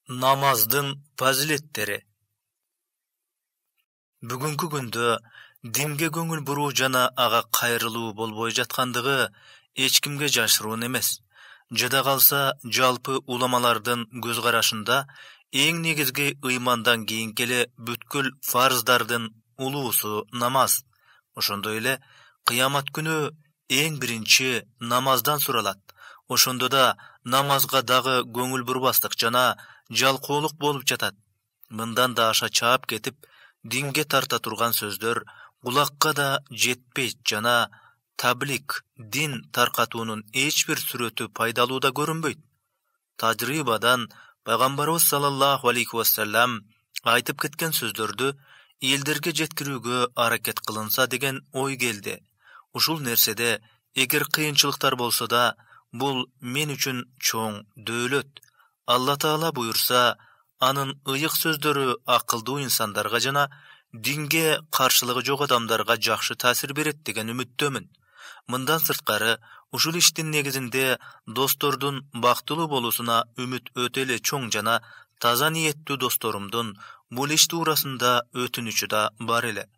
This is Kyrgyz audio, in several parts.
Намаздын фазилеттери. Бүгүнкү күндө динге көңүл буруу жана ага кайрылуу болбой жаткандыгы эч кимге жашыруун эмес. Жада калса, жалпы уламалардын көз карашында эң негизги ыймандан кийинки эле бүткүл фарздардын улуусу намаз. Ошондой эле кыямат күнү эң биринчи намаздан суралат. Ошондо да намазга дагы көңүл бурбастык жана жалкоолук болуп жатат. Мындан да аша чаап кетип, динге тарта турган сөздөр кулакка да жетпейт жана таблик, дин таркатуунун эч бир сүрөтү пайдалуу да көрүнбөйт. Тажрыйбадан пайгамбарыбыз саллаллаху алейхи вассалам айтып кеткен сөздөрдү элдерге жеткирүүгө аракет кылынса деген ой келди. Ушул нерседе эгер кыйынчылыктар болсо да, бул мен үчүн чоң дөөлөт. Алла Таала буйрса, анын ыйык сөздөрү акылдуу инсандарга жана динге каршылыгы жок адамдарга жакшы таасир берет деген үмүттөмүн. Мындан сырткары, ушул иштин негизинде достордун бактылуу болуусуна үмүт өтө эле чоң жана таза ниеттүү досторумдун бул иш туурасында өтүнүчү да бар эле.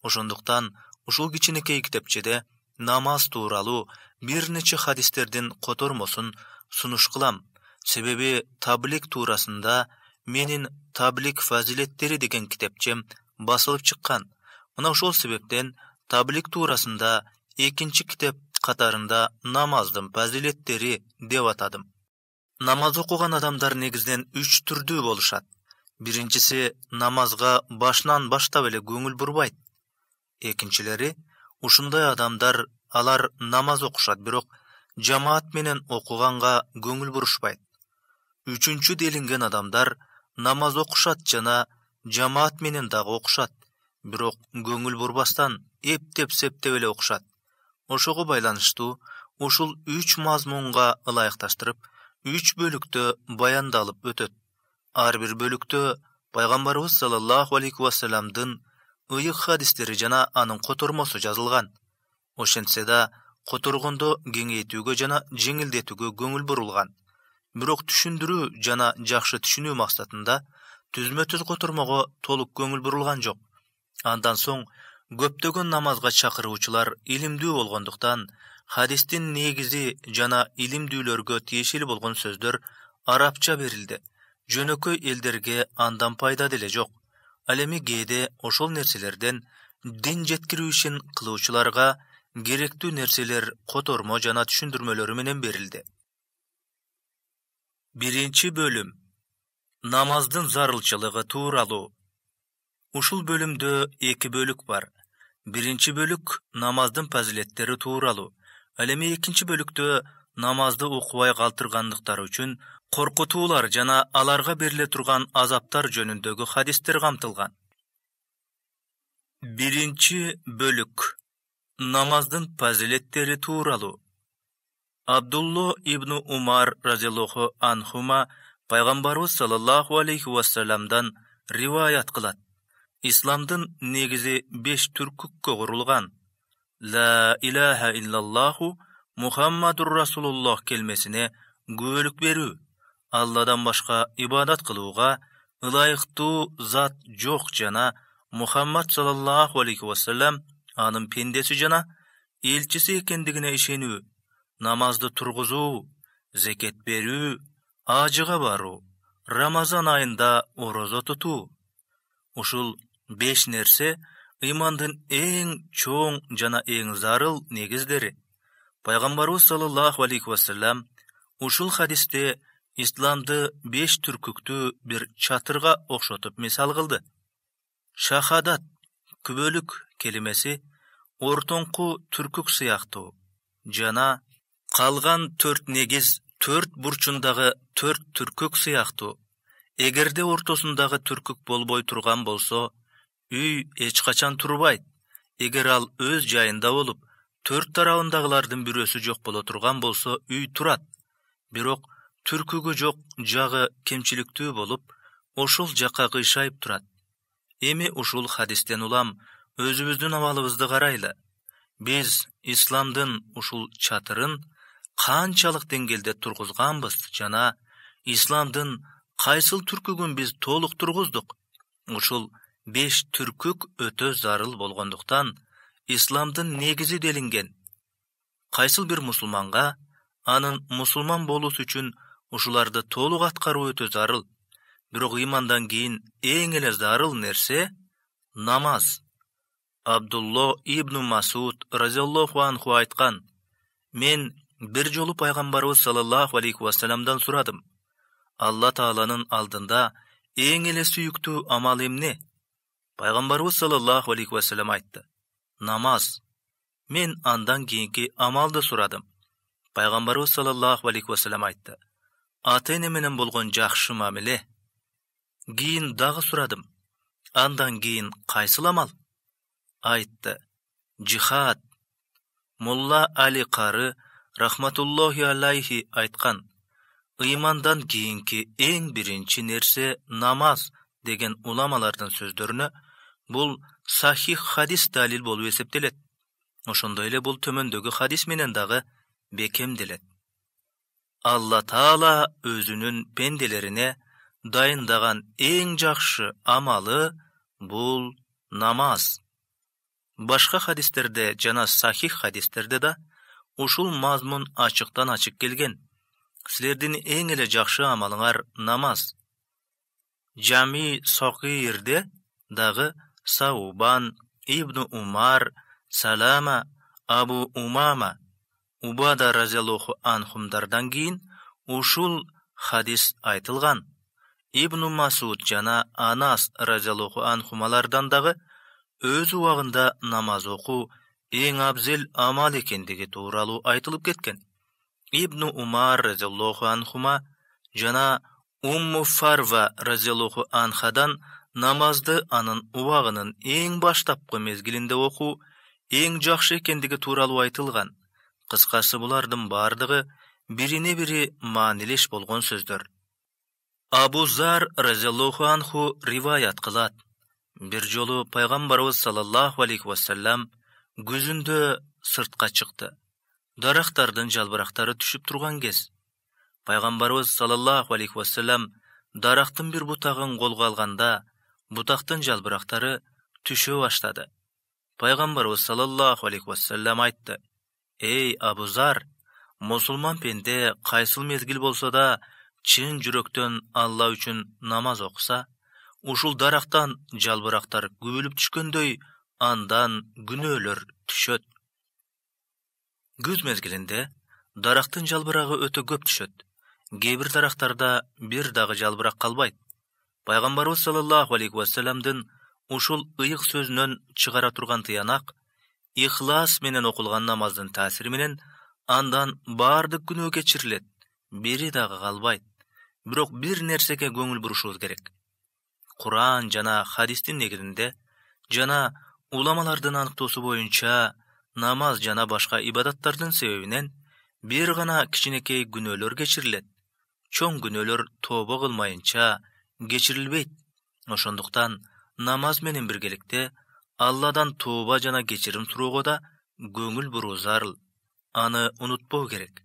Ошондуктан ушул кичинекей китепчеде намаз тууралуу бир нече хадистердин котормосун сунуш кылам. Себеби таблик туурасында менин таблик фазилеттери деген китепчем басылып чыккан. Мына ошол себептен таблик туурасында экинчи китеп катарында намаздын фазилеттери деп атадым. Намаз окуган адамдар негизинен 3 түрдүү болушат. Биринчиси намазга башынан баштап эле көңүл бурбайт. Экинчилери ушундай адамдар алар намаз окушат, бирок жамаат менен окуганга көңүл бурушпайт. Үчүнчү делинген адамдар намаз окушат жана жамаат менен дагы окушат, бирок көңүл бурбастан эптеп-септеп эле окушат. Ошого байланыштуу ушул 3 мазмунга ылайыкташтырып 3 бөлүктө баяндалып өтөт. Ар бир бөлүктө пайгамбарыбыз саллаллаху алейхи вассаламдын ыйык хадистери жана анын котормосу жазылган. Ошентсе да, которгондо кеңейтүүгө жана жеңилдетүүгө көңүл бурулган. Бирок түшүндүрүү жана жакшы түшүнүү максатында түзмө-түз котормого толук көңүл бурулган жок. Андан соң көптөгөн намазга чакыруучулар илимдүү болгондуктан хадистин негизи жана илимдүүлөргө тиешелүү болгон сөздөр арабча берилди. Жөнөкөй элдерге андан пайда деле жок. Ал эми кээде ошол нерселерден дин жеткирүү ишин кылуучуларга керектүү нерселер котормо жана түшүндүрмөлөрү менен берилди. Биринчи бөлүм. Намаздын зарылчылыгы тууралуу. Ушул бөлүмдө 2 бөлүк бар. Биринчи бөлүк намаздын фазилеттери тууралуу. Ал эми экинчи бөлүктө намазды окубай калтыргандыктары үчүн коркутуулар жана аларга бериле турган азаптар жөнүндөгү хадистер камтылган. Биринчи бөлүк. Намаздын фазилеттери тууралуу. Абдулло ибн Умар разияллаху анхума пайгамбарыбыз саллаллаху алейхи вассаламдан риваят кылат. Исламдын негизи 5 түркүккө курулган. Ла илаха иллаллаху Мухаммадур Расулуллах келмесине күбөлүк берүү. Алладан башка ибадат кылууга ылайыктуу зат жок жана Мухаммад саллаллаху алейхи вассалам анын пендеси жана элчиси экендигине ишенүү. Намазды тургузуу, зекет берүү, ажыга баруу, Рамазан айында орозо тутуу. Ушул 5 нерсе ыймандын эң чоң жана эң зарыл негиздери. Пайгамбарыбыз саллаллаху алейхи вассалам ушул хадисте исламды 5 түркүктүү бир чатырга окшотуп мисал кылды. Шахадат, күбөлүк келимеси ортоңку түркүк сыяктуу жана калган 4 негиз 4 бурчундагы 4 түркүк сыяктуу. Эгерде ортосундагы түркүк болбой турган болсо, үй эч качан турбайт. Эгер ал өз жайында болуп, 4 тарабындагылардын бирөөсү жок боло турган болсо, үй турат. Бирок түркүгү жок жагы кемчиликтүү болуп, ошол жакка кыйшайып турат. Эми ушул хадистен улам өзүбүздүн абалыбызды карайлы. Биз исламдын ушул чатырын канчалык деңгээлде тургузганбыз жана исламдын кайсыл түркүгүн биз толук тургуздук? Ушул 5 түркүк өтө зарыл болгондуктан исламдын негизи делинген. Кайсыл бир мусулманга анын мусулман болуусу үчүн ушуларды толук аткаруу өтө зарыл. Бирок ыймандан кийин эң эле зарыл нерсе намаз. Абдулло ибн Масуд разияллаху анху айткан: мен бир жолу пайгамбарыбыз саллаллаху алейхи вассаламдан сурадым: Алла Тааланын алдында эң эле сүйүктүү амал эмне? Пайгамбарыбыз саллаллаху алейхи вассалам айтты: намаз. Мен андан кийинки амалды сурадым. Пайгамбарыбыз саллаллаху алейхи вассалам айтты: ата-эне менен болгон жакшы мамиле. Кийин дагы сурадым: андан кийин кайсыл амал? Айтты: жихад. Мулла Али Кары рахматуллахи алейхи айткан: ыймандан кийинки эң биринчи нерсе намаз деген уламалардын сөздөрүнө бул сахих хадис далил болуп эсептелет. Ошондой эле бул төмөндөгү хадис менен дагы бекемделет. Алла Таала өзүнүн пенделерине дайындаган эң жакшы амалы бул намаз. Башка хадистерде жана сахих хадистерде да ушул мазмун ачыктан ачык келген. Силердин эң эле жакшы амалыңар намаз. Жами Согирде дагы Саубан, Ибн Умар, Салама, Абу Умама, Убада разияллаху анхумдардан кийин ушул хадис айтылган. Ибн Масуд жана Анас разияллаху анхумалардан дагы өз убагында намаз окуу эң абзел амал экендиги тууралуу айтылып кеткен. Ибн Умар разияллаху анхума жана Умму Фарва разияллаху анхадан намазды анын убагынын эң баштапкы мезгилинде окуу эң жакшы экендиги тууралуу айтылган. Кыскасы булардын бардыгы бирине бири маанилеш болгон сөздөр. Абу Зар разияллаху анху риваят кылат: бир жолу пайгамбарыбыз саллаллаху алейхи вассалам күзүндө сыртка чыкты. Дарактардын жалбырактары түшүп турган кез. Пайгамбарыбыз саллаллаху алейхи вассалам дарактын бир бутагын колго алганда, бутактын жалбырактары түшө баштады. Пайгамбарыбыз саллаллаху алейхи вассалам айтты: эй Абу Зар, мусулман пенде кайсыл мезгил болсо да чын жүрөктөн Алла үчүн намаз окуса, ушул дарактан жалбырактар күбөлүп түшкөндөй андан күнөөлөр түшөт. Күз мезгилинде дарактын жалбырагы өтө көп түшөт. Кээ бир дарактарда бир дагы жалбырак калбайт. Пайгамбарыбыз саллаллаху алейхи вассаламдын ушул ыйык сөзүнөн чыгара турган тыянак ихлас менен окулган намаздын таасири менен андан баардык күнөө кечирилет, бири дагы калбайт. Бирок бир нерсеге көңүл бурушубуз керек. Куран жана хадистин негизинде жана уламалардын аныктоосу боюнча намаз жана башка ибадаттардын себебинен бир гана кичинекей күнөөлөр кечирилет. Чоң күнөөлөр тобо кылмайынча кечирилбейт. Ошондуктан намаз менен биргеликте Алладан тооба жана кечирим суроого да көңүл буруу зарыл. Аны унутпоо керек.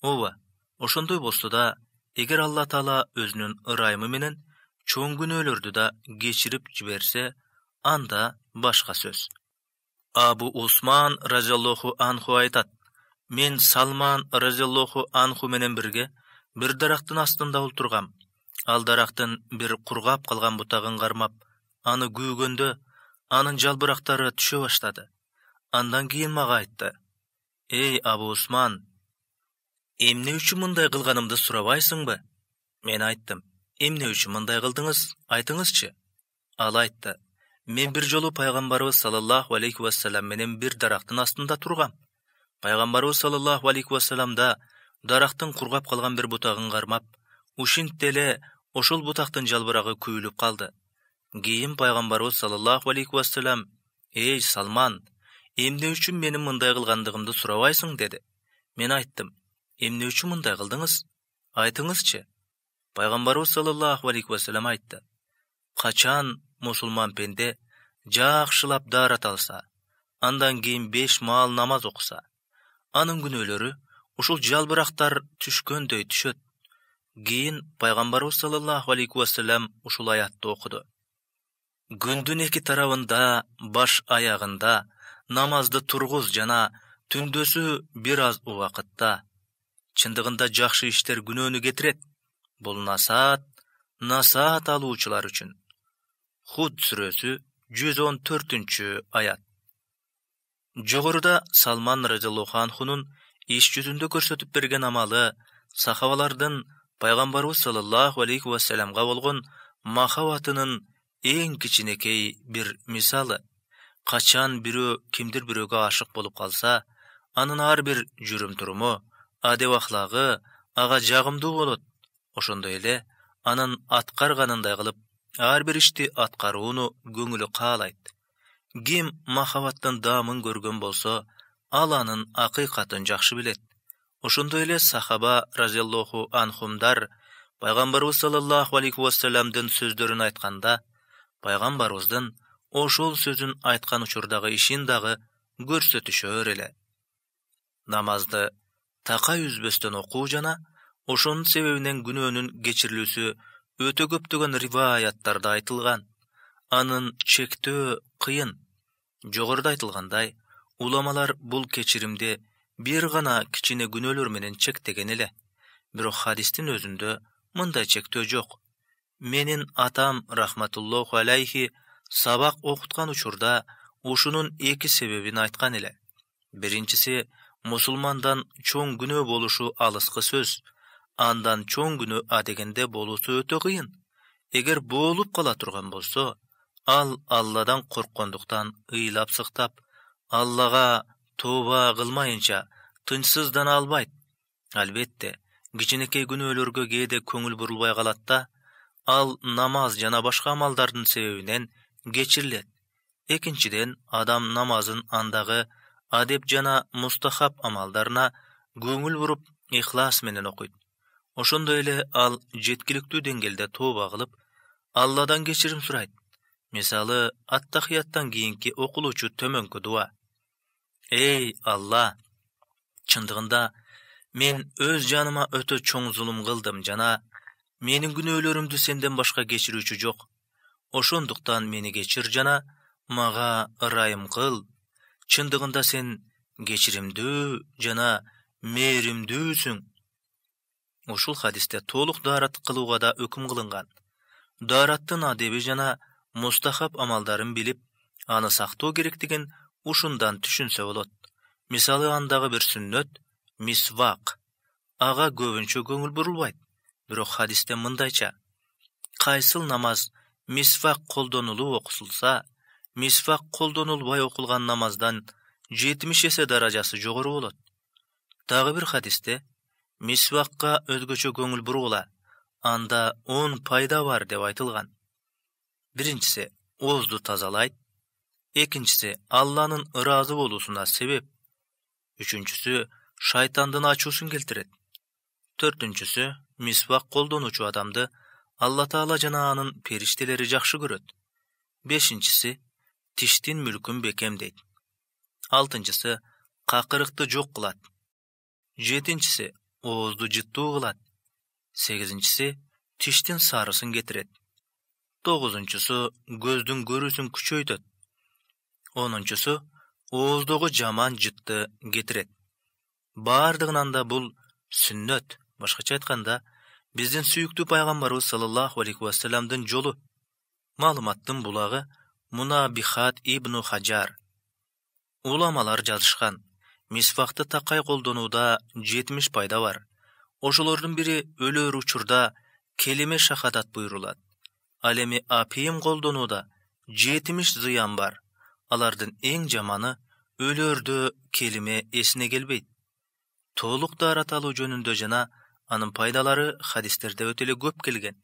Ооба, ошондой болсо да, эгер Алла Таала өзүнүн ырайымы менен чоң күнөөлөрдү да кечирип жиберсе, анда башка сөз. Абу Усман разияллаху анху айтат: мен Салман разияллаху анху менен бирге бир дарактын астында олтургам. Ал дарактын бир кургап калган бутагын кармап, аны күүгөндө анын жалбырактары түшө баштады. Андан кийин мага айтты: эй Абу Усман, эмне үчүн мындай кылганымды сурабайсыңбы? Мен айттым: эмне үчүн мындай кылдыңыз, айтыңызчы. Ал айтты: мен бир жолу пайгамбарыбыз саллаллаху алейхи вассалам менен бир дарактын астында тургам. Пайгамбарыбыз саллаллаху алейхи вассаламда дарактын кургап калган бир бутагын кармап, ушинтте эле ошол бутактын жалбырагы күйүлүп калды. Кийин пайгамбарыбыз саллаллаху алейхи вассалам: эй Салман, эмне үчүн менин мындай кылгандыгымды сурабайсың деди. Мен айттым: эмне үчүн мындай кылдыңыз? Айтыңызчы. Пайгамбарыбыз саллаллаху алейхи вассалам айтты: качан мусулман пенде жакшылап даарат алса, андан кийин 5 маал намаз окуса, анын күнөөлөрү ушул жалбырактар түшкөндөй түшөт. Кийин пайгамбарыбыз саллаллаху алейхи вассалам ушул аятты окуду. Күндүн эки тарабында, баш аягында намазды тургуз жана түндөсү бир аз убакытта. Чындыгында жакшы иштер күнөөнү кетирет. Бул насаат алуучулар үчүн. Худ сүрөсү 114-аят. Жогоруда Салман разияллаху анхунун иш жүзүндө көрсөтүп берген амалы сахабалардын пайгамбарыбыз саллаллаху алейхи вассаламга болгон махабатынын эң кичинекей бир мисалы. Качан бирөө кимдир бирөөгө ашык болуп калса, анын ар бир жүрүм-туруму, адеп-ахлагы ага жагымдуу болот. Ошондой эле анын аткарганындай кылып ар бир ишти аткарууну көңүлү каалайт. Ким махабаттын даамын көргөн болсо, ал анын акыйкатын жакшы билет. Ошондой эле сахаба разияллаху анхумдар пайгамбарыбыз саллаллаху алейхи вассаламдын сөздөрүн айтканда, пайгамбарыбыздын ошол сөзүн айткан учурдагы ишин дагы көрсөтүшөр эле. Намазды такай үзбөстөн окуу жана ошонун себебинен күнөөнүн кечирилүүсү өтө көптөгөн риваяттарда айтылган. Анын чектөө кыйын. Жогоруда айтылгандай, уламалар бул кечиримди бир гана кичине күнөөлөр менен чектеген эле. Бирок хадистин өзүндө мындай чектөө жок. Менин атам рахматуллаху алейхи сабак окуткан учурда ушунун эки себебин айткан эле. Биринчиси, мусулмандан чоң күнөө болушу алыскы сөз. Андан чоң күнөө адегенде болуусу өтө кыйын. Эгер болуп кала турган болсо, ал Алладан корккондуктан ыйлап сыктап, Аллага тооба кылмайынча тынчсыздана албайт. Албетте, кичинекей күнөөлөргө кээде көңүл бурулбай калат да, ал намаз жана башка амалдардын себебинен кечирилет. Экинчиден, адам намазын андагы адеп жана мустахаб амалдарына көңүл буруп, ихлас менен окуйт. Ошондой эле ал жеткиликтүү деңгээлде тооба кылып, Алладан кечирим сурайт. Мисалы, ат-тахияттан кийинки окулуучу төмөнкү дуа. Эй Алла, чындыгында мен өз жаныма өтө чоң зулум кылдым жана менин күнөөлөрүмдү сенден башка кечирүүчү жок. Ошондуктан мени кечир жана мага ырайым кыл. Чындыгында сен кечиримдүү жана мээримдүүсүң. Ушул хадисте толук даарат кылууга да өкүм кылынган. Даараттын адеби жана мустахаб амалдарын билип, аны сактоо керектигин ушундан түшүнсө болот. Мисалы, андагы бир сүннөт мисвак. Ага көбүнчө көңүл бурулбайт. Бирок хадисте мындайча: кайсыл намаз мисвак колдонулуп окусулса, мисвак колдонулбай окулган намаздан 70 эсе даражасы жогору болот. Дагы бир хадисте мисвакка өзгөчө көңүл бургула, анда 10 пайда бар деп айтылган. Биринчиси оозду тазалайт, экинчиси Алланын ыраазы болуусуна себеп, үчүнчүсү шайтандын ачуусун келтирет, төртүнчүсү мисвак колдонуучу адамды Алла Таала жана анын периштелери жакшы көрөт, бешинчиси тиштин мүлкүн бекемдейт, алтынчысы какырыкты жок кылат, жетинчиси оозду жыттуу кылат, сегизинчиси тиштин сарысын кетирет, тогузунчусу көздүн көрүүсүн күчөйтөт, онунчусу ооздогу жаман жытты кетирет. Бардыгынан да бул сүннөт, башкача айтканда, биздин сүйүктүү пайгамбарыбыз саллаллаху алейхи вассаламдын жолу. Маалыматтын булагы Мунабихат ибн Хаджар. Уламалар жазышкан. Мисвакты такай колдонууда 70 пайда бар. Ошолордун бири өлөр учурда келиме шахадат буйрулат. Ал эми апийим колдонууда 70 зыян бар. Алардын эң жаманы өлөрдө келиме эсине келбейт. Толук даарат алуу жөнүндө жана анын пайдалары хадистерде өтө эле көп келген.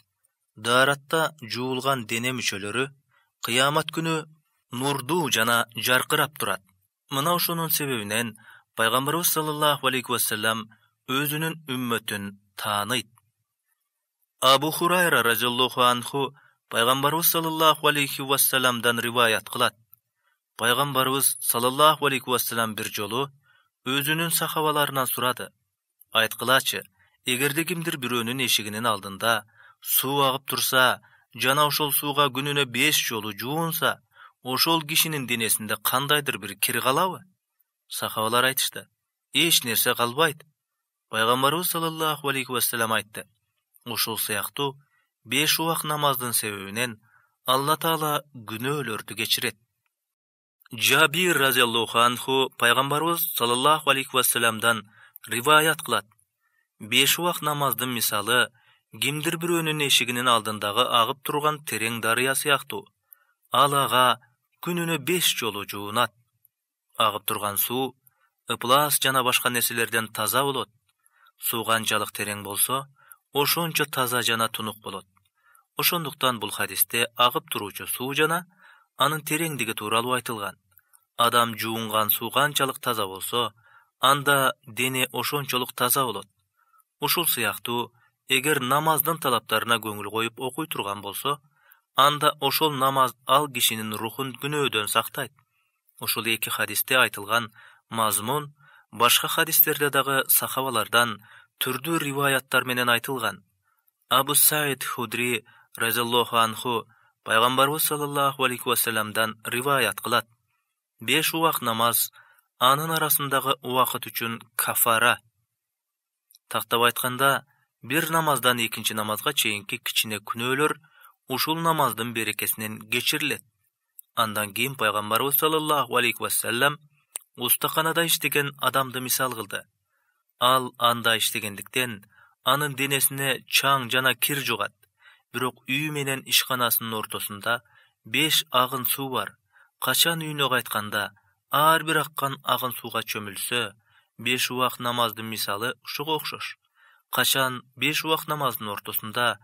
Дааратта жуулган дене мүчөлөрү кыямат күнү нурдуу жана жаркырап турат. Мына ошонун себебинен пайгамбарыбыз саллаллаху алейхи вассалам өзүнүн үммөтүн тааныйт. Абу Хурайра разияллаху анху пайгамбарыбыз саллаллаху алейхи вассаламдан риваят кылат. Пайгамбарыбыз саллаллаху алейхи вассалам бир жолу өзүнүн сахабаларынан сурады: айткылачы, Эгерде кимдир бирөөнүн эшигинин алдында суу агып турса, жана ошол сууга күнүнө 5 жолу жуунса, ошол кишинин денесинде кандайдыр бир кир калабы? Сахабалар айтышты: эч нерсе калбайт. Пайгамбарыбыз саллаллаху алейхи вассалам айтты: ошол сыяктуу 5 убак намаздын себебинен Алла Таала күнөөлөрдү кечирет. Жабир разияллаху анху пайгамбарыбыз саллаллаху алейхи вассаламдан риваят кылат: 5 убак намаздын мисалы кимдир бирөөнүн эшигинин алдындагы агып турган терең дарыя сыяктуу. Ал ага күнүнө 5 жолу жуунат. Агып турган суу ыплас жана башка нерселерден таза болот. Суу канчалык терең болсо, ошончо таза жана тунук болот. Ошондуктан бул хадисте агып туруучу суу жана анын тереңдиги тууралуу айтылган. Адам жуунган суу канчалык таза болсо, анда дене ошончолук таза болот. Ушул сыяктуу, эгер намаздын талаптарына көңүл коюп окуй турган болсо, анда ошол намаз ал кишинин рухун күнөөдөн сактайт. Ушул эки хадисте айтылган мазмун башка хадистерде дагы сахабалардан түрдүү риваяттар менен айтылган. Абу Саид Худри разияллаху анху пайгамбарыбыз саллаллаху алейхи вассаламдан риваят кылат: 5 убак намаз анын арасындагы убакыт үчүн кафара. Тактап айтканда, бир намаздан экинчи намазга чейинки кичине күнөөлөр ушул намаздын берекесинен кечирилет. Андан кийин пайгамбарыбыз саллаллаху алейхи вассалам устаканада иштеген адамды мисал кылды. Ал анда иштегендиктен анын денесине чаң жана кир жугат. Бирок үй менен ишканасынын ортосунда 5 агын суу бар. Качан үйүнө кайтканда ар бир аккан агын сууга чөмүлсө, 5 убак намаздын мисалы ушуга окшош. Качан 5 убак намаздын ортосунда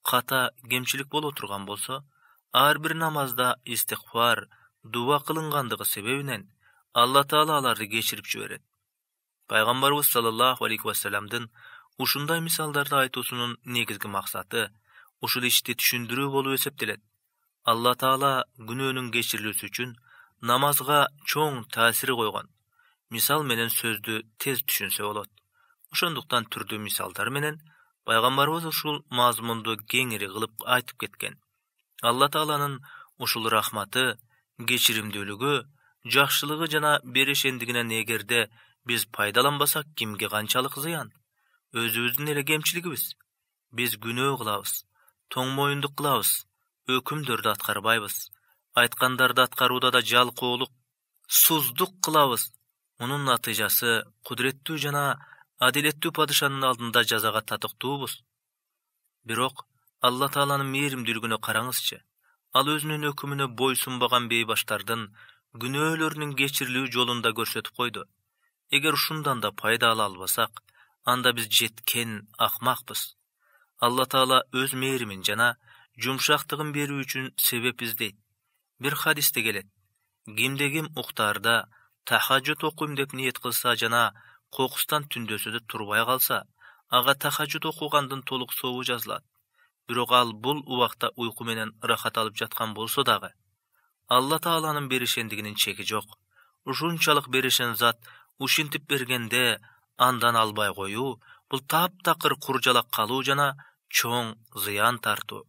ката кемчилик боло турган болсо, ар бир намазда истигфар, дуба кылынгандыгы себебинен Алла Таала аларды кечирип жиберет. Пайгамбарыбыз саллаллаху алейхи вассаламдын ушундай мисалдарды айтуусунун негизги максаты ушул ишти түшүндүрүү болуп эсептелет. Алла Таала күнөөнүн кечирилүүсү үчүн намазга чоң таасир койгон. Мисал менен сөздү тез түшүнсө болот. Ошондуктан түрдүү мисалдар менен пайгамбарыбыз ушул мазмунду кеңири кылып айтып кеткен. Алла Тааланын ушул рахматы, кечиримдүүлүгү, жакшылыгы жана берешендигинен эгерде биз пайдаланбасак, кимге канчалык зыян? Өзүбүздүн эле кемчилигибиз. Биз күнөө кылабыз, тоңмоюндук кылабыз, өкүмдөрдү аткарбайбыз, айткандарды аткарууда да жалкоолук, суздук кылабыз. Мунун натыйжасы кудуреттүү жана адилеттүү падышанын алдында жазага татыктуубуз. Бирок Алла Тааланын мээримдүүлүгүнө караңызчы. Ал өзүнүн өкүмүнө бойсунбаган бейбаштардын күнөөлөрүнүн кечирилүү жолун да көрсөтүп койду. Эгер ушундан да пайда ала албасак, анда биз жеткен акмакпыз. Алла Таала өз мээримин жана жумшактыгын берүү үчүн себеп издейт. Бир хадисте келет: кимде ким уктаарда тахажжуд окуйм деп ниет кылса жана кокустан түндөсүдө турбай калса, ага тахажжуд окугандын толук сообу жазылат. Бирок ал бул убакта уйку менен рахат алып жаткан болсо дагы, Алла Тааланын берешендигинин чеги жок. Ушунчалык берешен зат ушинтип бергенде андан албай коюу бул таптакыр куржалак калуу жана чоң зыян тартуу.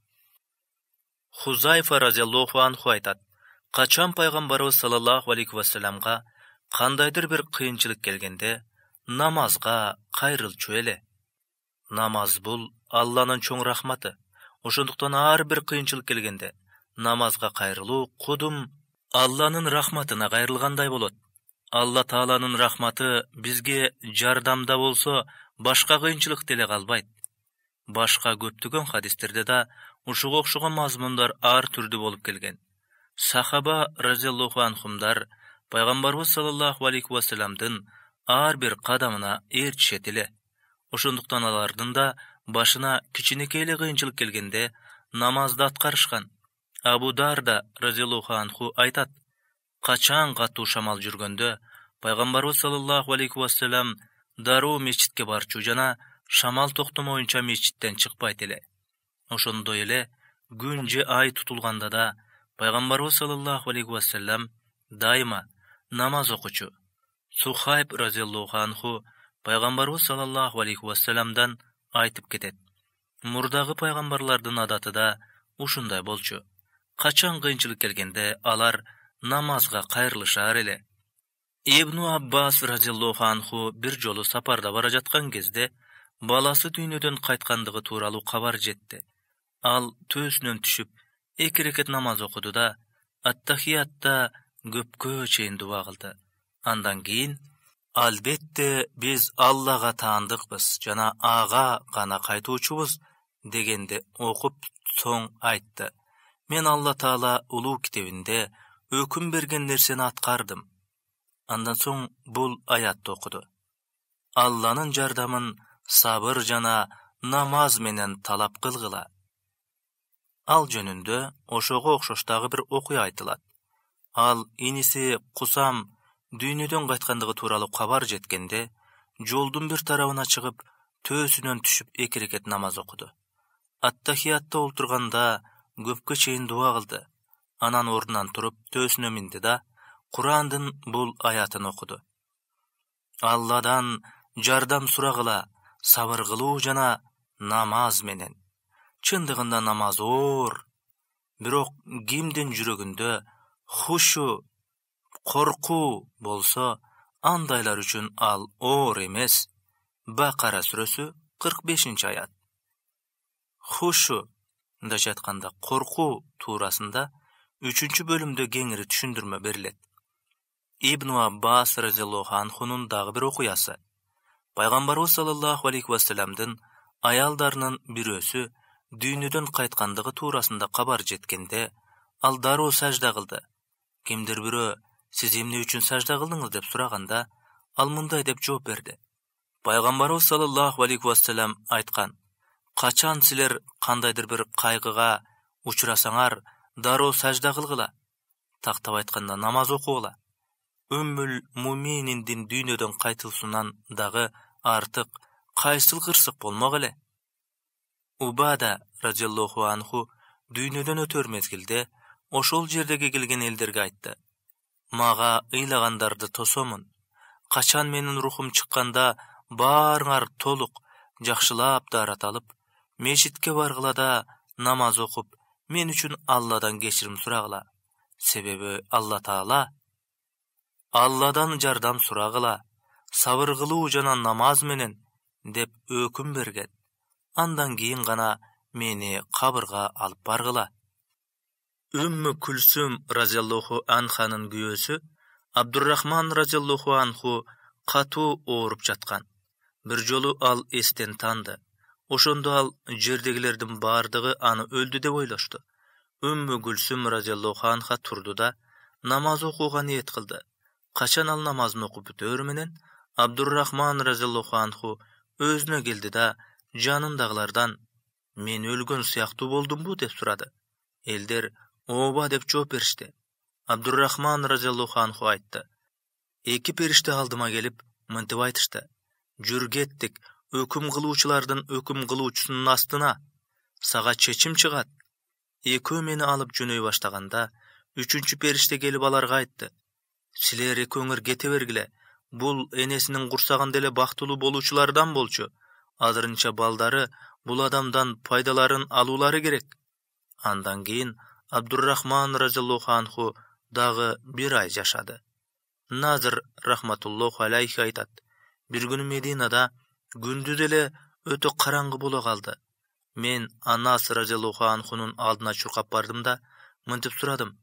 Хузайфа разияллаху анху айтат: качан пайгамбарыбыз саллаллаху алейхи вассаламга кандайдыр бир кыйынчылык келгенде, намазга кайрылчу эле. Намаз бул Алланын чоң рахматы. Ошондуктан ар бир кыйынчылык келгенде намазга кайрылуу кудум Алланын рахматына кайрылгандай болот. Алла Тааланын рахматы бизге жардамда болсо, башка кыйынчылык деле калбайт. Башка көптөгөн хадистерде да ушуга окшогон мазмундар ар түрдүү болуп келген. Сахаба разияллаху анхумдар пайгамбарыбыз саллаллаху алейхи вассаламдын ар бир кадамына ээрчишет эле. Ошондуктан алардын да башына кичинекей эле кыйынчылык келгенде намазды аткарышкан. Абу Дарда разияллаху анху айтат: качан катуу шамал жүргөндө пайгамбарыбыз саллаллаху алейхи вассалам дароо мечитке барчу жана шамал токтомоюнча мечиттен чыкпайт эле. Ошондой эле күн же ай тутулганда да пайгамбарыбыз саллаллаху алейхи вассалам дайыма намаз окучу. Сухайб разияллаху анху пайгамбарыбыз саллаллаху алейхи вассаламдан айтып кетет. Мурдагы пайгамбарлардын адаты да ушундай болчу. Качан кыйынчылык келгенде алар намазга кайрылышар эле. Ибн Аббас разияллаху анху бир жолу сапарда бара жаткан кезде баласы дүйнөдөн кайткандыгы тууралуу кабар жетти. Ал төсүнөн түшүп, 2 рекет намаз окуду да, ат-тахиятта көпкө чейин дуба кылды. Андан кийин, албетте биз Аллага таандыкпыз жана ага гана кайтуучубуз дегенди окуп соң айтты. Мен Алла Таала улуу китебинде өкүм берген нерсени аткардым. Андан соң бул аятты окуду. Алланын жардамын сабыр жана намаз менен талап кылгыла. Ал жөнүндө ошого окшош дагы бир окуя айтылат. Ал иниси Кусам дүйнөдөн кайткандыгы тууралуу кабар жеткенде, жолдун бир тарабына чыгып, төсүнөн түшүп 2 рекет намаз окуду. Ат-тахиятта олтурганда көпкө чейин дуба кылды. Анан ордунан туруп төсүнө минди да Курандын бул аятын окуду. Алладан жардам сурагыла, сабыр кылуу жана намаз менен. Чындыгында намаз оор. Бирок кимдин жүрөгүндө хушу, коркуу болсо, андайлар үчүн ал оор эмес. Бакара сүрөсү 45-аят. Хушу мындайча айтканда коркуу туурасында 3-бөлүмдө кеңири түшүндүрмө берилет. Ибн Аббас разияллаху анхунун дагы бир окуясы. Пайгамбарыбыз саллаллаху алейхи вассаламдын аялдарынын бирөөсү дүйнөдөн кайткандыгы туурасында кабар жеткенде, ал дароо сажда кылды. Кимдир бирөө сиз эмне үчүн сажда кылдыңыз деп сураганда, ал мындай деп жооп берди. Пайгамбарыбыз саллаллаху алейхи вассалам айткан: качан силер кандайдыр бир кайгыга учурасаңар, дароо сажда кылгыла. Тактап айтканда намаз окугула. Өммүл мумининдин дүйнөдөн кайтуусунан дагы артык кайсыл кырсык болмок эле. Убада разияллаху анху дүйнөдөн өтөр мезгилде ошол жердеги келген элдерге айтты: мага ыйлагандарды тосомун. Качан менин рухум чыкканда баарыңар толук жакшылап даарат алып, мешитке баргыла да намаз окуп, мен үчүн Алладан кечирим сурагыла. Себеби Алла Таала Алладан жардам сурагыла, сабыр кылуу жана намаз менен деп өкүм берген. Андан кийин гана мени кабырга алып баргыла. Умму Кулсум разияллаху анханын күйөөсү Абдуррахман разияллаху анху катуу ооруп жаткан. Бир жолу ал эстен танды. Ошондо ал жердегилердин бардыгы аны өлдү деп ойлошту. Умму Кулсум разияллаху анха турду да намаз окууга ниет кылды. Качан ал намазын окуп бүтөөр менен Абдуррахман разияллаху анху өзүнө келди да жанындагылардан: мен өлгөн сыяктуу болдумбу деп сурады. Элдер ооба деп жооп беришти. Абдуррахман разияллаху анху айтты: 2 периште алдыма келип мынтип айтышты: жүр кеттик, өкүм кылуучулардын өкүм кылуучусунун астына, сага чечим чыгат. Экөө мени алып жөнөй баштаганда, 3 периште келип аларга айтты: силер экөөңөр кете бергиле, бул энесинин курсагында эле бактылуу болуучулардан болчу. Азырынча балдары бул адамдан пайдаларын алуулары керек. Андан кийин Абдуррахман разияллаху анху дагы 1 ай жашады. Назыр рахматуллаху алейхи айтат: бир күнү Мединада күндүз эле өтө караңгы боло калды. Мен Анас разияллаху анхунун алдына чуркап бардым да мынтип сурадым: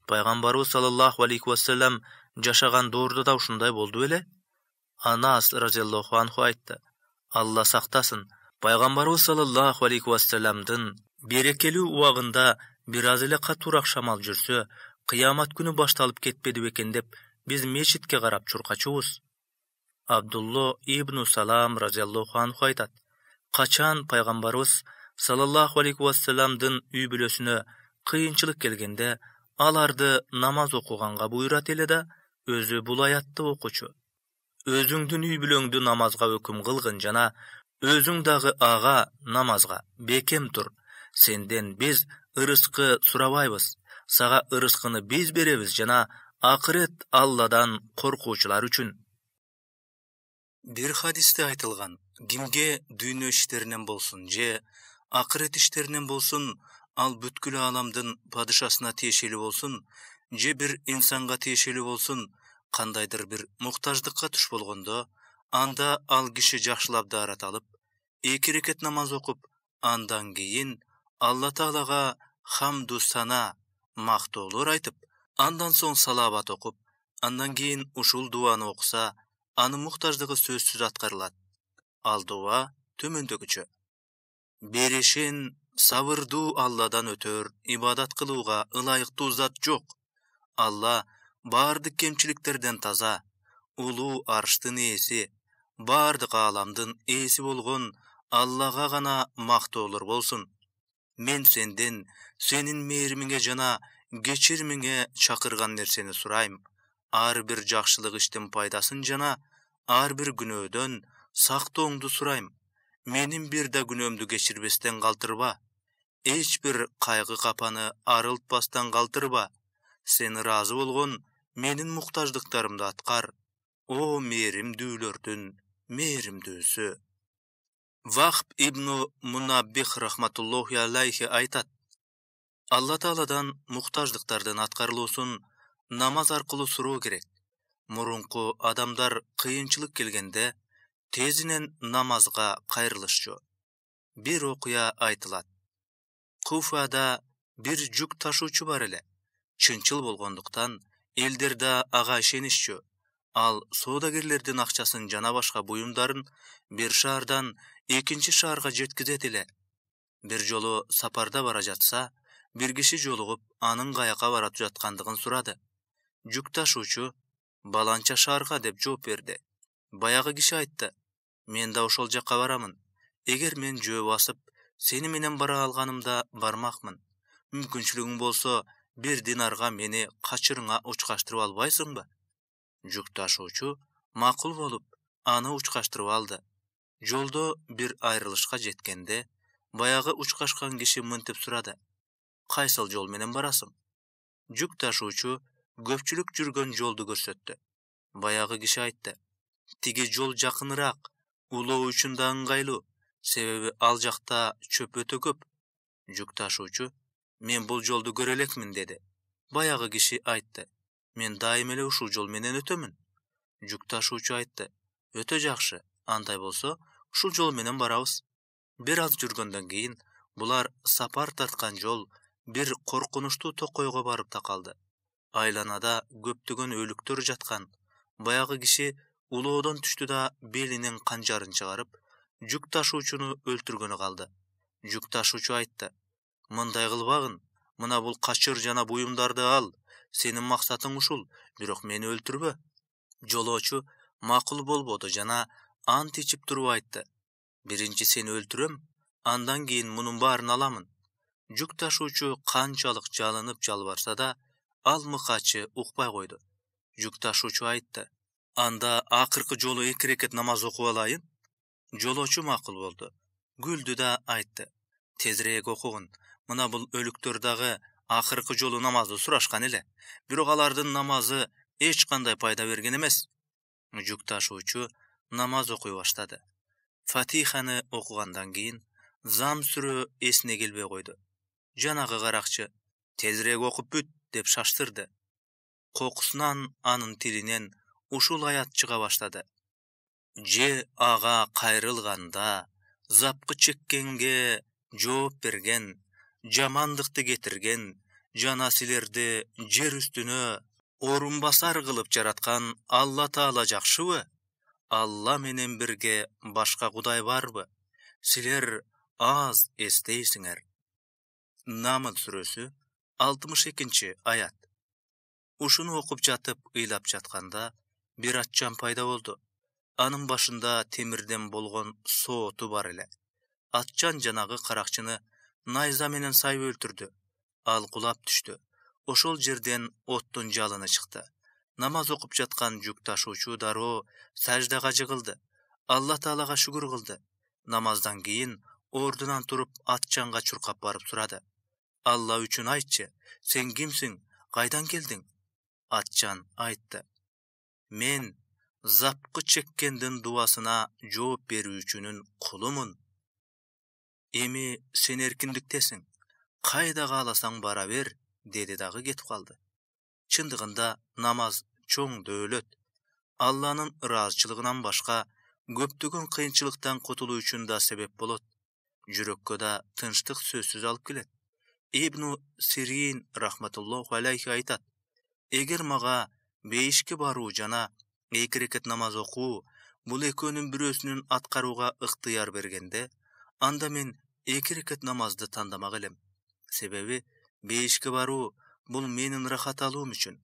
пайгамбарыбыз саллаллаху алейхи вассалам жашаган доордо да ушундай болду беле? Анас разияллаху анху айтты: Алла сактасын, пайгамбарыбыз саллаллаху алейхи вассаламдын берекелүү убагында бир аз эле катуураак шамал жүрсө, кыямат күнү башталып кетпеди бекен деп биз мечитке карап чуркачубуз. Абдулло ибн Салам разияллаху анху айтат: качан пайгамбарыбыз саллаллаху алейхи вассаламдын үй бүлөсүнө кыйынчылык келгенде, аларды намаз окуганга буйрат эле да өзү бул аятты окучу: өзүңдүн үй бүлөңдү намазга өкүм кылгын жана өзүң дагы ага намазга бекем тур. Сенден биз ырыскы сурабайбыз, сага ырыскыны биз беребиз жана акырет Алладан коркуучулар үчүн. Бир хадисте айтылган: Кимге дүйнө иштеринен болсун же акырет иштеринен болсун, ал бүткүл ааламдын падышасына тиешелүү болсун же бир инсанга тиешелүү болсун, кандайдыр бир муктаждыкка туш болгондо, анда ал киши жакшылап даарат алып, 2 рекет намаз окуп, андан кийин Алла Таалага хамду сана, мактоолор айтып, андан соң салават окуп, андан кийин ушул дуаны окуса, анын муктаждыгы сөзсүз аткарылат. Ал дуа төмөндөгүчө: беришин сабырдуу Алладан өтөр ибадат кылууга ылайыктуу зат жок. Алла баардык кемчиликтерден таза, улуу арштын ээси, баардык ааламдын ээси болгон Аллага гана мактоолор болсун. Мен сенден сенин мээримиңе жана кечиримиңе чакырган нерсени сурайм. Ар бир жакшылык иштин пайдасын жана ар бир күнөөдөн сактооңду сурайм. Менин бир да күнөөмдү кечирбестен калтырба. Эч бир кайгы капаны арылтпастан калтырба. Сен ыраазы болгон менин муктаждыктарымды аткар. О мээримдүүлөрдүн мээримдүүсү. Вахб ибн Мунаббих рахматуллахи алейхи айтат: Алла Тааладан муктаждыктардын аткарылуусун намаз аркылуу суроо керек. Мурунку адамдар кыйынчылык келгенде тезинен намазга кайрылышчу. Бир окуя айтылат. Куфада бир жүк ташуучу бар эле. Чынчыл болгондуктан элдер да ага ишенишчү. Ал соодагерлердин акчасын жана башка буюмдарын бир шаардан экинчи шаарга жеткизет эле. Бир жолу сапарда бара жатса, бир киши жолугуп, анын каяка бара жаткандыгын сурады. Жүк ташуучу баланча шаарга деп жооп берди. Баягы киши айтты: мен да ошол жакка барамын. Эгер мен жөө басып, сени менен бара алганымда бармакмын. Мүмкүнчүлүгүң болсо, 1 динарга мени качырыңа учкаштырып албайсыңбы? Жүк ташуучу макул болуп, аны учкаштырып алды. Жолдо бир айрылышка жеткенде, баягы учкашкан киши мынтип сурады: кайсыл жол менен барасың? Жүк ташуучу көпчүлүк жүргөн жолду көрсөттү. Баягы киши айтты: тиги жол жакыныраак, улоо үчүн да ыңгайлуу, себеби ал жакта чөп өтө көп. Жүк ташуучу: мен бул жолду көрө элекмин деди. Баягы киши айтты: мен дайым эле ушул жол менен өтөмүн. Жүк ташуучу айтты: өтө жакшы, андай болсо ушул жол менен барабыз. Бир аз жүргөндөн кийин булар сапар тарткан жол бир коркунучтуу токойго барып такалды. Айланада көптөгөн өлүктөр жаткан. Баягы киши улоодон түштү да белинен канжарын чыгарып, жүк ташуучуну өлтүргөнү калды. Жүк ташуучу айтты: мындай кылбагын, мына бул качыр жана буюмдарды ал. Сенин максатың ушул, бирок мени өлтүрбө. Жолоочу макул болбоду жана ант ичип туруп айтты: биринчи сени өлтүрөм, андан кийин мунун баарын аламын. Жүк ташуучу канчалык жалынып жалбарса да, ал мыкачы укпай койду. Жүк ташуучу айтты: анда акыркы жолу 2 рекет намаз окуп алайын. Жолоочу макул болду. Күлдү да айтты: тезирээк окугун, мына бул өлүктөр дагы акыркы жолу намазды сурашкан эле, бирок алардын намазы эч кандай пайда берген эмес. Жүк ташуучу намаз окуй баштады. Фатиханы окугандан кийин зам сүрө эсине келбей койду. Жанагы каракчы: тезирээк окуп бүт деп шаштырды. Кокусунан анын тилинен ушул аят чыга баштады: же ага кайрылганда, запкы чеккенге жооп берген, жамандыкты кетирген жана силерди жер үстүнө орун басар кылып жараткан Алла Таала жакшыбы? Алла менен бирге башка кудай барбы? Силер аз эстейсиңер. Намл сүрөсү 62-аят. Ушуну окуп жатып ыйлап жатканда бир атчан пайда болду. Анын башында темирден болгон сооту бар эле. Атчан жанагы каракчыны найза менен сайып өлтүрдү. Ал кулап түштү. Ошол жерден оттун жалыны чыкты. Намаз окуп жаткан жүк ташуучу дароо саждага жыгылды. Алла Таалага шүгүр кылды. Намаздан кийин ордунан туруп атчанга чуркап барып сурады: Алла үчүн айтчы, сен кимсиң, кайдан келдиң? Атчан айтты: мен запкы чеккендин дуасына жооп берүүчүнүн кулумун. Эми сен эркиндиктесиң, кайда кааласаң бара бер, деди дагы кетип калды. Чындыгында намаз чоң дөөлөт. Алланын ыраазычылыгынан башка көптөгөн кыйынчылыктан кутулуу үчүн да себеп болот. Жүрөккө да тынчтык сөзсүз алып келет. Ибн Сирин рахматуллаху алейхи айтат: эгер мага бейишке баруу жана 2 рекет намаз окуу бул экөөнүн бирөөсүнүн аткарууга ыктыяр бергенде, анда мен 2 рекет намазды тандамак элем. Себеби бейишке баруу бул менин рахат алуум үчүн,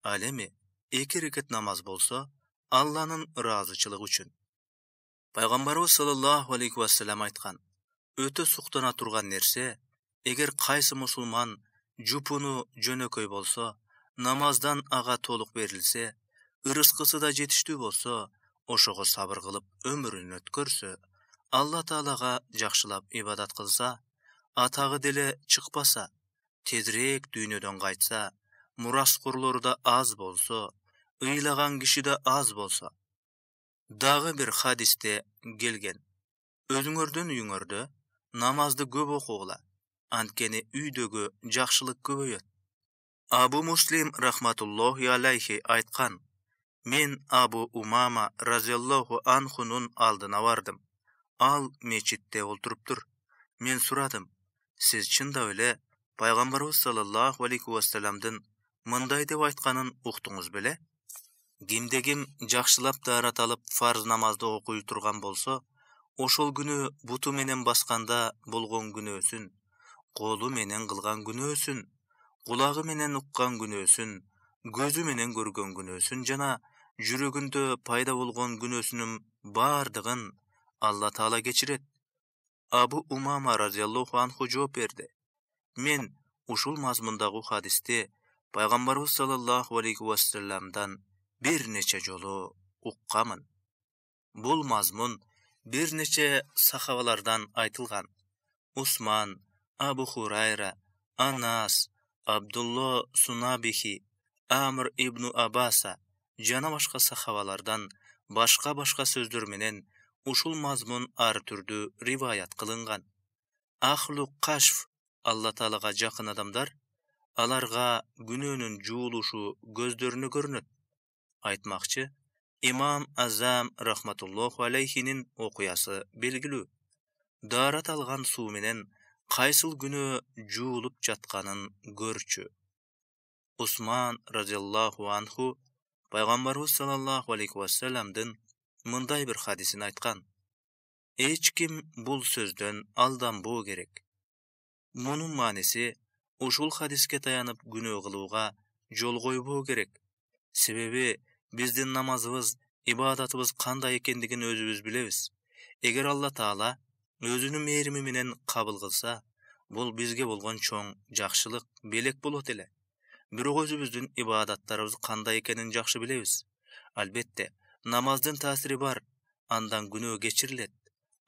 ал эми 2 рекет намаз болсо Алланын ыраазычылыгы үчүн. Пайгамбарыбыз саллаллаху алейхи вассалам айткан: өтө суктана турган нерсе, эгер кайсы мусулман жупуну жөнөкөй болсо, намаздан ага толук берилсе, ырыскысы да жетиштүү болсо, ошого сабыр кылып өмүрүн өткөрсө, Алла Таалага жакшылап ибадат кылса, атагы деле чыкпаса, тезирээк дүйнөдөн кайтса, мураскорлору да аз болсо, ыйлаган киши да аз болсо. Дагы бир хадисте келген: өзүңөрдүн үйүңөрдө намазды көп окугула, анткени үйдөгү жакшылык көбөйөт. Абу Муслим рахматуллахи алейхи айткан: мен Абу Умама разияллаху анхунун алдына бардым. Ал мечитте олтуруптур. Мен сурадым: сиз чындап эле пайгамбарыбыз саллаллаху алейхи вассаламдын мындай деп айтканын уктуңуз беле? Кимде ким жакшылап даарат алып фарз намазды окуй турган болсо, ошол күнү буту менен басканда болгон күнөөсүн, колу менен кылган күнөөсүн, кулагы менен уккан күнөөсүн, көзү менен көргөн күнөөсүн жана жүрөгүндө пайда болгон күнөөсүнүн баардыгын Алла Таала кечирет. Абу Умама разияллаху анху жооп берди: мен ушул мазмундагы хадисти пайгамбарыбыз саллаллаху алейхи вассаламдан бир нече жолу уккамын. Бул мазмун бир нече сахабалардан айтылган. Усман, Абу Хурайра, Анас, Абдулла Сунабихи, Амр ибн Абаса жана башка сахабалардан башка сөздөр менен ушул мазмун ар түрдүү риваят кылынган. Ахлу Кашф, Алла Таалага жакын адамдар, аларга күнөөнүн жуулушу көздөрүнө көрүнөт. Айтмакчы, Имам Азам рахматуллаху алейхинин окуясы белгилүү. Даарат алган суу менен кайсыл күнөө жуулуп жатканын көрчү. Усман разияллаху анху пайгамбарыбыз саллаллаху алейхи вассаламдын мындай бир хадисин айткан: эч ким бул сөздөн алданбоо керек. Мунун мааниси, ушул хадиске таянып күнөө кылууга жол койбоо керек. Себеби биздин намазыбыз, ибадатыбыз кандай экендигин өзүбүз билебиз. Эгер Алла Таала өзүнүн мээрими менен кабыл кылса, бул бизге болгон чоң жакшылык, белек болот эле. Бирок өзүбүздүн ибадаттарыбыз кандай экенин жакшы билебиз. Албетте, намаздын таасири бар, андан күнөө кечирилет.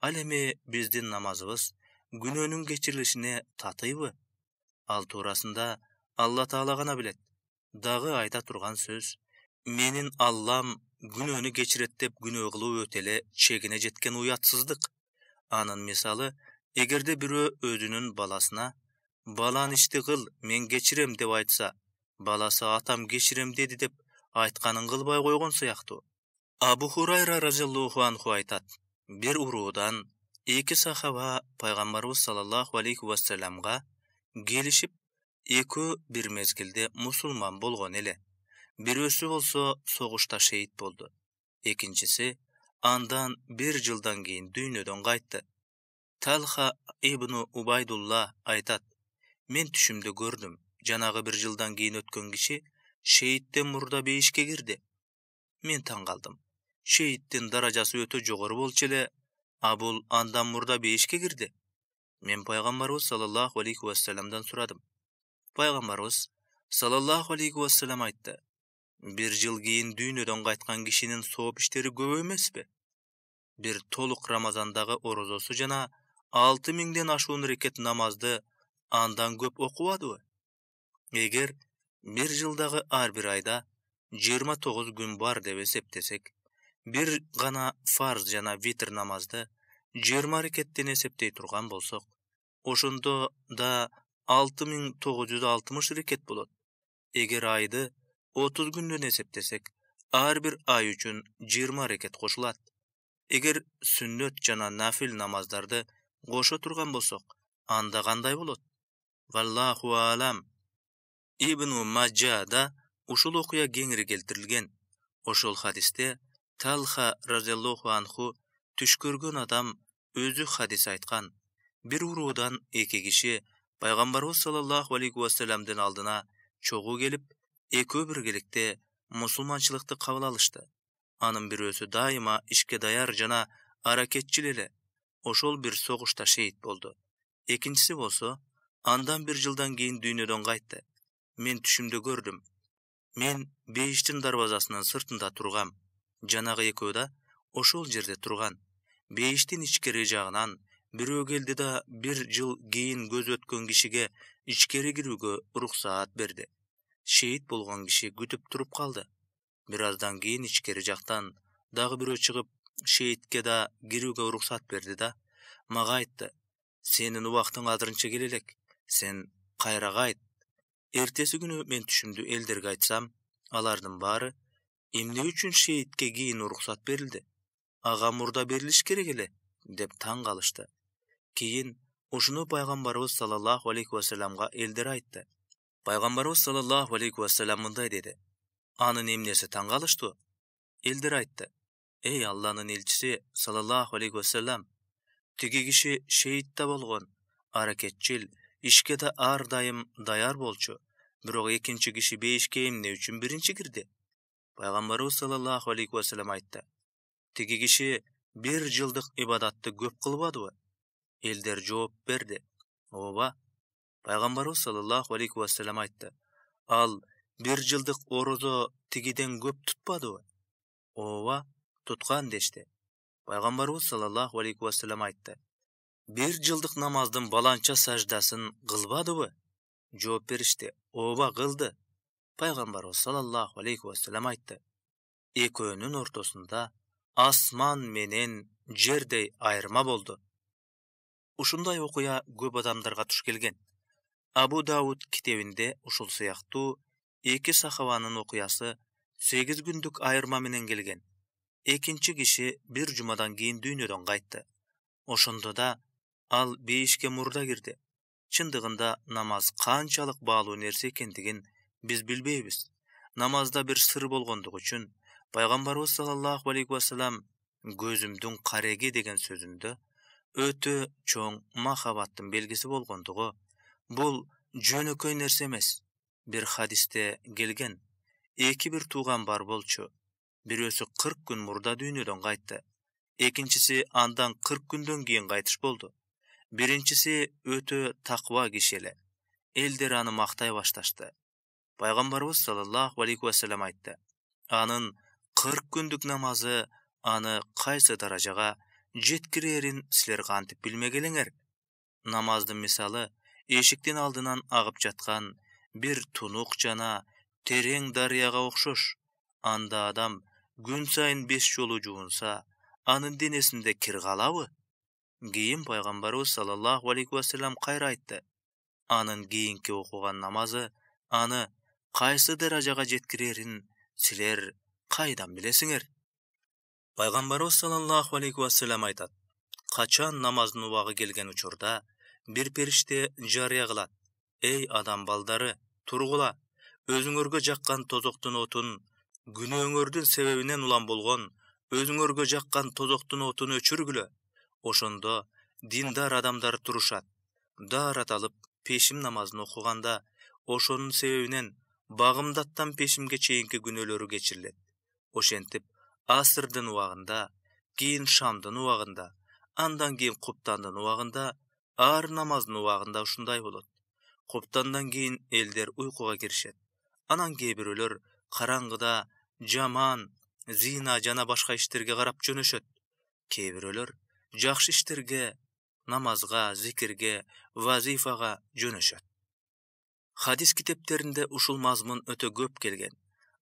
Ал эми биздин намазыбыз күнөөнүн кечирилишине татыйбы? Ал туурасында Алла Таала гана билет. Дагы айта турган сөз: менин Аллам күнөөнү кечирет деп күнөө кылуу өтө эле чегине жеткен уятсыздык. Анын мисалы, эгерде бирөө өзүнүн баласына: балан ишти кыл, мен кечирем деп айтса, баласы атам кечирем деди деп айтканын кылбай койгон сыяктуу. Абу Хурайра разияллаху анху айтат: бир уруудан 2 сахаба пайгамбарыбыз саллаллаху алейхи вассаламга келишип, экөө бир мезгилде мусулман болгон эле. Бирөөсү болсо согушта шейит болду. Экинчиси андан 1 жылдан кийин дүйнөдөн кайтты. Талха ибн Убайдулла айтат: мен түшүмдө көрдүм, жанагы 1 жылдан кийин өткөн киши шейиттен мурда бейишке кирди. Мен таң калдым. Шейиттин даражасы өтө жогору болчу эле, а бул андан мурда бейишке кирди. Мен пайгамбарыбыз саллаллаху алейхи вассаламдан сурадым. Пайгамбарыбыз саллаллаху алейхи вассалам айтты: 1 жыл кийин дүйнөдөн кайткан кишинин сооп иштери көп эмеспи? Бир толук Рамазандагы орозосу жана 6000ден ашуун рекет намазды андан көп окубадыбы? Эгер 1 жылдагы ар бир айда 29 күн бар деп эсептесек, бир гана фарз жана витр намазды 20 рекеттен эсептей турган болсок, ошондо да 6960 рекет болот. Эгер айды 30 күндөн эсептесек, ар бир ай үчүн 20 рекет кошулат. Эгер сүннөт жана нафил намаздарды кошо турган болсок, анда кандай болот? Валлаху алам. Ибн Маджада ушул окуя кеңири келтирилген. Ошол хадисте Талха разияллаху анху түш көргөн адам өзү хадис айткан. Бир уруудан 2 киши пайгамбарыбыз саллаллаху алейхи вассаламдын алдына чогуу келип, экөө биргеликте мусулманчылыкты кабыл алышты. Анын бирөөсү дайыма ишке даяр жана аракетчил эле. Ошол бир согушта шейит болду. Экинчиси болсо, андан 1 жылдан кийин дүйнөдөн кайтты. Мен түшүмдө көрдүм. Мен бейиштин дарбазасынын сыртында тургам. Жанагы экөө да ошол жерде турган. Бейиштин ичкери жагынан бирөө келди да 1 жыл кийин көз өткөн кишиге ичкери кирүүгө уруксаат берди. Шейит болгон киши күтүп туруп калды. Бир аздан кийин ичкери жактан дагы бирөө чыгып, шейитке да кирүүгө уруксат берди да мага айтты: "Сенин убактың азырынча келе элек. Сен кайра кайт." Эртеси күнү мен түшүмдү элдерге айтсам, алардын баары: "Эмне үчүн шейитке кийин уруксат берилди? Ага мурда берилиш керек эле" деп таң калышты. Кийин ушуну пайгамбарыбыз саллаллаху алейхи вассаламга элдер айтты. Пайгамбарыбыз саллаллаху алейхи вассалам мындай деди: "Анын эмнеси таң калыштуу?" Элдер айтты: "Эй Алланын элчиси саллаллаху алейхи вассалам, тиги киши шейит да болгон, аракетчил, ишке да ар дайым даяр болчу. Бирок экинчи киши бейишке эмне үчүн биринчи кирди?" Пайгамбарыбыз саллаллаху алейхи вассалам айтты: "Тиги киши 1 жылдык ибадатты көп кылбадыбы?" Элдер жооп берди: "Ооба." Пайгамбарыбыз саллаллаху алейхи вассалам айтты: "Ал 1 жылдык орозо тигиден көп тутпадыбы?" "Ооба, туткан" дешти. Пайгамбарыбыз саллаллаху алейхи вассалам айтты: "1 жылдык намаздын баланча саждасын кылбадыбы?" Жооп беришти: "Ооба, кылды." Пайгамбарыбыз саллаллаху алейхи вассалам айтты: "Экөөнүн ортосунда асман менен жердей айырма болду." Ушундай окуя көп адамдарга туш келген. Абу Дауд китебинде ушул сыяктуу 2 сахабанын окуясы 8 күндүк айырма менен келген. Экинчи киши 1 жумадан кийин дүйнөдөн кайтты. Ошондо да ал бейишке мурда кирди. Чындыгында намаз канчалык баалуу нерсе экендигин биз билбейбиз. Намазда бир сыр болгондугу үчүн пайгамбарыбыз саллаллаху алейхи вассалам көзүмдүн кареги деген сөзүндө өтө чоң махабаттын белгиси болгондугу бул жөнөкөй нерсе эмес. Бир хадисте келген: "2 бир тууган бар болчу. Бирөөсү 40 күн мурда дүйнөдөн кайтты. Экинчиси андан 40 күндөн кийин кайтыш болду. Биринчиси өтө таква киши эле." Элдер аны мактай башташты. Пайгамбарыбыз саллаллаху алейхи вассалам айтты: "Анын 40 күндүк намазы аны кайсы даражага жеткирерин силер кантип билмегелеңер?" Намаздын мисалы эшиктин алдынан агып жаткан бир тунук жана терең дарыяга окшош. Анда адам күн сайын 5 жолу жуунса, анын денесинде кир калабы? Кийин пайгамбарыбыз саллаллаху алейхи вассалам кайра айтты: "Анын кийинки окуган намазы аны кайсы даражага жеткирерин силер кайдан билесиңер?" Пайгамбарыбыз саллаллаху алейхи вассалам айтат: "Качан намаздын убагы келген учурда бир периште жарыя кылат: Эй адам балдары, тургула, өзүңөргө жаккан тозоктун отун, күнөөңөрдүн себебинен улам болгон өзүңөргө жаккан тозоктун отун өчүргүлө. Ошондо диндар адамдар турушат. Даарат алып пешим намазын окуганда ошонун себебинен багымдаттан пешимге чейинки күнөөлөрү кечирилет. Ошентип асырдын убагында, кийин шамдын убагында, андан кийин куптандын убагында, ар намаздын убагында ушундай болот. Куптандан кийин элдер уйкуга киришет. Анан кээ бирөөлөр караңгыда жаман, зина жана башка иштерге карап жөнөшөт. Кээ бирөөлөр жакшы иштерге, намазга, зикирге, вазифага жөнөшөт." Хадис китептеринде ушул мазмун өтө көп келген.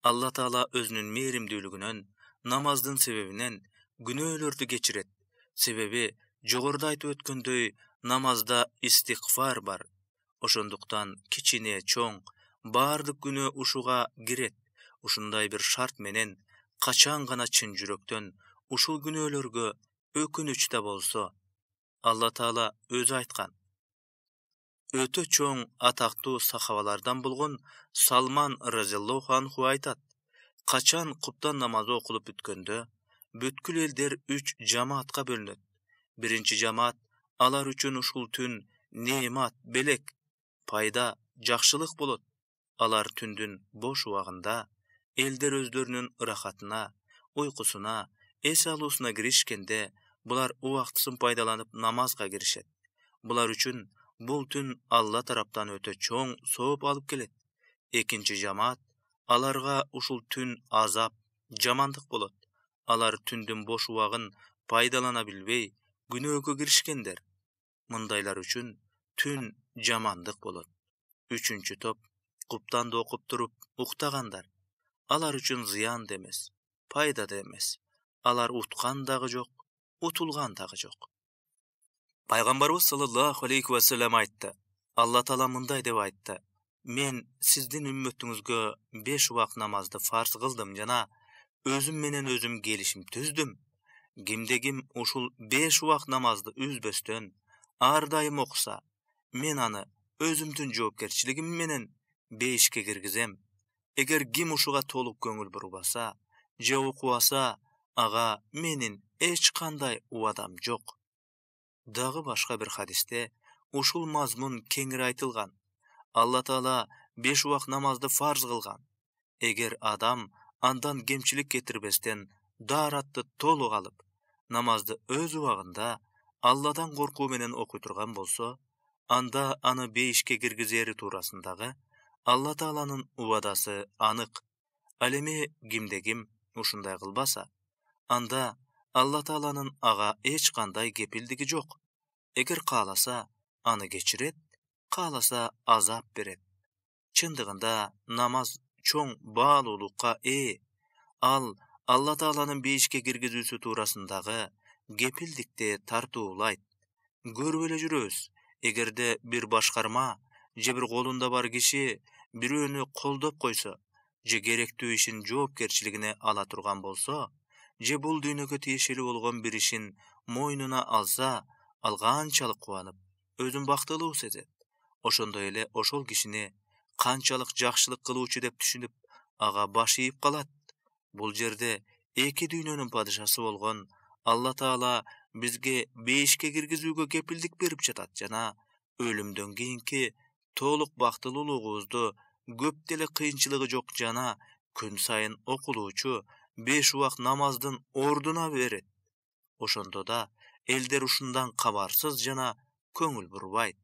Алла Таала өзүнүн мээримдүүлүгүнөн намаздын себебинен күнөөлөрдү кечирет. Себеби жогоруда айтып өткөндөй намазда истигфар бар. Ошондуктан кичине чоң баардык күнөө ушуга кирет. Ушундай бир шарт менен качан гана чын жүрөктөн ушул күнөөлөргө өкүнүч да болсо, Алла Таала өзү айткан. Өтө чоң атактуу сахабалардан болгон Салман разияллаху анху айтат: качан куптан намазы окулуп бүткөндө, бүткүл элдер 3 жамаатка бөлүнөт. Биринчи жамаат алар үчүн ушул түн неемат, белек, пайда, жакшылык болот. Алар түндүн бош убагында элдер өздөрүнүн ырахатына, уйкусуна, эс алуусуна киришкенде, булар убактысын пайдаланып намазга киришет. Булар үчүн бул түн Алла тараптан өтө чоң сооп алып келет. Экинчи жамаат аларга ушул түн азап, жамандык болот. Алар түндүн бош убагын пайдалана билбей, күнөөгө киришкендер. Мындайлар үчүн түн жамандык болот. Үчүнчү топ куптанды окуп туруп уктагандар. Алар үчүн зыян да эмес, пайда да эмес. Алар уткан дагы жок, утулган дагы жок. Пайгамбарыбыз саллаллаху алейхи ва саллям айтты. Алла Таала мындай деп айтты: мен сиздин үммөтүңүзгө 5 убак намазды фарз кылдым жана өзүм менен өзүм келишим түздүм. Кимде-ким ушул 5 убак намазды үзбөстөн ар дайым окуса, мен аны өзүмдүн жоопкерчилигим менен бейишке киргизем. Эгер ким ушуга толук көңүл бурбаса же окубаса, ага менин эч кандай убадам жок. Дагы башка бир хадисте ушул мазмун кеңири айтылган. Алла Таала 5 убак намазды фарз кылган. Эгер адам андан кемчилик кетирбестен дааратты толук алып, намазды өз убагында Алладан коркуу менен окуй турган болсо, анда аны бейишке киргизери туурасындагы Алла Тааланын убадасы анык. Ал эми кимде-ким ушундай кылбаса, анда Алла Тааланын ага эч кандай кепилдиги жок. Эгер кааласа, аны кечирет, кааласа азап берет. Чындыгында намаз чоң баалуулукка ээ. Ал Алла Тааланын бейишке киргизүүсү туурасындагы кепилдикти тартуулайт. Көрүп эле жүрөбүз. Эгерде бир башкарма же бир колунда бар киши бирөөнү колдоп койсо, же керектүү ишин жоопкерчилигине ала турган болсо, же бул дүйнөгө тиешелүү болгон бир ишин мойнуна алса, ал канчалык кубанып, өзүн бактылуу сезет. Ошондой эле ошол кишини канчалык жакшылык кылуучу деп түшүнүп, ага баш ийип калат. Бул жерде эки дүйнөнүн падышасы болгон Алла Таала бизге бейишке киргизүүгө кепилдик берип жатат жана өлүмдөн кийинки толук бактылуулугубузду көп деле кыйынчылыгы жок жана күн сайын окулуучу 5 убак намаздын ордуна берет. Ошондо да элдер ушундан кабарсыз жана көңүл бурбайт.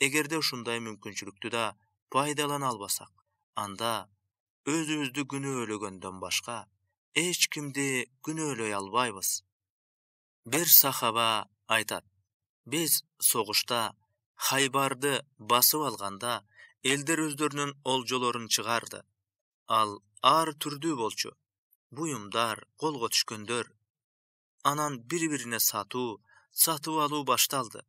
Эгерде ушундай мүмкүнчүлүктү да пайдалана албасак, анда өзүбүздү күнөөлөгөндөн башка эч кимди күнөөлөй албайбыз. Бир сахаба айтат: биз согушта Хайбарды басып алганда, элдер өздөрүнүн олжолорун чыгарды. Ал ар түрдүү болчу. Буюмдар, колго түшкөндөр. Анан бири-бирине сатып алуу башталды.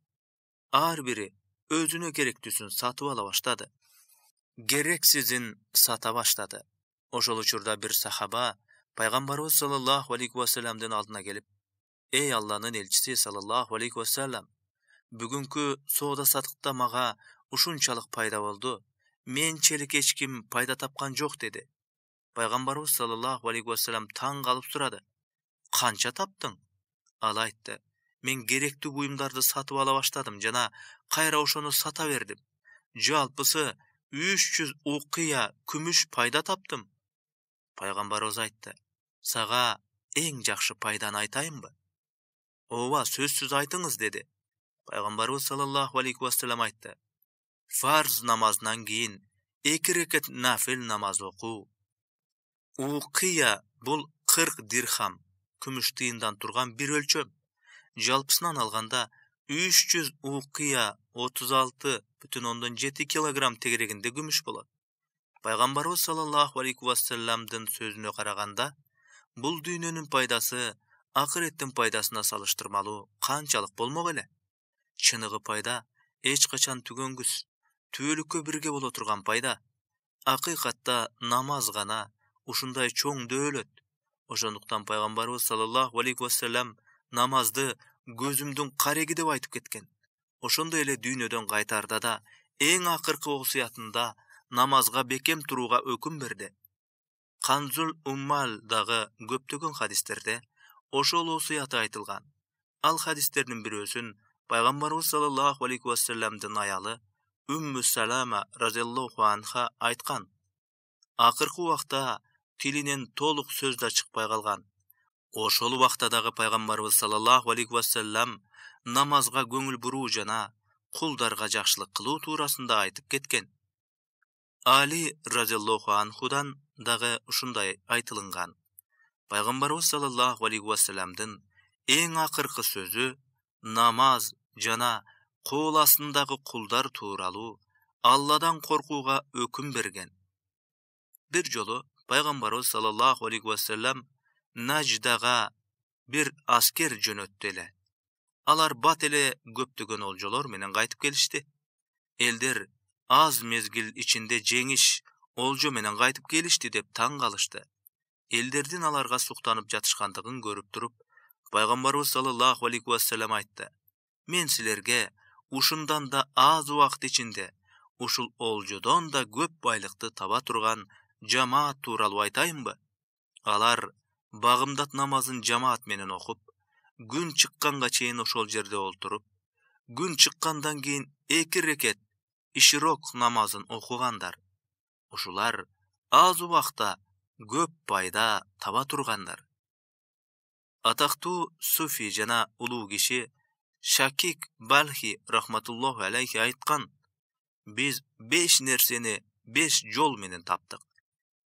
Ар бири өзүнө керектүүсүн сатып ала баштады. Керексизин сата баштады. Ошол учурда бир сахаба Пайгамбарыбыз саллаллаху алейхи ва салламдын алдына келип: эй Алланын элчиси саллаллаху алейхи ва саллам, бүгүнкү соода сатыкта мага ушунчалык пайда болду. Менчелик эч ким пайда тапкан жок деди. Пайгамбарыбыз саллаллаху алейхи ва саллам таң калып сурады: канча таптың? Ал айтты: мен керектүү буюмдарды сатып ала баштадым жана кайра ошону сата бердим. Жалпысы 300 укия күмүш пайда таптым. Пайгамбарыбыз айтты: сага эң жакшы пайданы айтайынбы? Ооба, сөзсүз айтыңыз, деди. Пайгамбарыбыз саллаллаху алейхи ва саллам айтты: фарз намазынан кийин 2 рекет нафил намаз окуу. Укия бул 40 дирхам, күмүш тыйындан турган бир өлчөм. Жалпысынан алганда 300 укия 36,7 килограмм тегерегинде күмүш болот. Пайгамбарыбыз саллаллаху алейхи ва салламдын сөзүнө караганда, Бул дүйнөнүн пайдасы акыреттин пайдасына салыштырмалуу канчалык болмок эле? Чыныгы пайда эч качан түгөнгүс, түбөлүккө бирге боло турган пайда. Акыйкатта намаз гана ушундай чоң дөөлөт. Ошондуктан пайгамбарыбыз саллаллаху алейхи вассалам намазды көзүмдүн кареги деп айтып кеткен. Ошондой эле дүйнөдөн кайтарда да эң акыркы осуятында намазга бекем турууга өкүм берди. Канзул Уммал дагы көптөгөн хадистерде ошол осуяты айтылган. Ал хадистердин бирөөсүн пайгамбарыбыз саллаллаху алейхи вассаламдын аялы Умму Салама разияллаху анха айткан. Акыркы убакта тилинен толук сөз да чыкпай калган. Ошол убакта дагы пайгамбарыбыз саллаллаху алейхи вассалам намазга көңүл буруу жана кулдарга жакшылык кылуу туурасында айтып кеткен. Али разияллаху анхудан дагы ушундай айтылынган. Пайгамбарыбыз саллаллаху алейхи вассаламдын эң акыркы сөзү намаз жана кол астындагы кулдар тууралуу Алладан коркууга өкүм берген. Бир жолу пайгамбарыбыз саллаллаху алейхи вассалам Наждага бир аскер жөнөттү эле. Алар бат эле көптөгөн олжолор менен кайтып келишти. Элдер аз мезгил ичинде жеңиш олжо менен кайтып келишти деп таң калышты. Элдердин аларга суктанып жатышкандыгын көрүп туруп, пайгамбарыбыз саллаллаху алейхи вассалам айтты: "Мен силерге ушундан да аз убакыт ичинде ушул олжодон да көп байлыкты таба турган жамаат тууралуу айтайынбы?" Алар багымдат намазын жамаат менен окуп, күн чыкканга чейин ошол жерде олтуруп, күн чыккандан кийин 2 рекет ишрок намазын окугандар. Ушулар аз убакта көп пайда таба тургандар. Атактуу суфи жана улуу киши Шакик Балхи рахматуллаху алейхи айткан: "Биз 5 нерсени 5 жол менен таптык.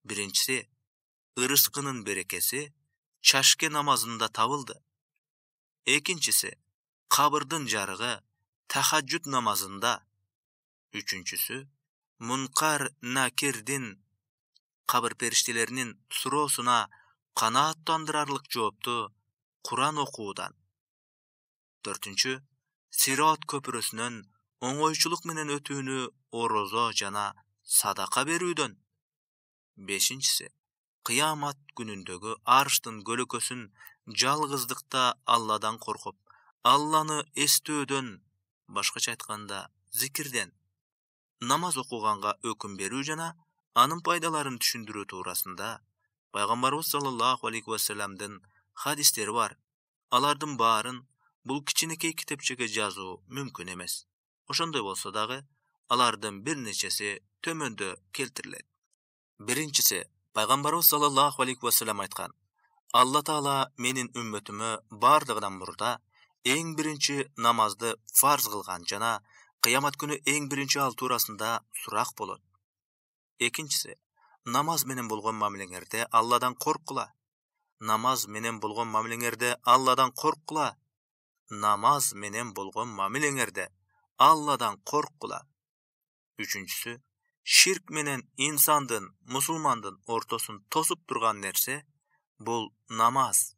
Биринчиси, ырыскынын берекеси чашке намазында табылды. Экинчиси, кабырдын жарыгы тахаджуд намазында. Үчүнчүсү, Мункар Накирдин кабыр периштелеринин суроосуна канааттандырарлык жоопту Куран окуудан. Төртүнчү, Сирот көпүрөсүнөн оңойчулук менен өтүүнү орозо жана садака берүүдөн. Бешинчиси, кыямат күнүндөгү арштын көлөкөсүн жалгыздыкта Алладан коркуп, Алланы эстөөдөн, башкача айтканда, зикирден. Намаз окуганга өкүм берүү жана анын пайдаларын түшүндүрүү туурасында пайгамбарыбыз саллаллаху алейхи вассаламдын хадистери бар. Алардын баарын бул кичинекей китепчеге жазуу мүмкүн эмес. Ошондой болсо дагы, алардын бир нечеси төмөндө келтирилет. Биринчиси, пайгамбарыбыз саллаллаху алейхи вассалам айткан: "Алла Таала менин үммөтүмө бардыгынан мурда эң биринчи намазды фарз кылган жана кыямат күнү эң биринчи ал туурасында сурак болот. Экинчиси, намаз менен болгон мамилеңерде Алладан корккула. Намаз менен болгон мамилеңерде Алладан корккула. Намаз менен болгон мамилеңерде Алладан корккула. Үчүнчүсү, ширк менен инсандын, мусулмандын ортосун тосуп турган нерсе бул намаз.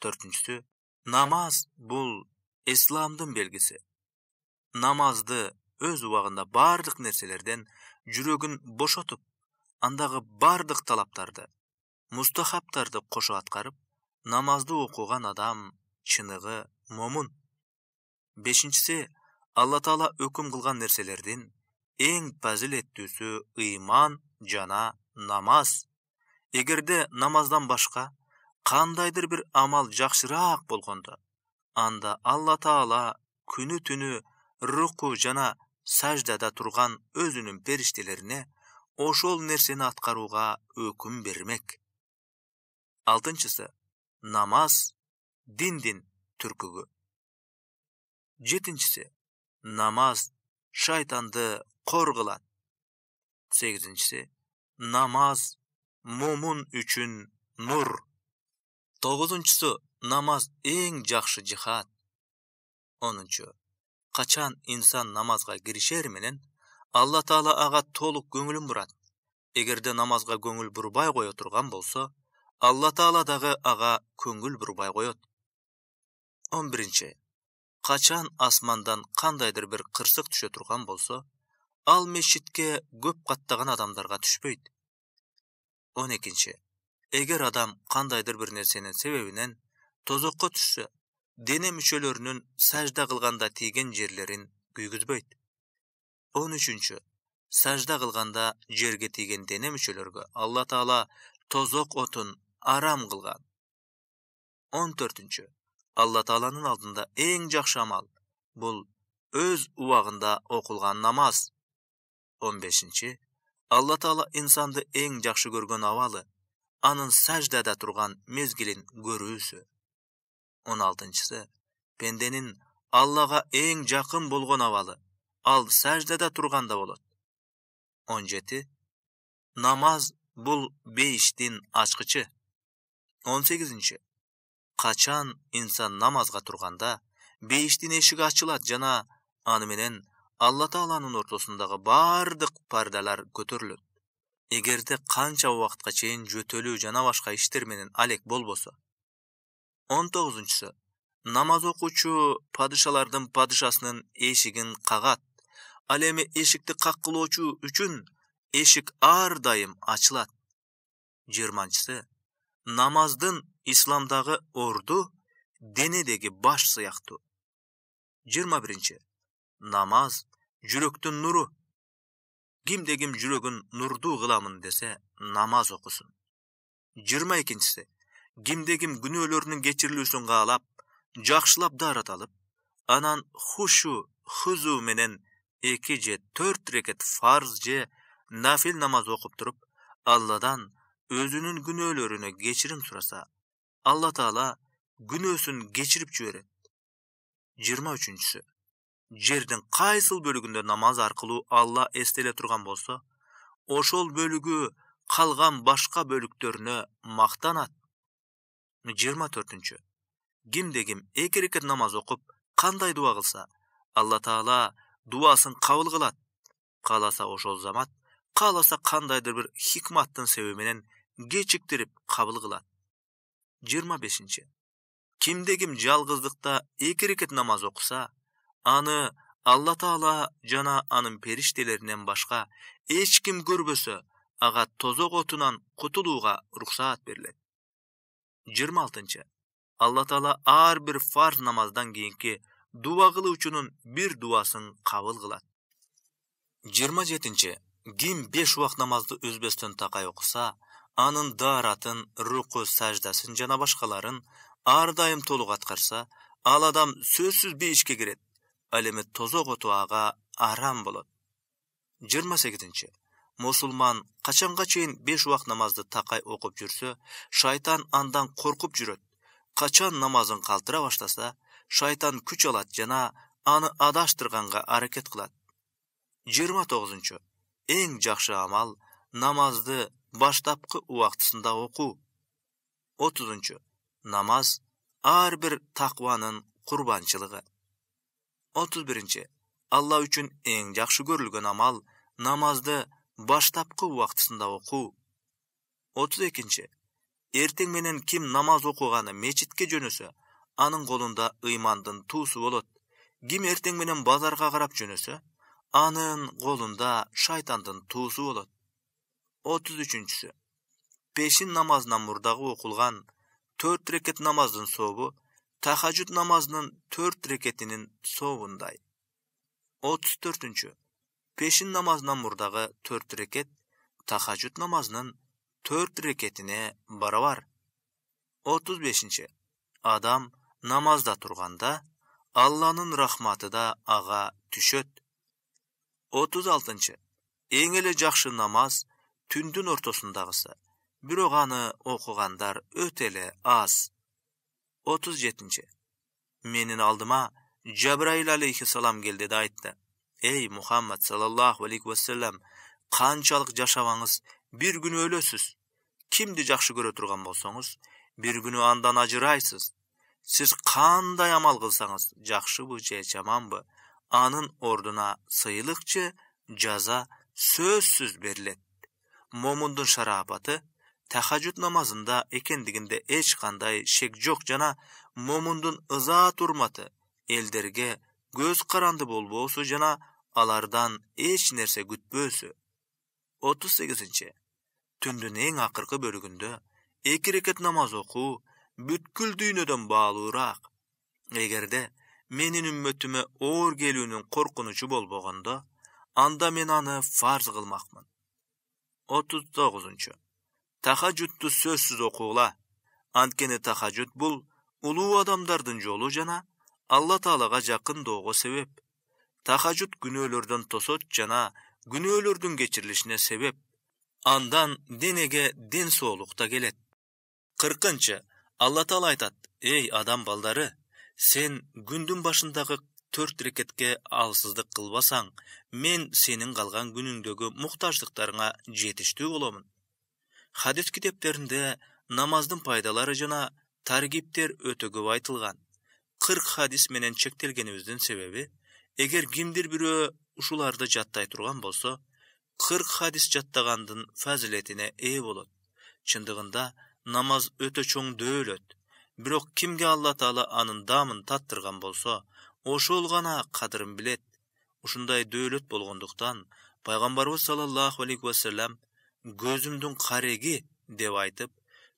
Төртүнчүсү, намаз бул исламдын белгиси. Намазды өз убагында бардык нерселерден жүрөгүн бошотуп, андагы бардык талаптарды, мустахаптарды кошо аткарып, намазды окуган адам чыныгы момун. Бешинчиси, Алла Таала өкүм кылган нерселердин эң фазилеттүүсү ыйман жана намаз. Эгерде намаздан башка кандайдыр бир амал жакшыраак болгондо, анда Алла Таала күнү түнү руку жана саждада турган өзүнүн периштелерине ошол нерсени аткарууга өкүм бермек. Алтынчысы, намаз диндин түркүгү. Жетинчиси, намаз шайтанды кор кылат. Сегизинчиси, намаз момун үчүн нур. Тогузунчусу, намаз эң жакшы жихад. Онунчу, качан инсан намазга киришер менен Алла Таала ага толук көңүлүн бурат. Эгерде намазга көңүл бурбай кое турган болсо, Алла Таала дагы ага көңүл бурбай коет. 11. Качан асмандан кандайдыр бир кырсык түшө турган болсо, ал мешитке көп каттаган адамдарга түшпөйт. 12. Эгер адам кандайдыр бир нерсенин себебинен тозокко түшсө, дене мүчөлөрүнүн сажда кылганда тийген жерлерин күйгүзбөйт. 13. Сажда кылганда жерге тийген дене мүчөлөргө Алла Таала тозок отун арам кылган. 14. Алла Тааланын алдында эң жакшы амал бул өз убагында окулган намаз. 15. Алла Таала инсанды эң жакшы көргөн абалы анын саждада турган мезгилин көрүүсү. 16. Пенденин Аллага эң жакын болгон абалы ал саждада турганда болот. 17. Намаз бул бейиштин ачкычы. 18. Качан инсан намазга турганда бейиштин эшиги ачылат жана аны менен Алла Тааланын ортосундагы бардык пардалар көтөрүлөт. Эгерде канча убакытка чейин жөтөлүү жана башка иштер менен алек болбосо. 19. Намаз окуучу падышалардын падышасынын эшигин кагат. Ал эми эшикти каккылоочу үчүн эшик ар дайым ачылат. 20. Намаздын исламдагы орду денедеги баш сыяктуу. 21. Намаз жүрөктүн нуру. Кимде ким жүрөгүн нурдуу кыламын десе, намаз окусун. 22. Кимде ким күнөөлөрүнүн кечирилүүсүн каалап, жакшылап даарат алып, анан хузу менен 2 же 4 рекет фарз же нафил намаз окуп туруп, Алладан өзүнүн күнөөлөрүнө кечирим сураса, Алла Таала күнөөсүн кечирип жиберет. 23. Жердин кайсыл бөлүгүндө намаз аркылуу Алла эстеле турган болсо, ошол бөлүгү калган башка бөлүктөрүнө мактанат. 24. Кимде ким 2 рекет намаз окуп, кандай дуа кылса, Алла Таала дуасын кабыл кылат. Кааласа ошол замат, кааласа кандайдыр бир хикматтын себеби менен кечиктирип кабыл кылат. 25. Кимде ким жалгыздыкта 2 рекет намаз окуса, аны Алла Таала жана анын периштелеринен башка эч ким көрбөсө, ага тозок отунан кутулууга уруксаат берилет. 26. Алла Таала ар бир фарз намаздан кийинки дуа кылуучунун бир дуасын кабыл кылат. 27. Ким 5 убак намазды үзбөстөн такай окуса, анын дааратын, руку саждасын жана башкаларын ар дайым толук аткарса, ал адам сөзсүз бейишке кирет. Ал эми тозок оту ага арам болот. 28. Мусулман качанга чейин 5 убак намазды такай окуп жүрсө, шайтан андан коркуп жүрөт. Качан намазын калтыра баштаса, шайтан күч алат жана аны адаштырганга аракет кылат. 29. Эң жакшы амал намазды баштапкы убактысында окуу. 30. Намаз ар бир такванын курбанчылыгы. 31. Алла үчүн эң жакшы көрүлгөн амал намазды баштапкы убактысында окуу. 32. Эртең менен ким намаз окуганы мечитке жөнөсө, анын колунда ыймандын туусу болот. Ким эртең менен базарга карап жөнөсө, анын колунда шайтандын туусу болот. 33. Пешин намазынан мурдагы окулган 4 рекет намаздын сообу тахажжуд намазынын 4 рекетинин сообундай. 34. Пешин намазынан мурдагы 4 рекет тахажжуд намазынын 4 рекетине барабар. 35. Адам намазда турганда Алланын рахматы да ага түшөт. 36. Эң эле жакшы намаз түндүн ортосундагысы, бирок аны окугандар өтө эле аз. 37. Менин алдыма Жабраил алейхиссалам келди да айтты: "Эй Мухаммад саллаллаху алейхи вассалам, канчалык жашабаңыз бир күнү өлөсүз. Кимди жакшы көрө турган болсоңуз, бир күнү андан ажырайсыз. Сиз кандай амал кылсаңыз, жакшыбы же жаманбы, анын ордуна сыйлык же жаза сөзсүз берилет. Момундун шарапаты тахажжуд намазында экендигинде эч кандай шек жок жана момундун ыза турматы элдерге көз каранды болбоосу жана алардан эч нерсе күтпөөсү. 38. Түндүн эң акыркы бөлүгүндө 2 рекет намаз окуу бүткүл дүйнөдөн баалуураак. Эгерде менин үммөтүмө оор келүүнүн коркунучу болбогондо, анда мен аны фарз кылмакмын. 39. Тахажжудту сөзсүз окуула. Анткени тахажжуд бул улуу адамдардын жолу жана Алла Таалага жакынdoого себеп. Тахажжуд күнөөлөрдөн тосот жана күнөөлөрдүн кечирилишине себеп. Андан денеге ден соолук да келет. 40. Алла Таала айтат: "Эй адам балдары, сен күндүн башындагы 4 рекетке алсыздык кылбасаң, мен сенин калган күнүңдөгү муктаждыктарыңа жетиштүү боломун." Хадис китептеринде намаздын пайдалары жана таргиптер өтө көп айтылган. 40 хадис менен чектелгенибиздин себеби, эгер кимдир бирөө ушуларды жаттай турган болсо, 40 хадис жаттагандын фазилетине ээ болот. Чындыгында намаз өтө чоң дөөлөт. Бирок кимге Алла Таала анын дамын таттырган болсо, ошол гана кадырын билет. Ушундай дөөлөт болгондуктан пайгамбарыбыз саллаллаху алейхи ва саллям көзүмдүн кареги деп айтып,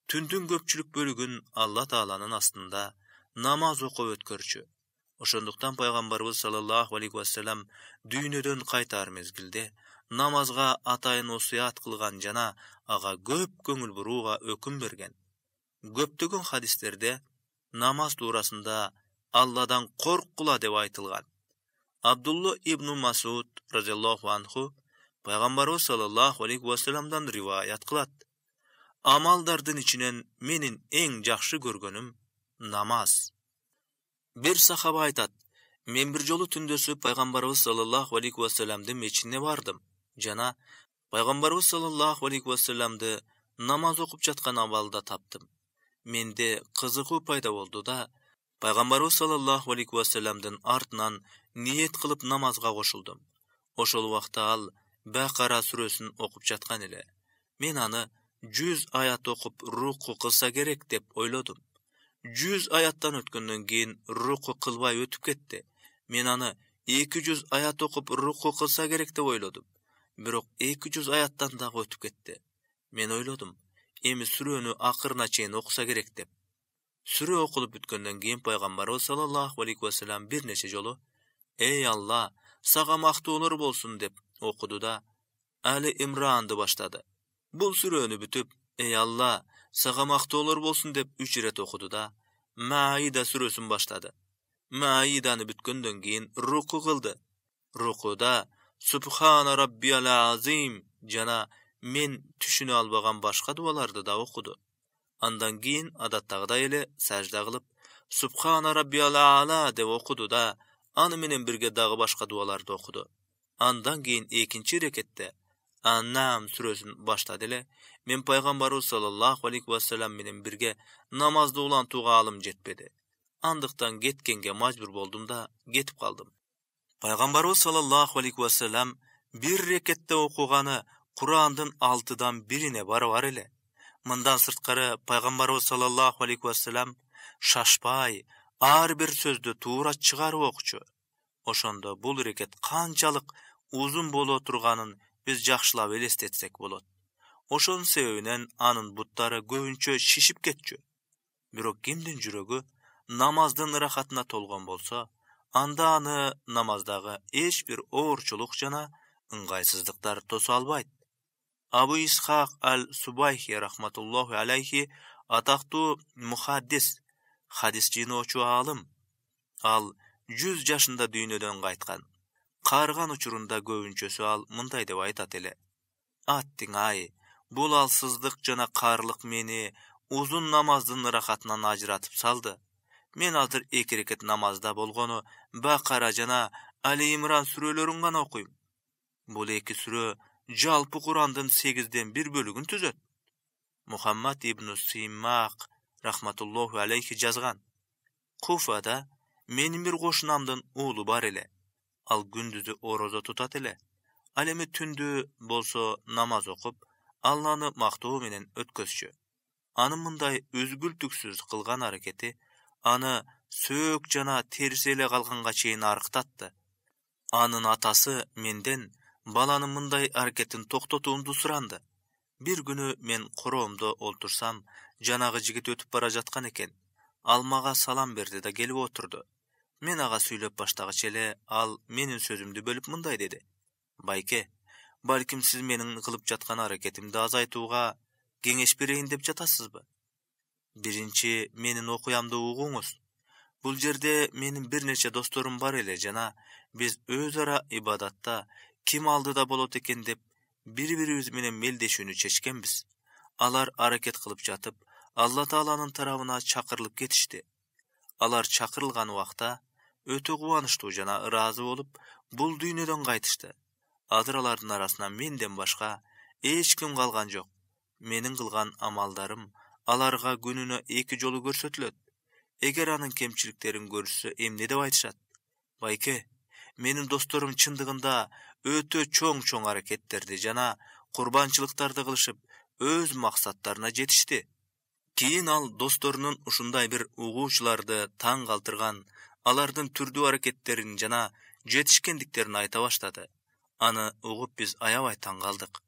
түндүн көпчүлүк бөлүгүн Алла Тааланын астында намаз окуп өткөрчү. Ошондуктан пайгамбарыбыз саллаллаху алейхи ва саллям дүйнөдөн кайтаар мезгилде намазга атайын осуят кылган жана ага көп көңүл бурууга өкүм берген. Көптөгөн хадистерде намаз туурасында Алладан корккула деп айтылган. Абдулла ибн Масуд разияллаху анху пайгамбарыбыз саллаллаху алейхи ва саллямдан риваят кылат: "Амалдардын ичинен менин эң жакшы көргөнүм намаз." Бир сахаба айтат: "Мен бир жолу түндөсү пайгамбарыбыз саллаллаху алейхи ва саллямдын мечитине бардым жана пайгамбарыбыз саллаллаху алейхи ва саллямды намаз окуп жаткан абалда таптым. Менде кызыгуу пайда болду да, пайгамбарыбыз саллаллаху алейхи ва саллямдын артынан ниет кылып намазга кошулдум. Ошол убакта ал Бакара сүрөсүн окуп жаткан эле. Мен аны 100 аят окуп руку кылса керек деп ойлодум. 100 аяттан өткөндөн кийин руку кылбай өтүп кетти. Мен аны 200 аят окуп руку кылса керек деп ойлодум. Бирок 200 аяттан дагы өтүп кетти. Мен ойлодум, эми сүрөнү акырына чейин окуса керек деп. Сүрө окулуп бүткөндөн кийин пайгамбарыбыз саллаллаху алейхи ва саллям бир нече жолу "Эй Алла, сага мактоолор болсун" деп окуду да Али Имранды баштады. Бул сүрөнү бүтүп, "Эй Алла, сага мактоолор болсун" деп 3 ирет окуду да Маида сүрөсүн баштады. Маиданы бүткөндөн кийин руку кылды. Рукуда Субхана Раббиял Азим жана мен түшүнө албаган башка дуаларды да окуду. Андан кийин адаттагыдай эле сажда кылып Субхана Раббиял А'ла деп окуду да аны менен бирге дагы башка дуаларды окуду. Андан кийин экинчи рекетте Ан-Нам сүрөсүн баштады эле. Мен пайгамбарыбыз саллаллаху алейхи ва саллям менен бирге намазды улантууга алым жетпеди. Андыктан кеткенге мажбур болдум да кетип калдым. Пайгамбарыбыз саллаллаху алейхи ва саллям бир рекетте окуганы Курандын 6-дан 1-ине барабар эле. Мындан сырткары пайгамбарыбыз саллаллаху алейхи ва саллям шашпай, ар бир сөздү туура чыгарып окучу. Ошондо бул рекет канчалык узун боло турганын биз жакшылап элестетсек болот. Ошонун себебинен анын буттары көбүнчө шишип кетчү. Бирок кимдин жүрөгү намаздын ырахатына толгон болсо, анда аны намаздагы эч бир оорчулук жана ыңгайсыздыктар тосо албайт. Абу Исхак аль-Субайхи рахматуллаху алейхи атактуу мухаддис, хадис жыйноочу аалым. Ал 100 жашында дүйнөдөн кайткан. Каарыган учурунда көбүнчөсү ал мындай деп айтат эле: "Аттиң ай, бул алсыздык жана каарлык мени узун намаздын ырахатынан ажыратып салды. Мен азыр 2 рекет намазда болгону Бакара жана Али Имран сүрөлөрүн гана окуйм. Бул 2 сүрө жалпы Курандын 8-ден 1 бөлүгүн түзөт." Мухаммад ибн Симмак рахматуллаху алейхи жазган: "Куфада менин бир кошунамдын уулу бар эле. Ал күндүзү орозо тутат эле. Ал эми түндү болсо намаз окуп, Алланы мактоо менен өткөзчү. Анын мындай үзгүлтүксүз кылган аракети аны сөөк жана терс эле калганга чейин арыктатты. Анын атасы менден баланын мындай аракетин токтотуумду суранды. Бир күнү мен короомдо олтурсам, жанагы жигит өтүп бара жаткан экен. Ал мага салам берди да келип отурду. Мен ага сүйлөп баштагыча эле ал менин сөзүмдү бөлүп мындай деди: "Байке, балким сиз менин кылып жаткан аракетимди азайтууга кеңеш берейин деп жатасызбы? Биринчи менин окуямды угуңуз. Бул жерде менин бир нече досторум бар эле жана биз өз ара ибадатта ким алдыда болот экен деп бири-бирибиз менен мелдешүүнү чечкенбиз. Алар аракет кылып жатып, Алла Тааланын тарабына чакырылып кетишти. Алар чакырылган убакта өтө кубанычтуу жана ыраазы болуп, бул дүйнөдөн кайтышты. Азыр алардын арасынан менден башка эч ким калган жок. Менин кылган амалдарым аларга күнүнө 2 жолу көрсөтүлөт. Эгер анын кемчиликтерин көрүшсө эмне деп айтышат? Байке, менин досторум чындыгында өтө чоң аракеттерди жана курбанчылыктарды кылышып, өз максаттарына жетишти." Кийин ал досторунун ушундай бир угуучуларды таң калтырган, алардын түрдүү аракеттерин жана жетишкендиктерин айта баштады. Аны угуп биз аябай таң калдык.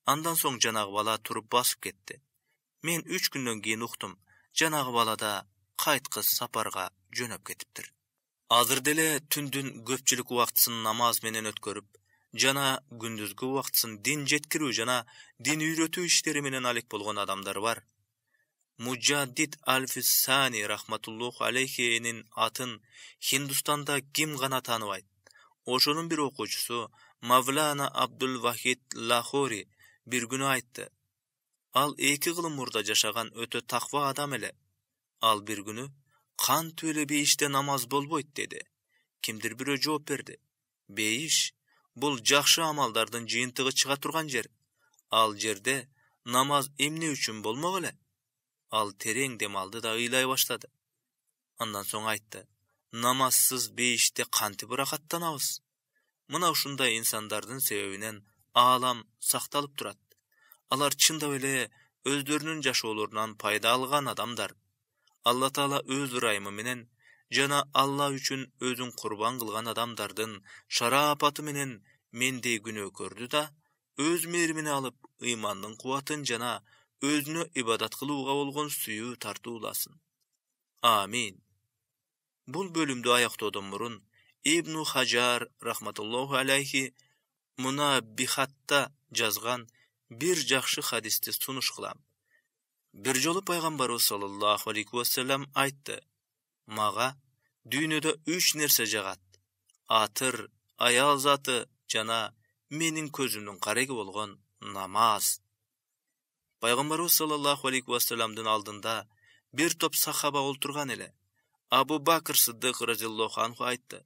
Андан соң жанагы бала туруп басып кетти. Мен 3 күндөн кийин уктум, жанагы бала да кайткыс сапарга жөнөп кетиптир. Азыр деле түндүн көпчүлүк убактысын намаз менен өткөрүп, жана күндүзгү убактысын дин жеткирүү жана дин үйрөтүү иштери менен алек болгон адамдар бар. Муджаддид Аль-Фиссани рахматуллаху алейхинин атын Хиндустанда ким гана тааныбайт. Ошонун бир окуучусу Мавлана Абдул Вахид Лахори бир күнү айтты. Ал 2 кылым мурда жашаган өтө таква адам эле. Ал бир күнү кантип эле бейиште намаз болбойт деди. Кимдир бирөө жооп берди. Бейиш бул жакшы амалдардын жыйынтыгы чыга турган жер. Ал жерде намаз эмне үчүн болмок эле? Ал терең дем алды да ыйлай баштады. Андан соң айтты: "Намазсыз бейиште кантип ырахаттанабыз?" Мына ушундай инсандардын себебинен аалам сакталып турат. Алар чындап эле өздөрүнүн жашоолорунан пайда алган адамдар. Алла Таала өз ырайымы менен жана Алла үчүн өзүн курбан кылган адамдардын шарапаты менен мендей күнөөкөрдү да өз мээримине алып, ыймандын кубатын жана өзүнө ибадат кылууга болгон сүйүү тартууласын. Амин. Бул бөлүмдү аяктоодон мурун Ибн Хаджар рахматуллаху алейхи Мунаббихатта жазган бир жакшы хадисти сунуш кылам. Бир жолу пайгамбарыбыз саллаллаху алейхи вассалам айтты: "Мага дүйнөдө 3 нерсе жагат: атыр, аял заты жана менин көзүмдүн кареги болгон намаз." Пайгамбарыбыз саллаллаху алейхи вассаламдын алдында бир топ сахаба олтурган эле. Абу Бакр Сыддык разияллаху анху айтты: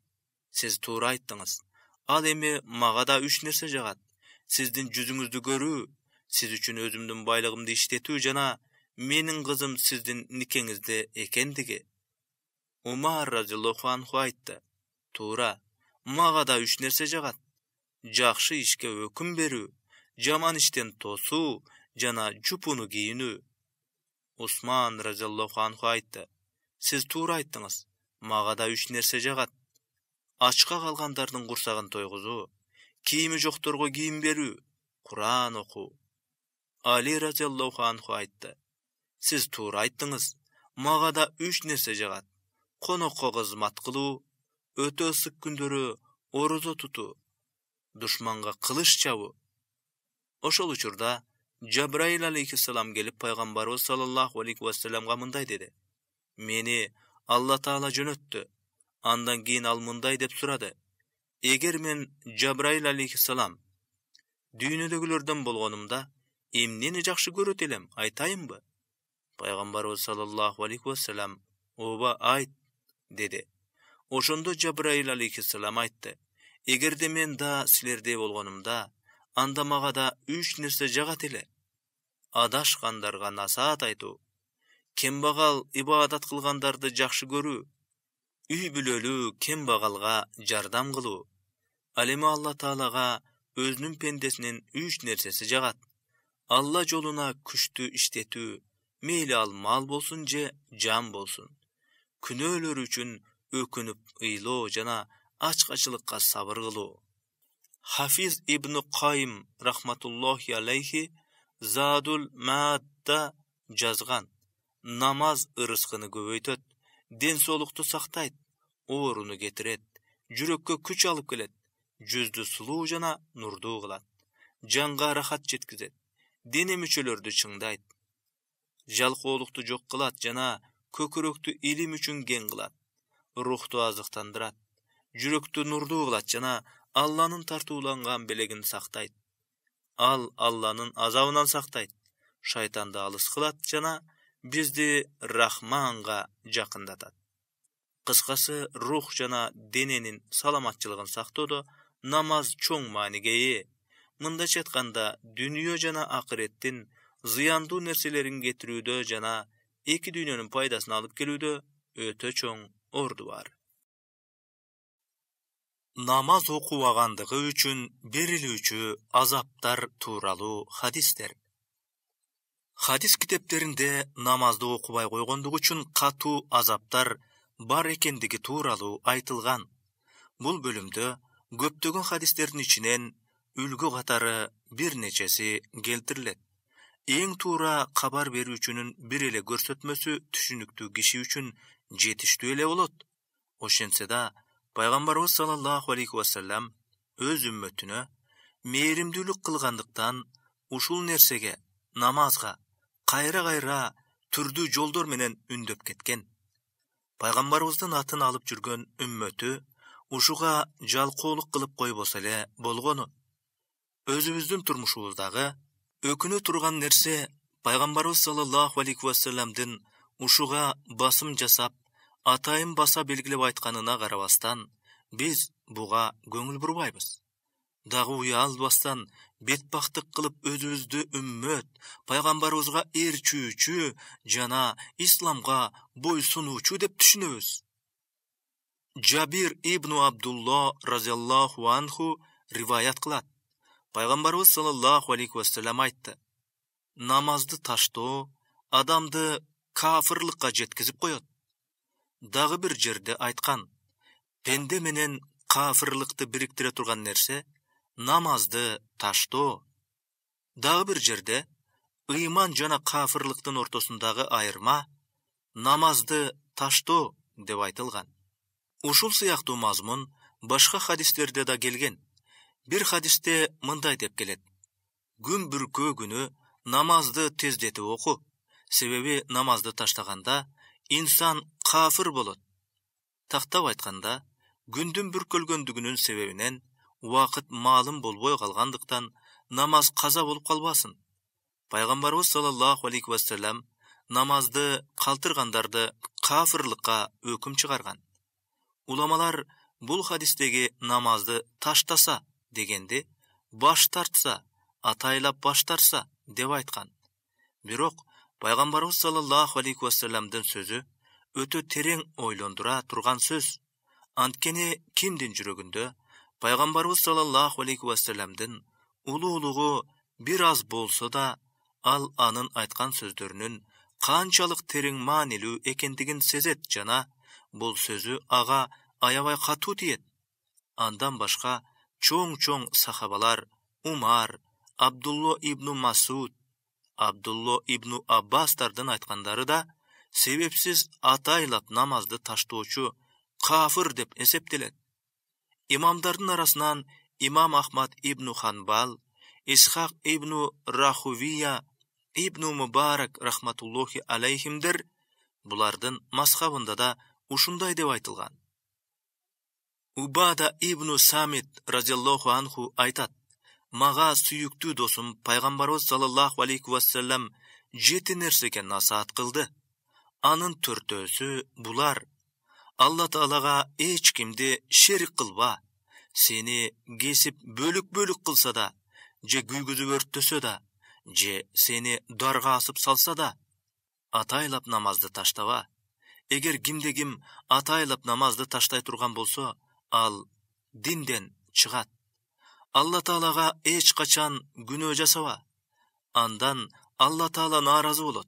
"Сиз туура айттыңыз. Ал эми мага да 3 нерсе жагат: сиздин жүзүңүздү көрүү, сиз үчүн өзүмдүн байлыгымды иштетүү жана менин кызым сиздин никеңизде экендиги." Умар разияллаху анху айтты: "Туура, мага да 3 нерсе жагат: жакшы ишке өкүм берүү, жаман иштен тосуу жана жупуну кийинүү." Усман разияллаху анху айтты: "Сиз туура айттыңыз. Мага да 3 нерсе жагат: ачка калгандардын курсагын тойгузуу, кийими жокторго кийим берүү, Куран окуу." Али разияллаху анху айтты: "Сиз туура айттыңыз. Мага да 3 нерсе жагат: конокко кызмат кылуу, өтө ысык күндөрү орозо тутуу, душманга кылыч чабуу." Ошол учурда Жабраил алейхиссалам келип пайгамбарыбыз саллаллаху алейхи вассаламга мындай деди: "Мени Алла Таала жөнөттү." Андан кийин ал мындай деп сурады: "Эгер мен Жабраил алейхиссалам дүйнөдөгүлөрдөн болгонумда, эмнени жакшы көрөт элем, айтайынбы?" Пайгамбарыбыз саллаллаху алейхи вассалам: "Ооба, айт" деди. Ошондо Жабраил алейхиссалам айтты: "Эгерде мен да силердей болгонумда, анда мага да 3 нерсе жагат эле: адашкандарга насаат айтуу, кембагал ибадат кылгандарды жакшы көрүү, үй бүлөлүү кембагалга жардам кылуу." Ал эми Алла Таалага өзүнүн пендесинин 3 нерсеси жагат: Алла жолуна күчтүү иштетүү, мейли ал мал болсун же жан болсун. Күнөөлөр үчүн өкүнүп ыйлоо жана ачкачылыкка сабыр кылуу. Хафиз ибн Кайым рахматуллохи алейхи Задул Маадда жазган: намаз ырыскыны көбөйтөт, ден соолукту сактайт, ооруну кетирет, жүрөккө күч алып келет, жүздү сулуу жана нурдуу кылат, жанга рахат жеткизет, дене мүчөлөрдү чыңдайт, жалкоолукту жок кылат жана көкүрөктү илим үчүн кең кылат, рухту азыктандырат, жүрөктү нурдуу кылат жана Алланын тартууланган белегин сактайт. Ал Алланын азабынан сактайт, шайтанды алыс кылат жана бизди Рахманга жакындатат. Кыскасы, рух жана дененин саламатчылыгын сактоодо намаз чоң мааниге ээ. Мындайча айтканда, дүнүйө жана акыреттин зыяндуу нерселерин кетирүүдө жана эки дүйнөнүн пайдасын алып келүүдө өтө чоң орду бар. Намаз окубагандыгы үчүн берилүүчү азаптар тууралуу хадистер. Хадис китептеринде намазды окубай койгондугу үчүн катуу азаптар бар экендиги тууралуу айтылган. Бул бөлүмдө көптөгөн хадистердин ичинен үлгү катары бир нечеси келтирилет. Эң туура кабар берүүчүнүн бир эле көрсөтмөсү түшүнүктүү киши үчүн жетиштүү эле болот. Ошентсе да, Пайгамбарыбыз саллаллаху алейхи вассалам өз үммөтүнө мээримдүүлүк кылгандыктан ушул нерсеге, намазга кайра-кайра түрдүү жолдор менен үндөп кеткен. Пайгамбарыбыздын атын алып жүргөн үммөтү ушуга жалкоолук кылып койбосо эле болгону. Өзүбүздүн турмушубуздагы өкүнө турган нерсе Пайгамбарыбыз саллаллаху алейхи вассаламдын ушуга басым жасап, атайын баса белгилеп айтканына карабастан, биз буга көңүл бурбайбыз. Дагы уялбастан бетбактык кылып өзүбүздү үммөт, Пайгамбарыбызга ээрчүүчү жана исламга бойсунуучу деп түшүнөбүз. Жабир ибн Абдулла разияллаху анху риваят кылат. Пайгамбарыбыз саллаллаху алейхи вассалам айтты: намазды таштоо адамды кафырлыкка жеткизип коет. Дагы бир жерде айткан: пенде менен кафырлыкты бириктире турган нерсе намазды таштоо. Дагы бир жерде ыйман жана кафырлыктын ортосундагы айырма намазды таштоо деп айтылган. Ушул сыяктуу мазмун башка хадистерде да келген. Бир хадисте мындай деп келет: күн бүркөө күнү намазды тездетип оку, себеби намазды таштаганда инсан кафыр болот. Тактап айтканда, күндүн бүркөлгөндүгүнүн себебинен убакыт маалым болбой калгандыктан намаз каза болуп калбасын. Пайгамбарыбыз саллаллаху алейхи вассалам намазды калтыргандарды кафырлыкка өкүм чыгарган. Уламалар бул хадистеги намазды таштаса дегенди баш тартса, атайлап баш тартса деп айткан. Бирок Пайгамбарыбыз саллаллаху алейхи вассаламдын сөзү өтө терең ойлондура турган сөз. Анткени кимдин жүрөгүндө Пайгамбарыбыз саллаллаху алейхи вассаламдын улуулугу бир аз болсо да, ал анын айткан сөздөрүнүн канчалык терең маанилүү экендигин сезет жана бул сөзү ага аябай катуу тиет. Андан башка чоң сахабалар Умар, Абдулла ибн Масуд, Абдулла ибн Аббастардын айткандары да себепсиз атайлап намазды таштоочу кафыр деп эсептелет. Имамдардын арасынан Имам Ахмад ибн Ханбал, Исхак ибн Рахувия, ибн Мубарак рахматуллохи алейхимдер булардын мазхабында да ушундай деп айтылган. Убада ибн Самит разияллаху анху айтат: мага сүйүктүү досум Пайгамбарыбыз саллаллаху алейхи вассалам 7 нерсеге насаат кылды. Анын 4-өсү булар: Алла Таалага эч кимди шерик кылба, сени кесип бөлүк кылса да, же күйгүзүп өрттөсө да, же сени дарга асып салса да, атайлап намазды таштаба. Эгер кимде ким атайлап намазды таштай турган болсо, ал динден чыгат. Алла Таалага эч качан күнөө жасаба. андан Алла Таала нааразы болот.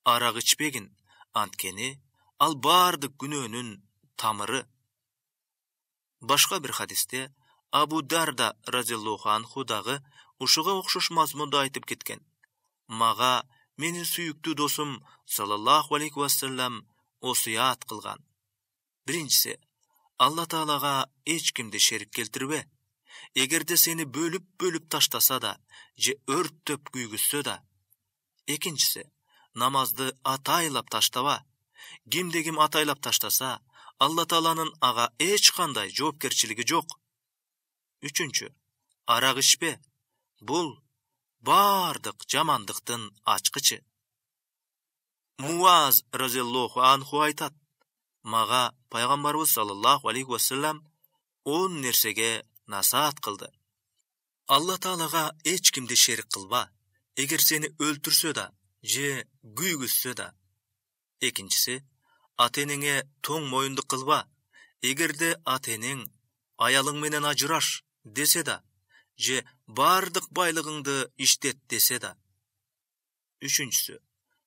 Арак ичпегин, анткени ал бардык күнөөнүн тамыры. Башка бир хадисте Абу Дарда разияллаху анху дагы ушуга окшош мазмунда айтып кеткен. Мага менин сүйүктүү досум саллаллаху алейхи вассалам осуят кылган. Биринчиси, Алла Таалага эч кимди шерик келтирбе. Эгерде сени бөлүп таштаса да, же өрттөп күйгүзсө да. Экинчиси, намазды атайлап таштаба. Кимде ким атайлап таштаса, Алла Тааланын ага эч кандай жоопкерчилиги жок. Үчүнчү, арак ичпе. Бул бардык жамандыктын ачкычы. Муаз разияллаху анху айтат: мага пайгамбарыбыз саллаллаху алейхи вассалам 10 нерсеге насаат кылды. Алла Таалага эч кимди шерик кылба. Эгер сени өлтүрсө да, же күйгүзсө да. Экинчиси, ата-энеңе тоң моюндук кылба. Эгерде ата-энең аялың менен ажыраш десе да, же бардык байлыгыңды иштет десе да. Үчүнчүсү,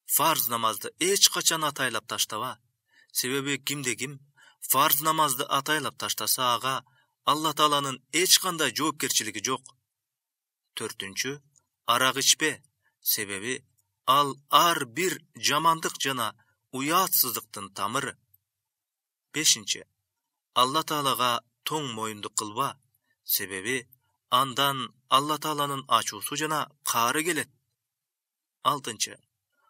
фарз намазды эч качан атайлап таштаба. Себеби кимде ким фарз намазды атайлап таштаса, ага Алла Тааланын эч кандай жоопкерчилиги жок. Төртүнчү, арак ичпе. Себеби ал ар бир жамандык жана уятсыздыктын тамыры. Бешинчи, Алла Таалага тоң моюндук кылба. Себеби андан Алла Тааланын ачуусу жана каары келет. Алтынчы,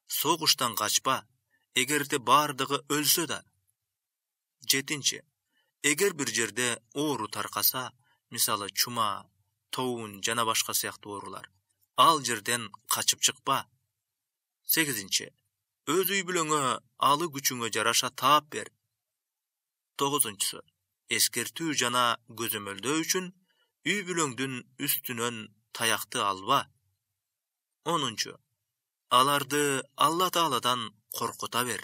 согуштан качпа. Эгерде бардыгы өлсө да. Жетинчи, эгер бир жерде оору таркаса, мисалы чума, тоун жана башка сыяктуу оорулар, ал жерден качып чыкпа. Сегизинчи, өз үй бүлөңө алы күчүңө жараша таап бер. Тогузунчусу, эскертүү жана көзөмөлдөө үчүн үй бүлөңдүн үстүнөн таякты алба. Онунчу, аларды Алла Тааладан коркута бер.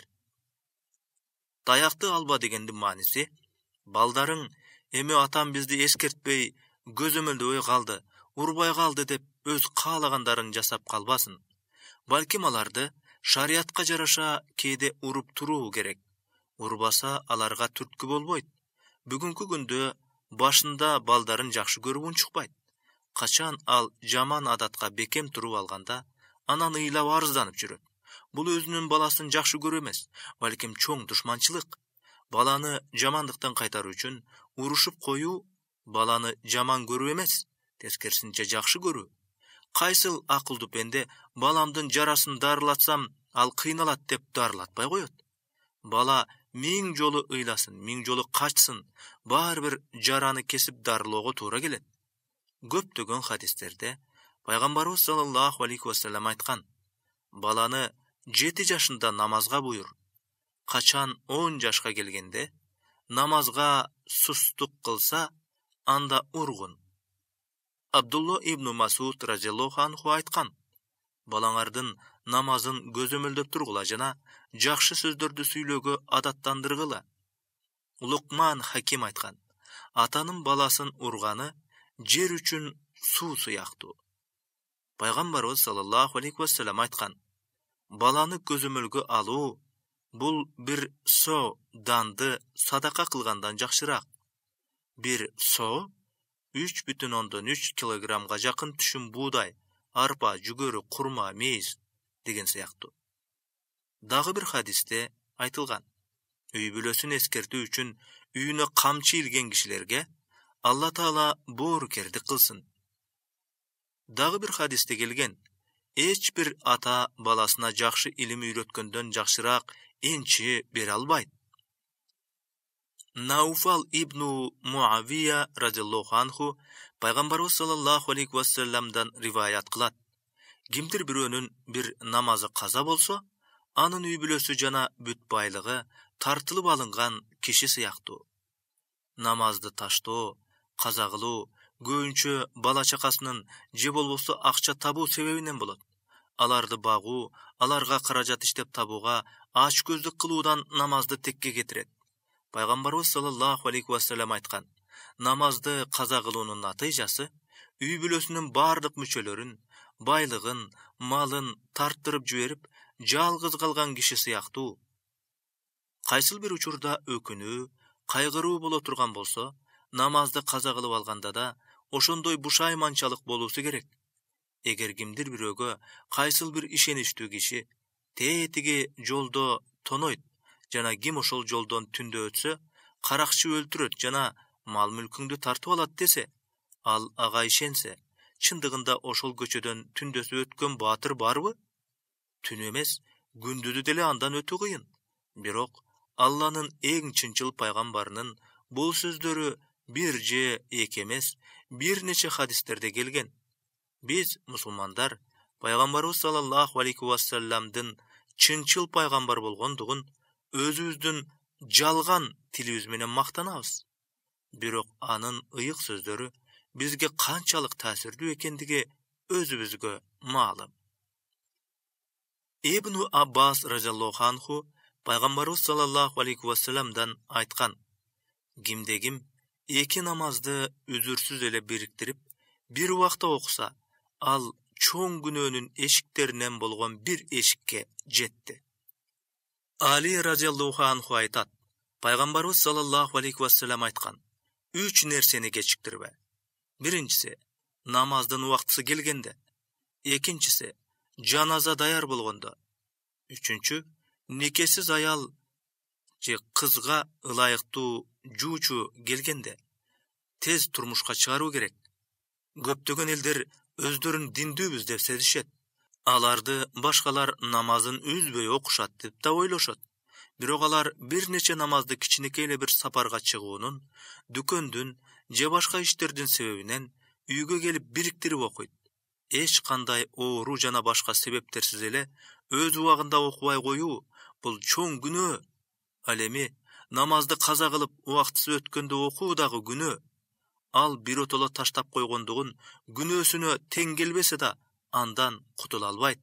Таякты алба дегендин мааниси, балдарың эми атам бизди эскертпей, көзөмөлдөбөй калды, урбай калды деп өз каалагандарын жасап калбасын. Балким аларды шариятка жараша кээде уруп туруу керек. Урбаса аларга түрткү болбойт. Бүгүнкү күндө башында балдарын жакшы көрүп унчукпайт. Качан ал жаман адатка бекем туруп алганда, анан ыйлап арызданып жүрөт. Бул өзүнүн баласын жакшы көрүү эмес, балким чоң душманчылык. Баланы жамандыктан кайтаруу үчүн урушуп коюу баланы жаман көрүү эмес, тескерисинче жакшы көрүү. Кайсыл акылдуу пенде баламдын жарасын дарылатсам, ал кыйналат деп дарылатпай коет. Бала 1000 жолу ыйласын, 1000 жолу качсын, баары бир жараны кесип дарылоого туура келет. Көптөгөн хадистерде пайгамбарыбыз саллаллаху алейхи вассалам айткан: баланы 7 жашында намазга буйрур. Качан 10 жашка келгенде намазга сустук кылса, анда ургун. Абдулла ибн Масуд разияллаху анху айткан: балаңардын намазын көзөмөлдөп тургула жана жакшы сөздөрдү сүйлөөгө адаттандыргыла. Лукман Хаким айткан: атанын баласын урганы жер үчүн суу сыяктуу. Пайгамбарыбыз саллаллаху алейхи вассалам айткан: баланы көзөмөлгө алуу бул бир со данды садака кылгандан жакшыраак. Бир со 3,3 килограммга жакын түшүм буудай, арпа, жүгөрү, курма, мейиз деген сыяктуу. Дагы бир хадисте айтылган: үй бүлөсүн эскертүү үчүн үйүнө камчы илген кишилерге Алла Таала боорукердик кылсын. Дагы бир хадисте келген: эч бир ата баласына жакшы илим үйрөткөндөн жакшыраак энчи бере албайт. Науфал ибн Муавия разияллаху анху пайгамбарыбыз саллаллаху алейхи вассаламдан риваят кылат: кимдир бирөөнүн бир намазы каза болсо, анын үй бүлөсү жана бүт байлыгы тартылып алынган киши сыяктуу. Намазды таштоо, каза кылуу көбүнчө бала чакасынын же болбосо акча табуу себебинен болот. Аларды багуу, аларга каражат иштеп табууга ач көздүк кылуудан намазды текке кетирет. Пайгамбарыбыз саллаллаху алейхи вассалам айткан: намазды каза кылуунун натыйжасы үй бүлөсүнүн бардык мүчөлөрүн байлыгын, малын тарттырып жиберип, жалгыз калган киши сыяктуу. Кайсыл бир учурда өкүнүү, кайгыруу боло турган болсо, намазды каза кылып алганда да ошондой бушайманчалык болуусу керек. Эгер кимдир бирөөгө кайсыл бир ишеничтүү киши тетиги жолдо тонойт жана ким ошол жолдон түндө өтсө, каракчы өлтүрөт жана мал мүлкүңдү тартып алат десе, ал ага ишенсе, чындыгында ошол көчөдөн түндөсү өткөн баатыр барбы? Түн эмес, күндүзү деле андан өтүү кыйын. Бирок Алланын эң чынчыл пайгамбарынын бул сөздөрү бир же эки эмес, бир нече хадистерде келген. Биз, мусулмандар, пайгамбарыбыз саллаллаху алейхи вассаламдын чынчыл пайгамбар болгондугун өзүбүздүн жалган тилибиз менен мактанабыз. Бирок анын ыйык сөздөрү бизге канчалык таасирдүү экендиги өзүбүзгө маалым. Ибн Аббас разияллаху анху пайгамбарыбыз саллаллаху алейхи вассаламдан айткан: кимде-ким эки намазды үзүрсүз эле бириктирип, бир убакта окуса, ал чоң күнөөнүн эшиктеринен болгон бир эшикке жетти. Али разияллаху анху айтат: пайгамбарыбыз саллаллаху алейхи вассалам айткан: 3 нерсени кечиктирбе. Биринчиси, намаздын убактысы келгенде. Экинчиси, жаназа даяр болгондо. Үчүнчү, никесиз аял же кызга ылайыктуу жуучу келгенде тез турмушка чыгаруу керек. Көптөгөн элдер өздөрүн диндүүбүз деп сезишет. Аларды башкалар намазын үзбөй окушат деп да ойлошот. Бирок алар бир нече намазды кичинекей эле бир сапарга чыгуунун, дүкөндүн же башка иштердин себебинен үйгө келип бириктирип окуйт. Эч кандай оору жана башка себептерсиз эле өз убагында окубай коюу бул чоң күнөө. Ал эми намазды каза кылып убактысы өткөндө окуу дагы күнөө. Ал биротоло таштап койгондугун күнөөсүнө тең келбесе да андан кутула албайт.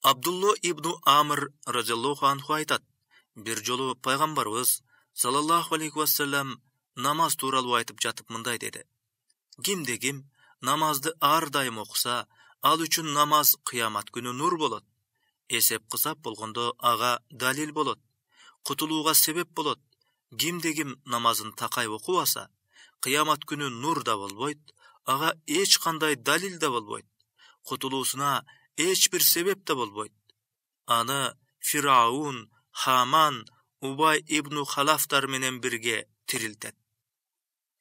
Абдулло ибн Амр разияллаху анху айтат: бир жолу пайгамбарыбыз саллаллаху алейхи вассалам намаз тууралуу айтып жатып мындай деди: кимде-ким намазды ар дайым окуса, ал үчүн намаз кыямат күнү нур болот. Эсеп-кысап болгондо ага далил болот. Кутулууга себеп болот. Кимде-ким намазын такай окубаса, кыямат күнү нур да болбойт, ага эч кандай далил да болбойт. Кутулуусуна эч бир себеп да болбойт. Аны Фираун, Хаман, Убай ибн Халафтар менен бирге тирилтет.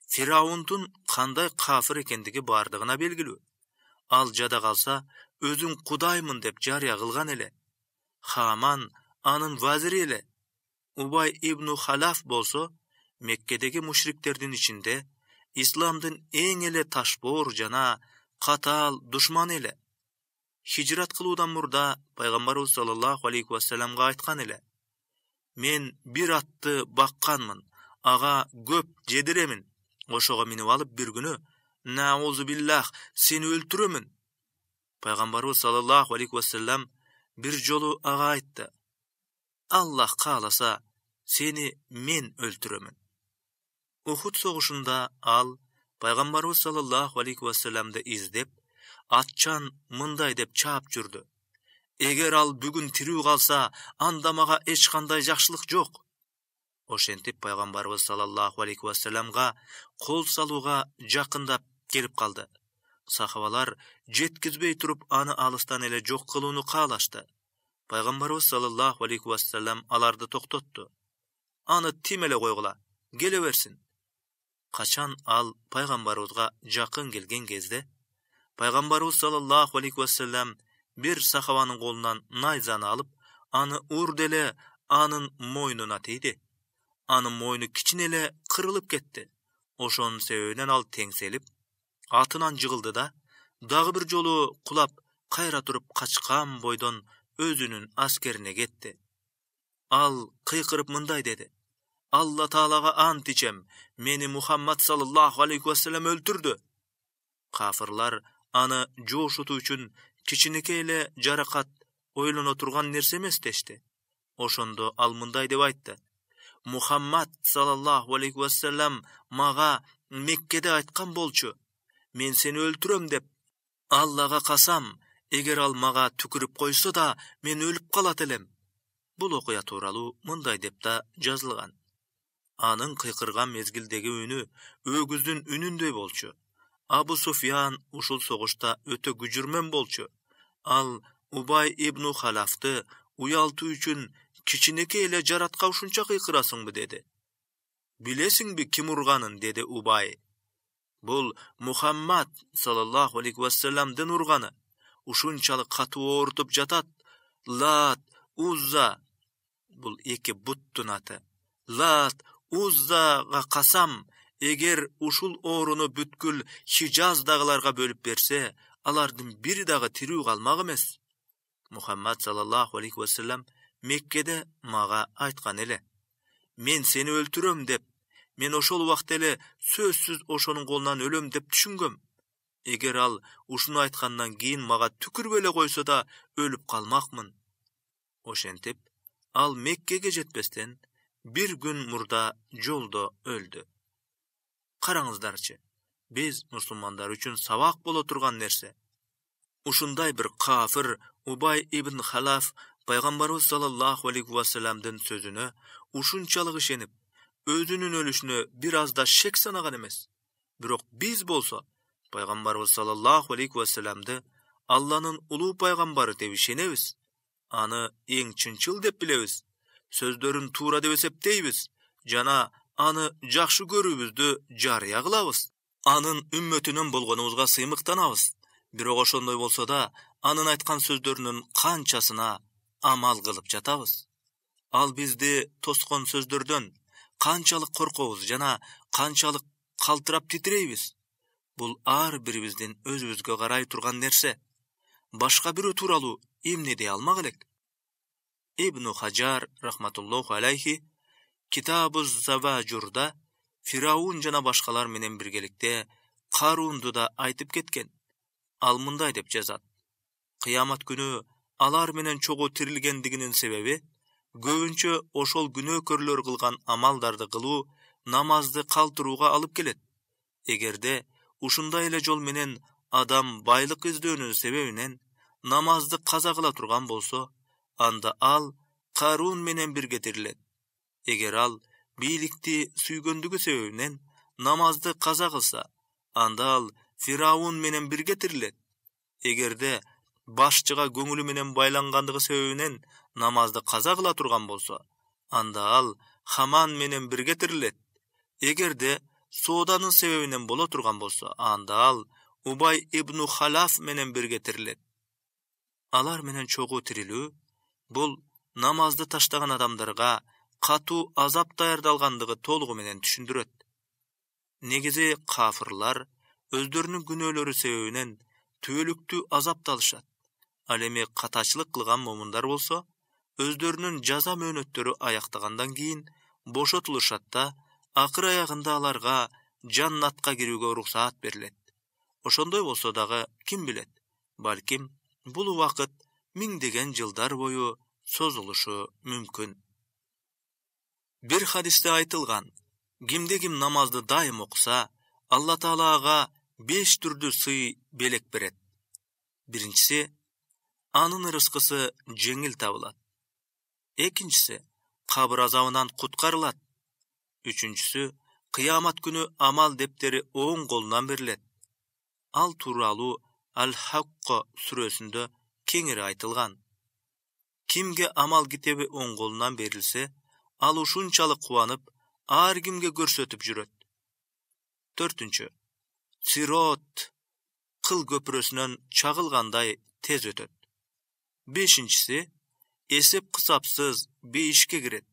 Фираундун кандай кафир экендиги бардыгына белгилүү. Ал жада калса, өзүн кудаймын деп жарыя кылган эле. Хаман анын вазири эле. Убай ибн Халаф болсо, Меккедеги мушриктердин ичинде исламдын эң эле ташбоор жана катаал душманы эле. Хижрат кылуудан мурда пайгамбарыбыз саллаллаху алейхи вассаламга айткан эле: мен бир атты бакканмын, ага көп жедиремин. Ошого минип алып бир күнү наузу биллах, сени өлтүрөмүн. Пайгамбарыбыз саллаллаху алейхи вассалам бир жолу ага айтты: Аллах кааласа, сени мен өлтүрөмүн. Ухуд согушунда ал пайгамбарыбыз саллаллаху алейхи вассаламды издеп, атчан мындай деп чаап жүрдү: эгер ал бүгүн тирүү калса, анда мага эч кандай жакшылык жок. Ошентип пайгамбарыбыз саллаллаху алейхи вассаламга кол салууга жакындап келип калды. Сахабалар жеткизбей туруп аны алыстан эле жок кылууну каалашты. Пайгамбарыбыз саллаллаху алейхи вассалам аларды токтотту. Аны тим эле койгула, келе берсин. Качан ал пайгамбарыбызга жакын келген кезде, пайгамбарыбыз саллаллаху алейхи вассалам бир сахабанын колунан найзаны алып, аны урду эле анын мойнуна тийди. Анын мойну кичине эле кырылып кетти. Ошонун себебинен ал теңселип, атынан жыгылды да, дагы бир жолу кулап, кайра туруп качкан бойдон өзүнүн аскерине кетти. Ал кыйкырып мындай деди: Алла Таалага ант ичем, мени Мухаммад саллаллаху алейхи вассалам өлтүрдү. Кафырлар аны жоошутуу үчүн кичинекей эле жаракат ойлоно турган нерсе эмес дешти. Ошондо ал мындай деп айтты: Мухаммад саллаллаху алейхи вассалам мага Меккеде айткан болчу: мен сени өлтүрөм деп. Аллага касам, эгер ал мага түкүрүп койсо да, мен өлүп калат элем. Бул окуя тууралуу мындай деп да жазылган. Анын кыйкырган мезгилдеги үнү өгүздүн үнүндөй болчу. Абу Суфьян ушул согушта өтө күжүрмөн болчу. Ал Убай ибн Халафты уялтуу үчүн кичинекей эле жаратка ушунча кыйкырасыңбы деди. Билесиңби ким урганын, деди Убай. Бул Мухаммад саллаллаху алейхи вассаламдын урганы. Ушунчалык катуу оорутуп жатат. Лат, Узза, бул эки буттун аты. Лат, Уззага касам, эгер ушул ооруну бүткүл Хижаздагыларга бөлүп берсе, алардын бири дагы тирүү калмак эмес. Мухаммад саллаллаху алейхи вассалам Меккеде мага айткан эле. Мен сени өлтүрөм деп, мен ошол убакта эле сөзсүз ошонун колунан өлөм деп түшүнгөм. Эгер ал ушуну айткандан кийин мага түкүрбөй эле койсо да өлүп калмакмын. Ошентип, ал Меккеге жетпестен бир күн мурда жолдо өлдү. Караңыздарчы, биз мусулмандар үчүн сабак боло турган нерсе. Ушундай бир кафир Убай ибн Халаф пайгамбарыбыз саллаллаху алейхи вассаламдын сөзүнө ушунчалык ишенип, өзүнүн өлүшүнө бир аз да шек санаган эмес. Бирок биз болсо пайгамбарыбыз саллаллаху алейхи вассаламды Алланын улуу пайгамбары деп ишенебиз. Аны эң чынчыл деп билебиз. Сөздөрүн туура деп эсептейбиз жана аны жакшы көрүүбүздү жарыя кылабыз. Анын үммөтүнөн болгонубузга сыймыктанабыз. Бирок ошондой болсо да, анын айткан сөздөрүнүн канчасына амал кылып жатабыз. Ал бизди тоскон сөздөрдөн канчалык коркобуз жана канчалык калтырап титирейбиз. Бул ар бирибиздин өзүбүзгө карай турган нерсе. Башка бирөө тууралуу эмне дей алмак элек? Ибн Хаджар рахматуллаху алейхи Китабуз Заважурда Фираун жана башкалар менен биргеликте Карунду да айтып кеткен. Ал мындай деп жазат: кыямат күнү алар менен чогуу тирилгендигинин себеби көбүнчө ошол күнөөкөрлөр кылган амалдарды кылуу намазды калтырууга алып келет. Эгерде ушундай эле жол менен адам байлык издөөнүн себебинен намазды каза кыла турган болсо, анда ал Карун менен бирге тирилет. Эгер ал бийликти сүйгөндүгү себебинен намазды каза кылса, анда ал Фираун менен бирге тирилет. Эгерде башчыга көңүлү менен байлангандыгы себебинен намазды каза кыла турган болсо, анда ал Хаман менен бирге тирилет. Эгерде сооданын себебинен боло турган болсо, анда ал Убай ибн Халаф менен бирге тирилет. Алар менен чогуу тирилүү бул намазды таштаган адамдарга катуу азап даярдалгандыгы толугу менен түшүндүрөт. Негизи кафырлар өздөрүнүн күнөөлөрү себебинен түбөлүктүү азапталышат. Ал эми катачылык кылган момундар болсо, өздөрүнүн жаза мөөнөттөрү аяктагандан кийин бошотулушат да, акыр аягында аларга жаннатка кирүүгө уруксаат берилет. Ошондой болсо дагы ким билет, балким бул убакыт миңдеген жылдар бою созулушу мүмкүн. Бир хадисте айтылган: кимде ким намазды дайым окуса, Алла Таалага 5 түрдүү сый белек берет. Биринчиси, анын рызкысы жеңил табылат. Экинчиси, кабыр азабынан куткарылат. Үчүнчүсү, кыямат күнү амал дептери оң колунан берилет. Ал тууралуу Ал-Хакка сүрөсүндө кеңири айтылган. Кимге амал китеби оң колунан берилсе, ал ушунчалык кубанып, ар кимге көрсөтүп жүрөт. Төртүнчү, Сирот кыл көпүрөсүнөн чагылгандай тез өтөт. Бешинчиси, эсеп кысапсыз бейишке кирет.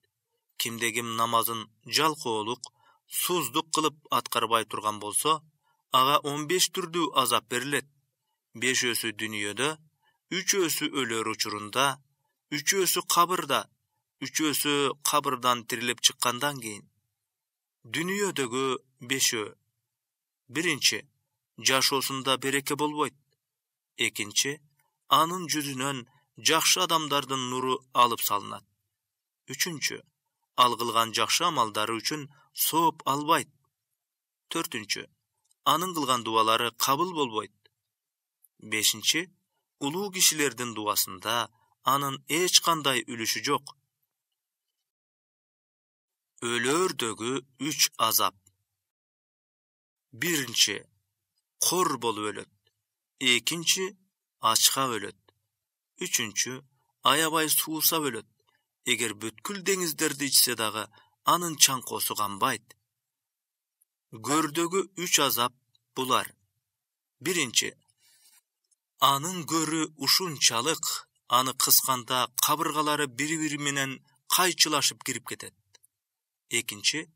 Кимде ким намазын жалкоолук, суздук кылып аткарбай турган болсо, ага 15 түрдүү азап берилет. 5-өсү дүнүйөдө, 3-өсү өлөр учурунда, 3-өсү кабырда, 3-өсү кабырдан тирилип чыккандан кийин. Дүнүйөдөгү 5-өө. Биринчи, жашоосунда береке болбойт. Экинчи, анын жүзүнөн жакшы адамдардын нуру алып салынат. Үчүнчү, ал кылган жакшы амалдары үчүн сооп албайт. Төртүнчү, анын кылган дубалары кабыл болбойт. 5. Улуу кишилердин дуасында анын эч кандай үлүшү жок. Өлөрдөгү 3 азап. 1. Кор болуп өлөт. 2. Ачка өлөт. 3. Аябай суусап өлөт. Эгер бүткүл деңиздерди ичсе дагы анын чаңкоосу канбайт. Көрдөгү 3 азап булар. 1. Анын көрү ушунчалык, аны кысканда кабыргалары бири-бири менен кайчылашып кирип кетет. 2.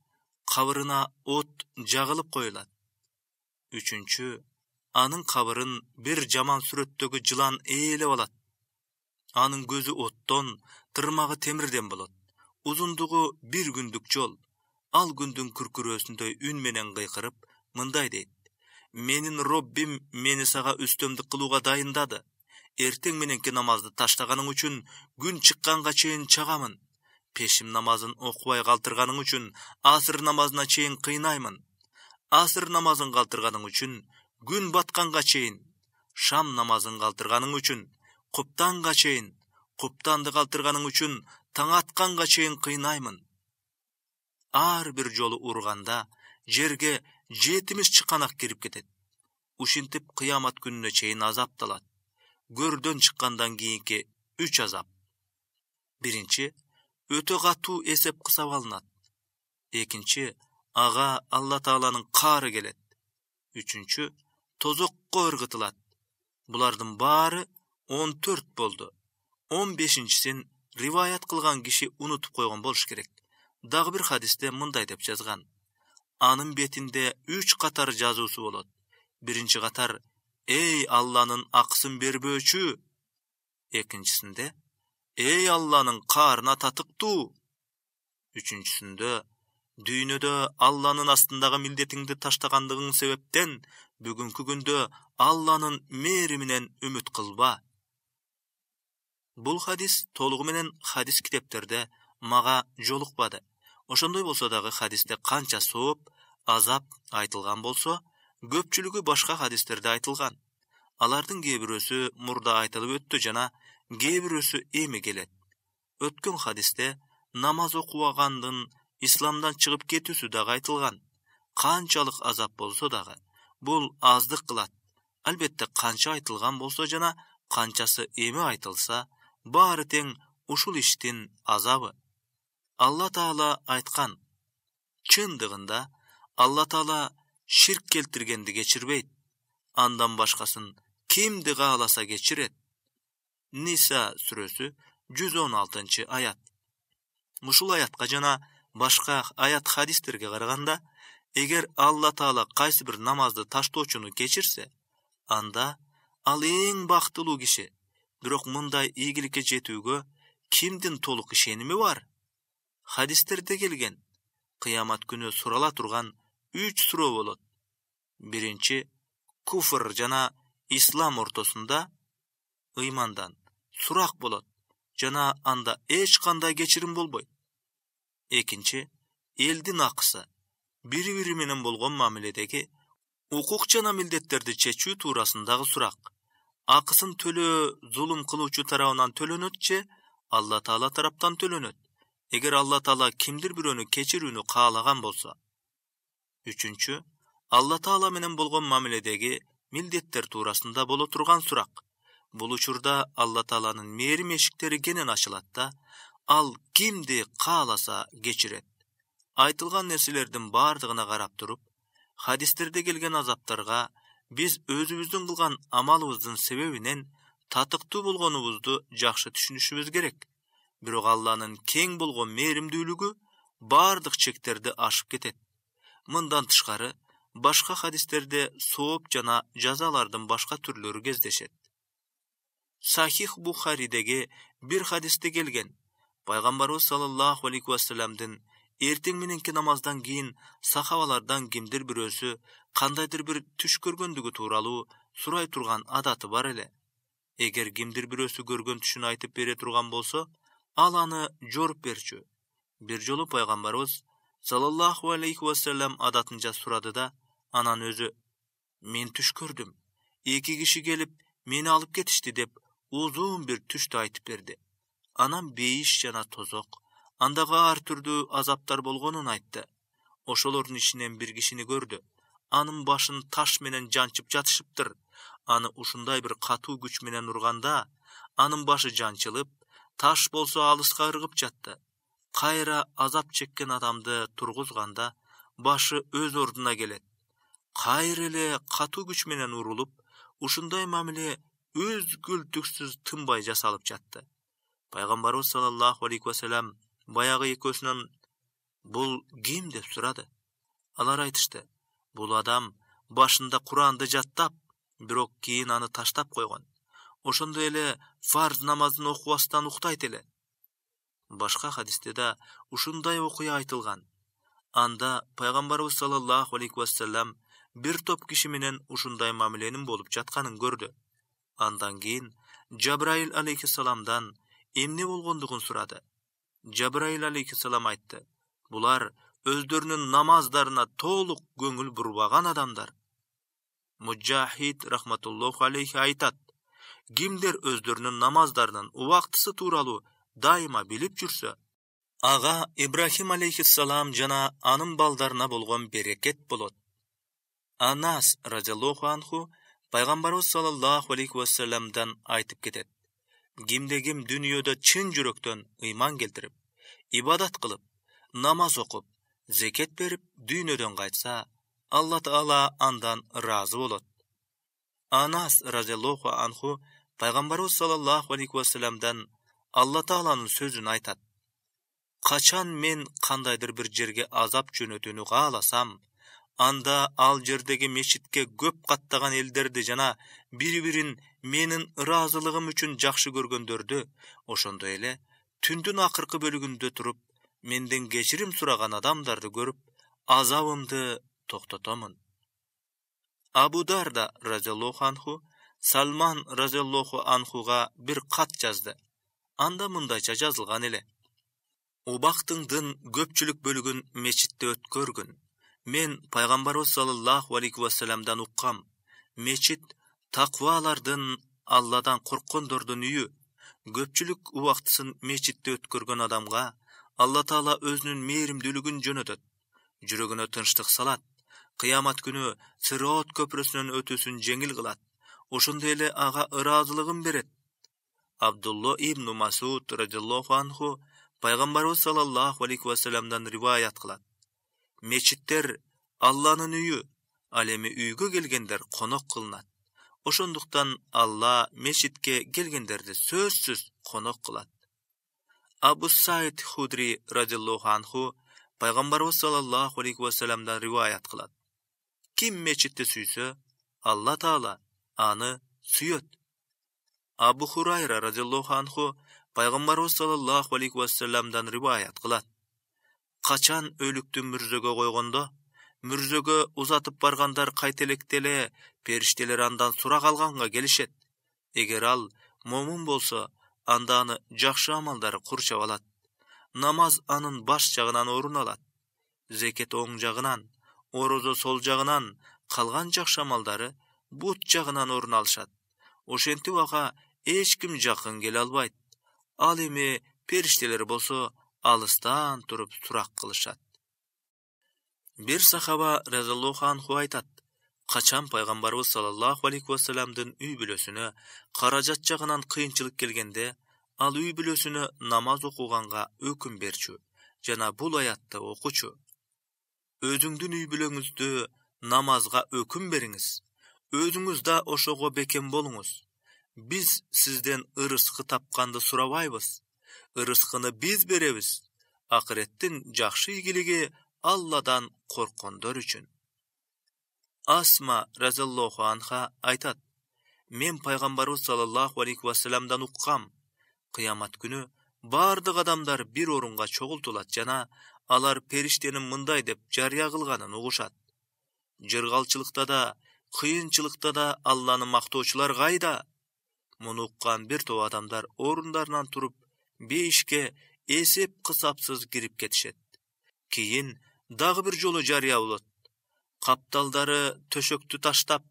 Кабырына от жагылып коюлат. 3. Анын кабырын бир жаман сүрөттөгү жылан ээлеп алат. Анын көзү оттон, тырмагы темирден болот. Узундугу 1 күндүк жол. Ал күндүн күркүрөөсүндөй үн менен кыйкырып, мындай дейт: менин Роббим мени сага үстөмдүк кылууга дайындады. Эртең мененки намазды таштаганың үчүн күн чыкканга чейин чагамын. Пешим намазын окубай калтырганың үчүн асыр намазына чейин кыйнаймын. Асыр намазын калтырганың үчүн күн батканга чейин, шам намазын калтырганың үчүн куптанга чейин, куптанды калтырганың үчүн таң атканга чейин кыйнаймын. Ар бир жолу урганда жерге 70 чыканак кирип кетет. Ушинтип кыямат күнүнө чейин азапталат. Көрдөн чыккандан кийинки 3 азап. 1. Өтө катуу эсеп кысап алынат. 2. Ага Алла Тааланын каары келет. 3. Тозокко ыргытылат. Булардын баары 14 болду. 15-син риваят кылган киши унутуп койгон болуш керек. Дагы бир хадисте мындай деп жазган: анын бетинде 3 катар жазуусу болот. 1 катар: эй Алланын акысын бербөөчү. 2-синде: эй Алланын каарына татыктуу. 3-сүндө: дүйнөдө Алланын астындагы милдетиңди таштагандыгың себептен бүгүнкү күндө Алланын мээриминен үмүт кылба. Бул хадис толугу менен хадис китептерде мага жолукпады. Ошондой болсо дагы хадисте канча сооп, азап айтылган болсо, көпчүлүгү башка хадистерде айтылган. Алардын кээ бирөөсү мурда айтылып өттү жана кээ бирөөсү эми келет. Өткөн хадисте намаз окубагандын исламдан чыгып кетүүсү дагы айтылган. Канчалык азап болсо дагы бул аздык кылат. Албетте канча айтылган болсо жана канчасы эми айтылса, баары тең ушул иштин азабы. Алла Таала айткан: чындыгында Алла Таала ширк келтиргенди кечирбейт. Андан башкасын кимди кааласа кечирет. Ниса сүрөсү 116 аят. Мушул аятка жана башка аят хадистерге караганда, эгер Алла Таала кайсы бир намазды таштоочуну кечирсе, анда ал эң бактылуу киши. Бирок мындай ийгиликке жетүүгө кимдин толук ишеними бар? Хадистерде келген, кыямат күнү сурала турган 3 суроо болот. 1. Куфр жана ислам ортосунда ыймандан сурак болот жана анда эч кандай кечирим болбойт. 2. Элдин акысы, бири-бири менен болгон мамиледеги укук жана милдеттерди чечүү туурасындагы сурак. Акысын төлөө зулум кылуучу тарабынан төлөнөт же Алла Таала тараптан төлөнөт? Эгер Алла Таала кимдир бирөөнү кечирүүнү каалаган болсо. 3. Алла Таала менен болгон мамиледеги милдеттер туурасында боло турган сурак. Бул учурда Алла Тааланын мээрим эшиктери кенен ачылат да, ал кимди кааласа кечирет. Айтылган нерселердин бардыгына карап туруп, хадистерде келген азаптарга биз өзүбүздүн кылган амалыбыздын себебинен татыктуу болгонубузду жакшы түшүнүшүбүз керек. Бирок Алланын кең болгон мээримдүүлүгү бардык чектерди ашып кетет. Мындан тышкары, башка хадистерде сооп жана жазалардын башка түрлөрү кездешет. Сахих Бухаридеги бир хадисте келген: пайгамбарыбыз саллаллаху алейхи вассаламдын эртең мененки намаздан кийин сахабалардан кимдир бирөөсү кандайдыр бир түш көргөндүгү тууралуу сурай турган адаты бар эле. Эгер кимдир бирөөсү көргөн түшүн айтып бере турган болсо, ал аны жоруп берчү. Бир жолу пайгамбарыбыз саллаллаху алейхи вассалам адатынча сурады да, анан өзү: мен түш көрдүм. 2 киши келип Мени алып кетишти деп uzun bir түштү айтып берди. Анан бейиш жана тозок, андагы ар түрдүү азаптар болгонун айтты. Ошолордун ичинен бир кишини көрдү. Анын башын таш менен жанчып жатышыптыр. Аны ушундай бир катуу күч менен урганда, анын башы жанчылып, таш болсо алыска ыргып жатты. Кайра азап чеккен адамды тургузганда, башы өз ордуна келет. Кайра эле катуу күч менен урулуп, ушундай мамиле үзгүлтүксүз тынбай жасалып жатты. Пайгамбарыбыз саллаллаху алейхи вассалам баягы экөөсүнөн бул ким деп сурады. Алар айтышты: бул адам башында Куранды жаттап, бирок кийин аны таштап койгон. Ошондой эле фарз намазын окубастан уктайт эле. Башка хадисте да ушундай окуя айтылган. Анда пайгамбарыбыз саллаллаху алейхи вассалам бир топ киши менен ушундай мамиленин болуп жатканын көрдү. Андан кийин Жабраил алейхиссаламдан эмне болгондугун сурады. Жабраил алейхиссалам айтты: булар өздөрүнүн намаздарына толук көңүл бурбаган адамдар. Муджахид рахматуллаху алейхи айтат: кимдер өздөрүнүн намаздарынын убактысы тууралуу дайыма билип жүрсө, ага Ибрахим алейхиссалам жана анын балдарына болгон берекет болот. Анас разияллаху анху пайгамбарыбыз саллаллаху алейхи вассаламдан айтып кетет: кимде-ким дүйнөдө чын жүрөктөн ыйман келтирип, ибадат кылып, намаз окуп, зекет берип, дүйнөдөн кайтса, Алла Таала андан ыраазы болот. Анас разияллаху анху пайгамбарыбыз саллаллаху алейхи вассаламдан Алла Тааланын сөзүн айтат: качан мен кандайдыр бир жерге азап жөнөтүүнү кааласам, анда ал жердеги мечитке көп каттаган элдерди жана бири-бирин менин ыраазылыгым үчүн жакшы көргөндөрдү, ошондой эле түндүн акыркы бөлүгүндө туруп, менден кечирим сураган адамдарды көрүп, азабымды токтотомун. Абу Дарда разияллаху анху Салман разияллаху анхуга бир кат жазды. Анда мындайча жазылган эле: убактыңдын көпчүлүк бөлүгүн мечитте өткөргүн. Мен пайгамбарыбыз саллаллаху алейхи вассаламдан уккам: мечит таквалардын, Алладан корккондордун үйү. Көпчүлүк убактысын мечитте өткөргөн адамга Алла Таала өзүнүн мээримдүүлүгүн жөнөтөт, жүрөгүнө тынчтык салат, кыямат күнү Сирот көпүрөсүнөн өтүүсүн жеңил кылат, ошондой эле ага ыраазылыгын берет. Абдулла ибн Масуд радияллаху анху пайгамбарыбыз саллаллаху алейхи вассаламдан риваят кылат: мечиттер Алланын үйү, ал эми үйгө келгендер конок кылынат. Ошондуктан Алла мечитке келгендерди сөзсүз конок кылат. Абу Саид Худри радияллаху анху пайгамбарыбыз саллаллаху алейхи вассаламдан риваят кылат: ким мечитти сүйсө, Алла Таала аны сүйөт. Абу Хурайра радияллаху анху пайгамбарыбыз саллаллаху алейхи вассаламдан риваят кылат: качан өлүктү мүрзөгө койгондо, мүрзөгө узатып баргандар кайтелекте эле периштелер андан сурак алганга келишет. Эгер ал момун болсо, анда аны жакшы амалдары курчап алат. Намаз анын баш жагынан орун алат. Зекет оң жагынан, орозо сол жагынан, калган жакшы амалдары бут жагынан орун алышат. Ошентип ага эч ким жакын келе албайт. Ал эми периштелер болсо алыстан туруп сурак кылышат. Бир сахаба разияллаху анху айтат: качан пайгамбарыбыз саллаллаху алейхи вассаламдын үй бүлөсүнө каражат жагынан кыйынчылык келгенде, ал үй бүлөсүнө намаз окуганга өкүм берчү жана бул аятты окучу: өзүңдүн үй бүлөңүздү намазга өкүм бериңиз, өзүңүз да ошого бекем болуңуз. Биз сизден ырыскы тапканды сурабайбыз, ырыскыны биз беребиз. Акыреттин жакшы ийгилиги Алладан корккондор үчүн. Асма разияллаху анха айтат: мен пайгамбарыбыз саллаллаху алейхи вассаламдан уккам: кыямат күнү бардык адамдар бир орунга чогултулат жана алар периштенин мындай деп жарыя кылганын угушат: жыргалчылыкта да, кыйынчылыкта да Алланы мактоочулар кайда? Муну уккан бир топ адамдар орундарынан туруп, бейишке эсеп-кысапсыз кирип кетишет. Кийин дагы бир жолу жарыя болот: капталдары төшөктү таштап,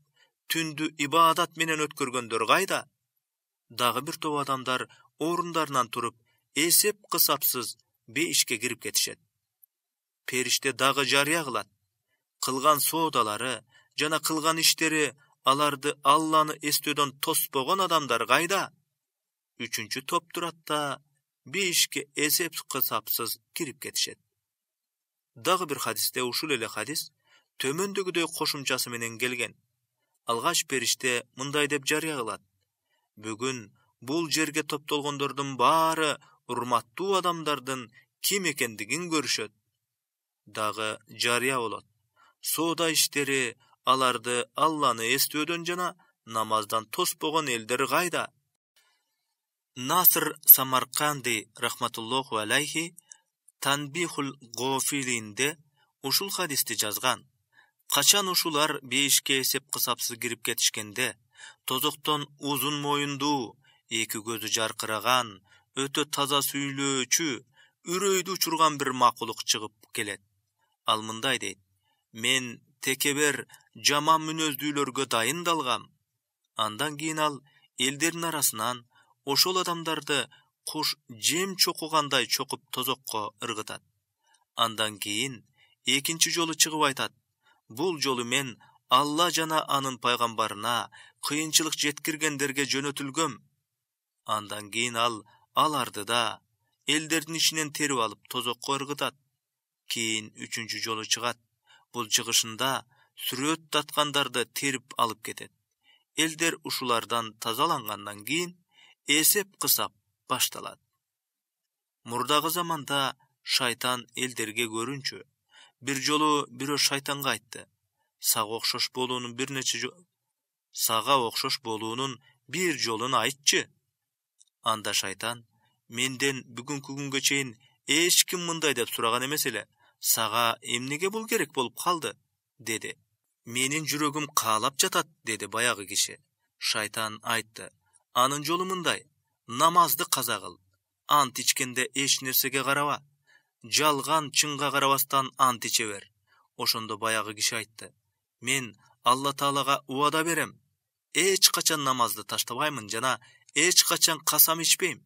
түндү ибадат менен өткөргөндөр кайда? Дагы бир топ адамдар орундарынан туруп, эсеп кысапсыз бейишке кирип кетишет. Периште дагы жарыя кылат. Кылган соодалары жана кылган иштери аларды Алланы эстөөдөн тоспогон адамдар кайда? Үчүнчү топ турат да бейишке эсеп кысапсыз кирип кетишет. Дагы бир хадисте ушул эле хадис төмөндөгүдөй кошумчасы менен келген. Алгач периште мындай деп жарыя кылат: бүгүн бул жерге топтолгондордун баары урматтуу адамдардын ким экендигин көрүшөт. Дагы жарыя болот: соода иштери аларды Алланы эстөөдөн жана намаздан тоспогон элдер кайда? Наср Самарканди рахматуллоху алейхи Танбихул Гофилинде ушул хадисти жазган. Качан ушулар бейишке эсеп кысапсыз кирип кетишкенде, тозоктон узун моюндуу, эки көзү жаркыраган, өтө таза сүйлөөчү, үрөйдү учурган бир макулук чыгып келет. Ал мындай дейт: мен текебер жаман мүнөздүүлөргө дайындалгам. Андан кийин ал элдердин арасынан ошол адамдарды куш жем чокугандай чокуп тозокко ыргытат. Андан кийин экинчи жолу чыгып айтат: бул жолу мен Алла жана анын пайгамбарына кыйынчылык жеткиргендерге жөнөтүлгөм. Андан кийин ал аларды да элдердин ичинен терип алып тозокко ыргытат. Кийин үчүнчү жолу чыгат. Бул чыгышында сүрөт таткандарды терип алып кетет. Элдер ушулардан тазалангандан кийин эсеп кысап башталат. Мурдагы заманда шайтан элдерге көрүнчү. Бир жолу бирөө шайтанга айтты: сага окшош болуунун бир жолун айтчы. Анда шайтан: менден бүгүнкү күнгө чейин эч ким мындай деп сураган эмес эле. Сага эмнеге бул керек болуп калды? Деди. Менин жүрөгүм каалап жатат, деди баягы киши. Шайтан айтты: анын жолу мындай: намазды каза кыл. Ант ичкенде эч нерсеге караба. Жалган чынга карабастан ант иче бер. Ошондо баягы киши айтты: мен Алла Таалага убада берем. Эч качан намазды таштабаймын жана эч качан касам ичпейм.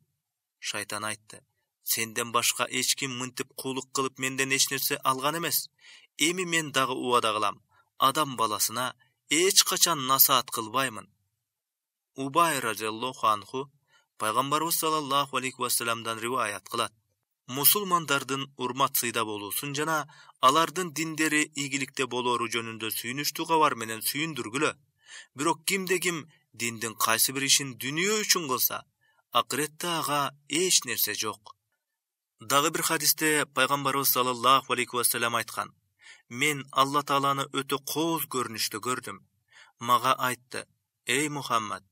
Шайтан айтты: сенден башка эч ким мынтип куулук кылып менден эч нерсе алган эмес. Эми мен дагы убада кылам: адам баласына эч качан насаат кылбаймын. Убай разияллаху анху пайгамбарыбыз саллаллаху алейхи вассаламдан риваят кылат: мусулмандардын урмат сыйда болуусун жана алардын диндери ийгиликте болоору жөнүндө сүйүнүчтүү кабар менен сүйүндүргүлө. Бирок кимде ким диндин кайсы бир ишин дүнүйө үчүн кылса, акыретте ага эч нерсе жок. Дагы бир хадисте пайгамбарыбыз саллаллаху алейхи вассалам айткан: мен Алла Тааланы өтө кооз көрүнүштө көрдүм. Мага айтты: эй Мухаммад,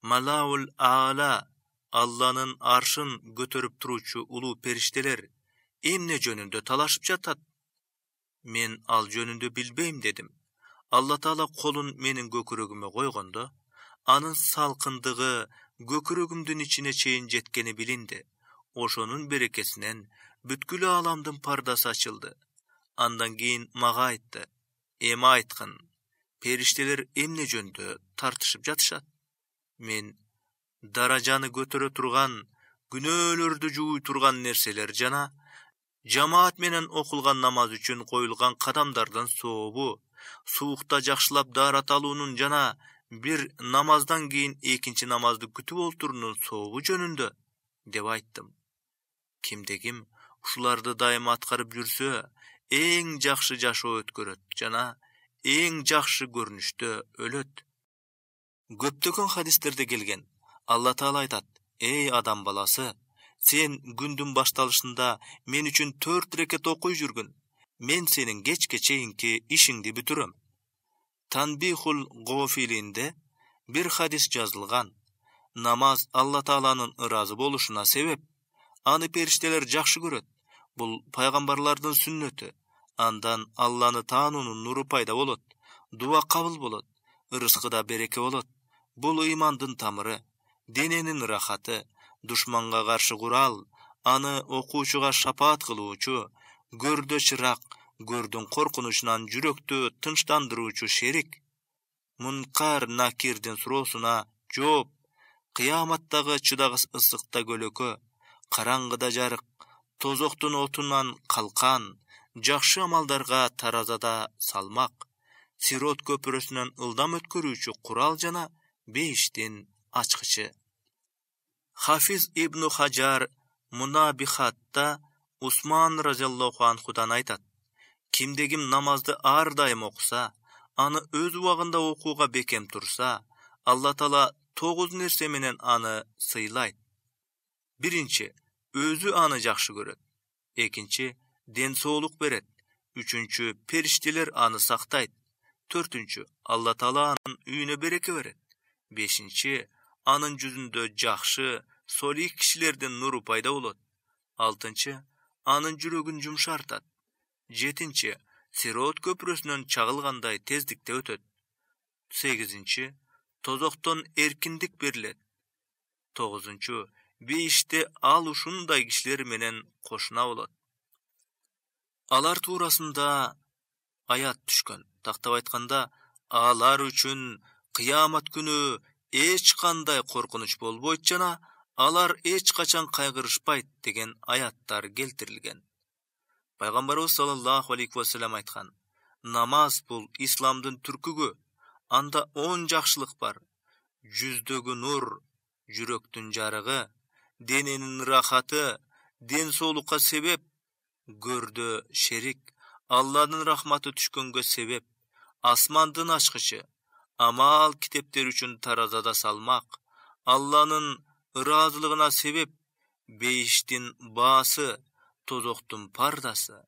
Малаул Аала, Алланын аршын көтөрүп туруучу улуу периштелер эмне жөнүндө талашып жатат? Мен ал жөнүндө билбейм, дедим. Алла Таала колун менин көкүрөгүмө койгондо, анын салкындыгы көкүрөгүмдүн ичине чейин жеткени билинди. Ошонун берекесинен бүткүл ааламдын пардасы ачылды. Андан кийин мага айтты: эми айткын, периштелер эмне жөнүндө тартышып жатышат? Мен: даражаны көтөрө турган, күнөөлөрдү жууй турган нерселер жана жамаат менен окулган намаз үчүн коюлган кадамдардын сообу, суукта жакшылап даарат алуунун жана бир намаздан кийин экинчи намазды күтүп олтуруунун сообу жөнүндө, деп айттым. Кимде ким ушуларды дайыма аткарып жүрсө, эң жакшы жашоо өткөрөт жана эң жакшы көрүнүштө өлөт. Көптөгөн хадистерде келген: Алла Таала айтат: эй адам баласы, сен күндүн башталышында мен үчүн 4 рекет окуй жүргүн. Мен сенин кечке чейинки ишиңди бүтүрөм. Танбихул Гофилинде бир хадис жазылган: намаз Алла Тааланын ыраазы болушуна себеп. Аны периштелер жакшы көрөт. Бул пайгамбарлардын сүннөтү. Андан Алланы таануунун нуру пайда болот. Дуа кабыл болот. Ырыскыда береке болот. Бул ыймандын тамыры, дененин рахаты, душманга каршы курал, аны окуучуга шапаат кылуучу, көрдө чырак, көрдүн коркунучунан жүрөктү тынчтандыруучу шерик. Мункар Накирдин суроосуна жооп, кыяматтагы чыдагыс ысыкта көлөкө, караңгыда жарык, тозоктун отунан калкан, жакшы амалдарга таразада салмак, Сирот көпүрөсүнөн ылдам өткөрүүчү курал жана бейиштин ачкычы. Хафиз Ибн Хажар Мунабихатта Усман разияллаху анхудан айтат: кимде ким намазды ар дайым окуса, аны өз убагында окууга бекем турса, Алла Таала 9 нерсе менен аны сыйлайт. Биринчи, өзү аны жакшы көрөт. Экинчи, ден соолук берет. Үчүнчү, периштелер аны сактайт. Төртүнчү, Алла Таала анын үйүнө береке берет. Бешинчи, анын жүзүндө жакшы, солих кишилердин нуру пайда болот. Алтынчы, анын жүрөгүн жумшартат. Жетинчи, Сирот көпүрөсүнөн чагылгандай тездикте өтөт. Сегизинчи, тозоктон эркиндик берилет. Тогузунчу, бейиште ал ушундай кишилер менен кошуна болот. Алар туурасында аят түшкөн. Тактап айтканда, алар үчүн кыямат күнү эч кандай коркунуч болбойт жана алар эч качан кайгырышпайт деген аяттар келтирилген. Пайгамбарыбыз саллаллаху алейхи ва саллям айткан: намаз бул исламдын түркүгү, анда 10 жакшылык бар. Жүздөгү нур, жүрөктүн жарыгы, дененин рахаты, ден соолукка себеп, көрдө шерик, Алланын рахматы түшкөнгө себеп, асмандын ачкычы, амал китептер үчүн таразада салмак, Алланын ыраазылыгына себеп, бейиштин баасы, тозоктун пардасы.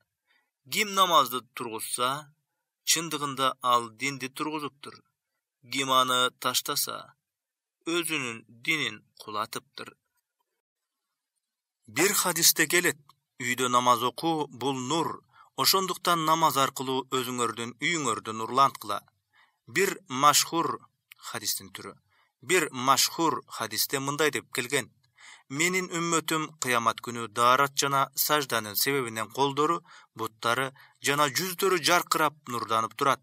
Ким намазды тургузса, чындыгында ал динди тургузуптур. Ким аны таштаса, өзүнүн динин кулатыптыр. Бир хадисте келет: үйдө намаз окуу бул нур, ошондуктан намаз аркылуу өзүңөрдүн үйүңөрдү нурланткыла. Бир машхур хадисте мындай деп келген: менин үммөтүм кыямат күнү даарат жана сажданын себебинен колдору, буттары жана жүздөрү жаркырап нурданып турат.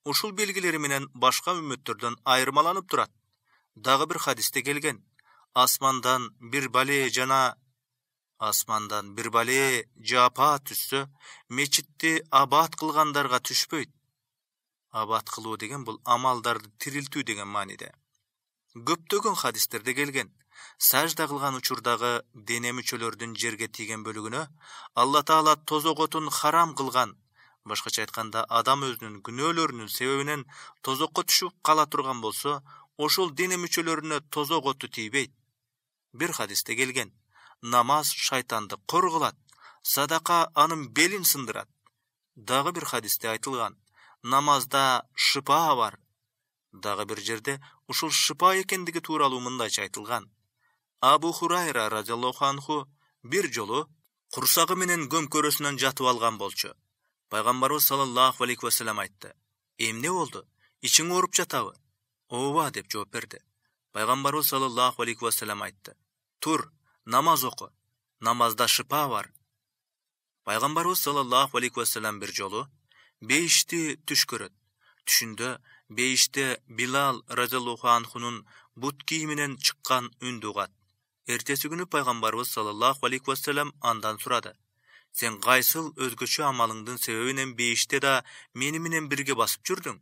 Ушул белгилери менен башка үммөттөрдөн айырмаланып турат. Дагы бир хадисте келген: асмандан бир бале жапа түшсө, мечитти абат кылгандарга түшпөйт. Абат кылуу деген бул амалдарды тирилтүү деген мааниде. Көптөгөн хадистерде келген: сажда кылган учурдагы дене мүчөлөрдүн жерге тийген бөлүгүнө Алла Таала тозок отун харам кылган. Башкача айтканда, адам өзүнүн күнөөлөрүнүн себебинен тозокко түшүп кала турган болсо, ошол дене мүчөлөрүнө тозок оту тийбейт. Бир хадисте келген: намаз шайтанды кор кылат, садака анын белин сындырат. Дагы бир хадисте айтылган: намазда шыпа бар. Дагы бир жерде ушул шыпа экендиги тууралуу мындайча айтылган: Абу Хурайра разияллаху анху бир жолу курсагы менен көмкөрөсүнөн жатып алган болчу. Пайгамбарыбыз саллаллаху алейхи ва саллям айтты: эмне болду? Ичиң ооруп жатабы? Ооба деп жооп берди. Пайгамбарыбыз саллаллаху алейхи ва саллям айтты: тур, намаз оку. Намазда шыпа бар. Пайгамбарыбыз саллаллаху алейхи ва саллям бир жолу бейишти түш көрөт. Түшүндө бейиште Билал разияллаху анхунун бут кийиминен чыккан үндү угат. Эртеси күнү Пайгамбарыбыз саллаллаху алейхи ва саллям андан сурады: сен кайсыл өзгөчө амалыңдын себебинен бейиште да мени менен бирге басып жүрдүң?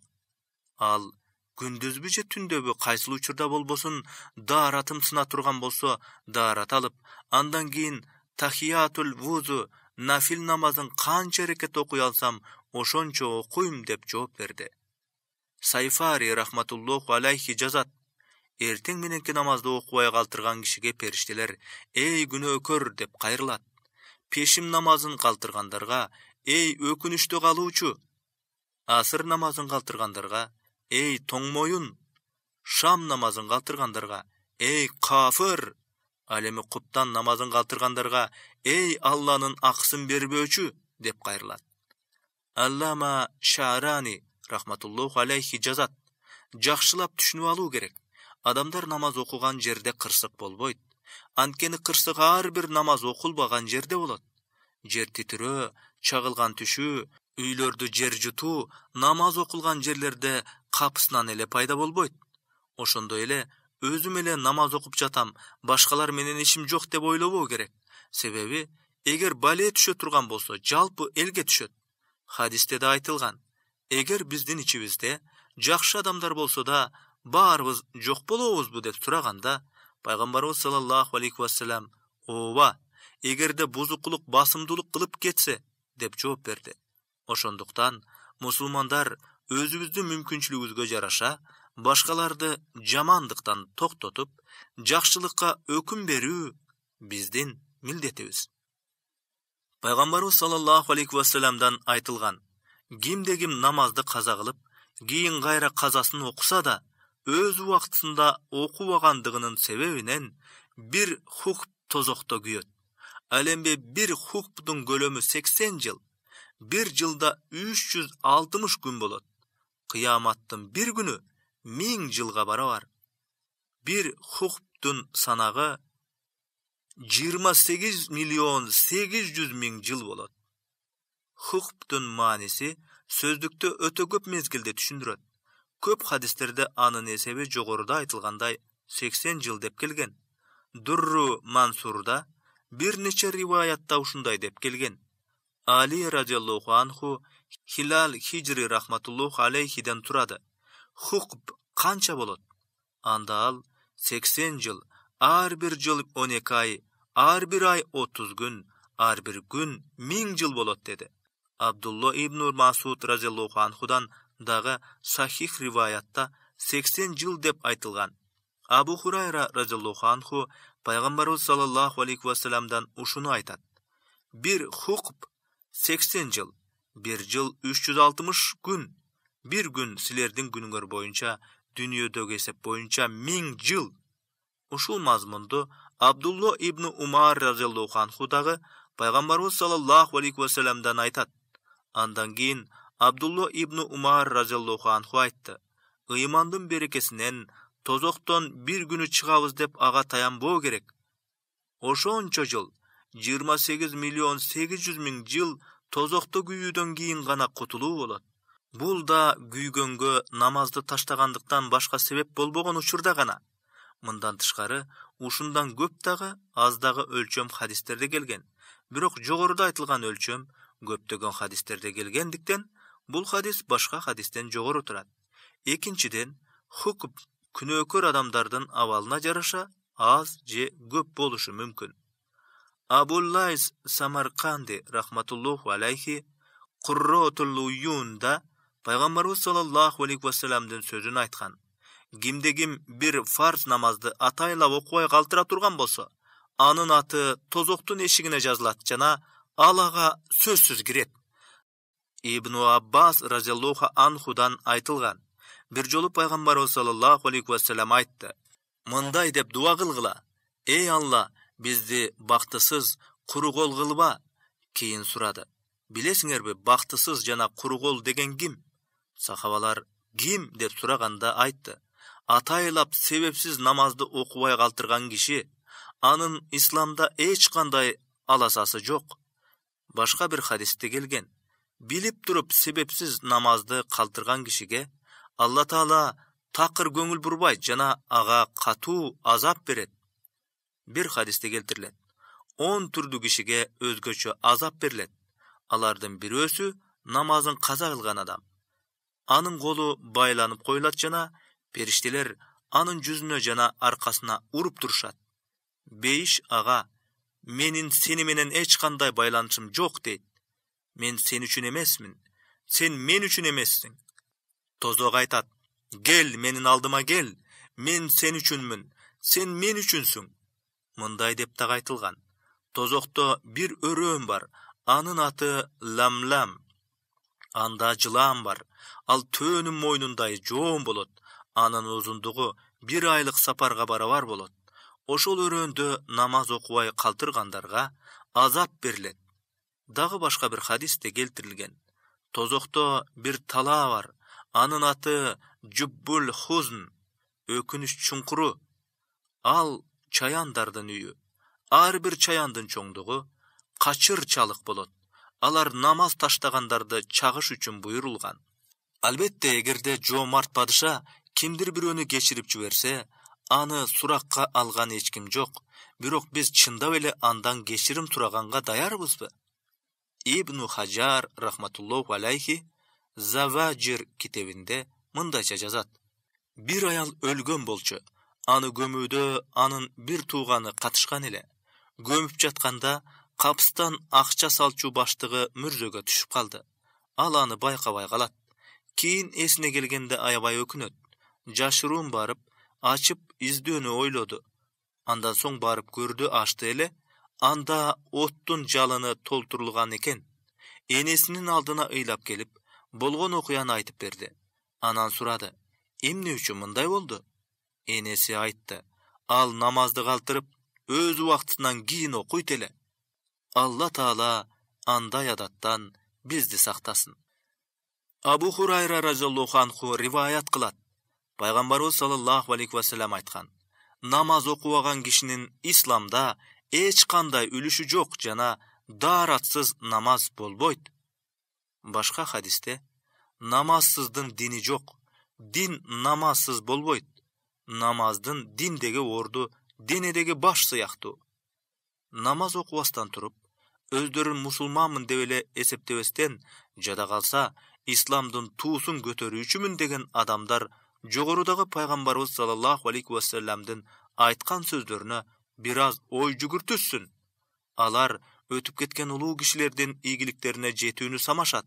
Ал: күндүзбү же түндөбү кайсыл учурда болбосун дааратым сына турган болсо, даарат алып, андан кийин тахиятул вузу, нафил намазын канча эрекет окуй алсам, ошончо окуйм деп жооп берди. Сайфари рахматуллоху алейхи жазат: эртең мененки намазды окубай калтырган кишиге периштелер: эй күнөөкөр деп кайрылат. Пешим намазын калтыргандарга: эй өкүнүчтүү калуучу. Асыр намазын калтыргандарга: эй тоңмоюн. Шам намазын калтыргандарга: эй кафыр. Ал эми куптан намазын калтыргандарга: эй Алланын акысын бербөөчү деп кайрылат. Аллама Шаарани рахматуллоху алейхи жазат: жакшылап түшүнүп алуу керек. Адамдар намаз окуган жерде кырсык болбойт. Анткени кырсык ар бир намаз окулбаган жерде болот. Жер титирөө, чагылган түшүү, үйлөрдү жер жутуу намаз окулган жерлерде капысынан эле пайда болбойт. Ошондой эле өзүм эле намаз окуп жатам, башкалар менен ишим жок деп ойлобоо керек. Себеби эгер бале түшө турган болсо, жалпы элге түшөт. Хадисте да айтылган: эгер биздин ичибизде жакшы адамдар болсо да баарыбыз жок болобузбу деп сураганда, пайгамбарыбыз саллаллаху алейхи вассалам: ооба, эгерде бузукулук басымдуулук кылып кетсе деп жооп берди. Ошондуктан мусулмандар өзүбүздүн мүмкүнчүлүгүбүзгө жараша башкаларды жамандыктан токтотуп, жакшылыкка өкүм берүү биздин милдетибиз. Пайгамбарыбыз саллаллаху алейхи вассаламдан айтылган: кимде ким намазды каза кылып, кийин кайра казасын окуса да, өз убактысында окубагандыгынын себебинен бир хукм тозокто күйөт. Ал эми бир хукмдун көлөмү 80 жыл, бир жылда 360 күн болот. Кыяматтын бир күнү 1000 жылга барабар. Бир хукмдун санагы 28 миллион 800 миң жыл болот. Хукмдун мааниси сөздүктө өтө көп мезгилде түшүндүрөт. Көп хадистерде анын эсеби жогоруда айтылгандай 80 жыл деп келген. Дурру Мансурда бир нече риваятта ушундай деп келген. Али радиаллаху анху Хилал Хижри рахматуллаху алейхиден турады. Хукм канча болот? Анда ал 80 жыл, ар бир жыл 12 ай, ар бир ай 30 күн, ар бир күн 1000 жыл болот деди. Абдулла ибн Масуд радиаллаху анхудан дагы сахих риваятта 80 жыл деп айтылган. Абу Хурайра радиаллаху анху пайгамбарыбыз саллаллаху алейхи вассаламдан ушуну айтат: бир хукм 80 жыл, бир жыл 360 күн, бир күн силердин күнүңөр боюнча, дүйнөдөгү эсеп боюнча 1000 жыл. Ушул мазмунду Абдулла ибн Умар радиаллаху анху дагы пайгамбарыбыз саллаллаху алейхи вассаламдан айтат. Андан кийин Абдулла ибн Умар радиаллаху анху айтты: ыймандын берекесинен тозоктон бир күнү чыгабыз деп ага таянбоо керек. Ошончо жыл, 28 миллион 800 миң жыл тозокто күйүүдөн кийин гана кутулуу болот. Бул да күйгөнгө намазды таштагандыктан башка себеп болбогон учурда гана. Мындан тышкары, ушундан көп дагы, аз дагы өлчөм хадистерде келген. Бирок жогоруда айтылган өлчөм көптөгөн хадистерде келгендиктен, бул хадис башка хадистен жогору турат. Экинчиден, хукм күнөөкөр адамдардын абалына жараша аз же көп болушу мүмкүн. Абуллайс Самарканди рахматуллаху алейхи Курротул Уюнда пайгамбарыбыз саллаллаху алейхи вассаламдын сөзүн айткан: кимде ким бир фарз намазды атайлап окубай калтыра турган болсо, анын аты тозоктун эшигине жазылат жана ал ага сөзсүз кирет. Ибн Аббас разияллаху анхудан айтылган: бир жолу пайгамбарыбыз саллаллаху алейхи вассалам айтты: мындай деп дуа кылгыла: эй Алла, бизди бактысыз, курукол кылба. Кийин сурады: билесиңерби, бактысыз жана курукол деген ким? Сахабалар ким деп сураганда айтты: атайлап себепсиз намазды окубай калтырган киши, анын исламда эч кандай аласасы жок. Башка бир хадисте келген: билип туруп себепсиз намазды калтырган кишиге Алла Таала такыр көңүл бурбайт жана ага катуу азап берет. Бир хадисте келтирилет: 10 түрдүү кишиге өзгөчө азап берилет. Алардын бирөөсү намазын каза кылган адам. Анын колу байланып коюлат жана периштелер анын жүзүнө жана аркасына уруп турушат. Бейиш ага: менин сени менен эч кандай байланышым жок дейт. Мен сен үчүн эмесмин, сен мен үчүн эмессиң. Тозок айтат: кел, менин алдыма кел, мен сен үчүнмүн, сен мен үчүнсүң. Мындай деп дагы айтылган: тозокто бир өрөөн бар, анын аты Ламлам. Анда жылаан бар, ал төөнүн мойнундай жоон болот, анын узундугу 1 айлык сапарга барабар болот. Ошол өрөөндө намаз окубай калтыргандарга азап берилет. Дагы башка бир хадисте келтирилген: тозокто бир талаа бар, анын аты Жуббул Хузн, өкүнүч чуңкуру. Ал чаяндардын үйү. Ар бир чаяндын чоңдугу качыр чалык болот. Алар намаз таштагандарды чагыш үчүн буйрулган. Албетте, эгерде жоомарт падыша кимдир бирөөнү кечирип жиберсе, аны суракка алган эч ким жок. Бирок биз чындап эле андан кечирим сураганга даярбызбы? Ибн Хаджар рахматуллоху алейхи Заважир китебинде мындайча жазат: бир аял өлгөн болчу. Аны көмүүдө анын бир тууганы катышкан эле. Көмүп жатканда капыстан акча салчу баштыгы мүрзөгө түшүп калды. Ал аны байкабай калат. Кийин эсине келгенде аябай өкүнөт. Жашыруун барып, ачып издөөнү ойлоду. Андан соң барып көрдү, ачты эле. Анда оттун жалыны толтурулган экен. Энесинин алдына ыйлап келип, болгон окуяны айтып берди. Анан сурады: эмне үчүн мындай болду? Энеси айтты: ал намазды калтырып, өз убактынан кийин окуйт эле. Алла Таала андай адаттан бизди сактасын. Абу Хурайра разияллаху анху риваят кылат. Пайгамбарыбыз саллаллаху алейхи ва саллям айткан: намаз окубаган кишинин исламда эч кандай үлүшү жок жана дааратсыз намаз болбойт. Башка хадисте: намазсыздын дини жок, дин намазсыз болбойт. Намаздын диндеги орду денедеги баш сыяктуу. Намаз окубастан туруп, өздөрүн мусулманмын деп эле эсептебестен жада калса, исламдын туусун көтөрүүчүмүн деген адамдар жогорудагы пайгамбарыбыз саллаллаху алейхи ва салламдын айткан сөздөрүнө бир аз ой жүгүртүшсүн. Алар өтүп кеткен улуу кишилердин ийгиликтерине жетүүнү самашат.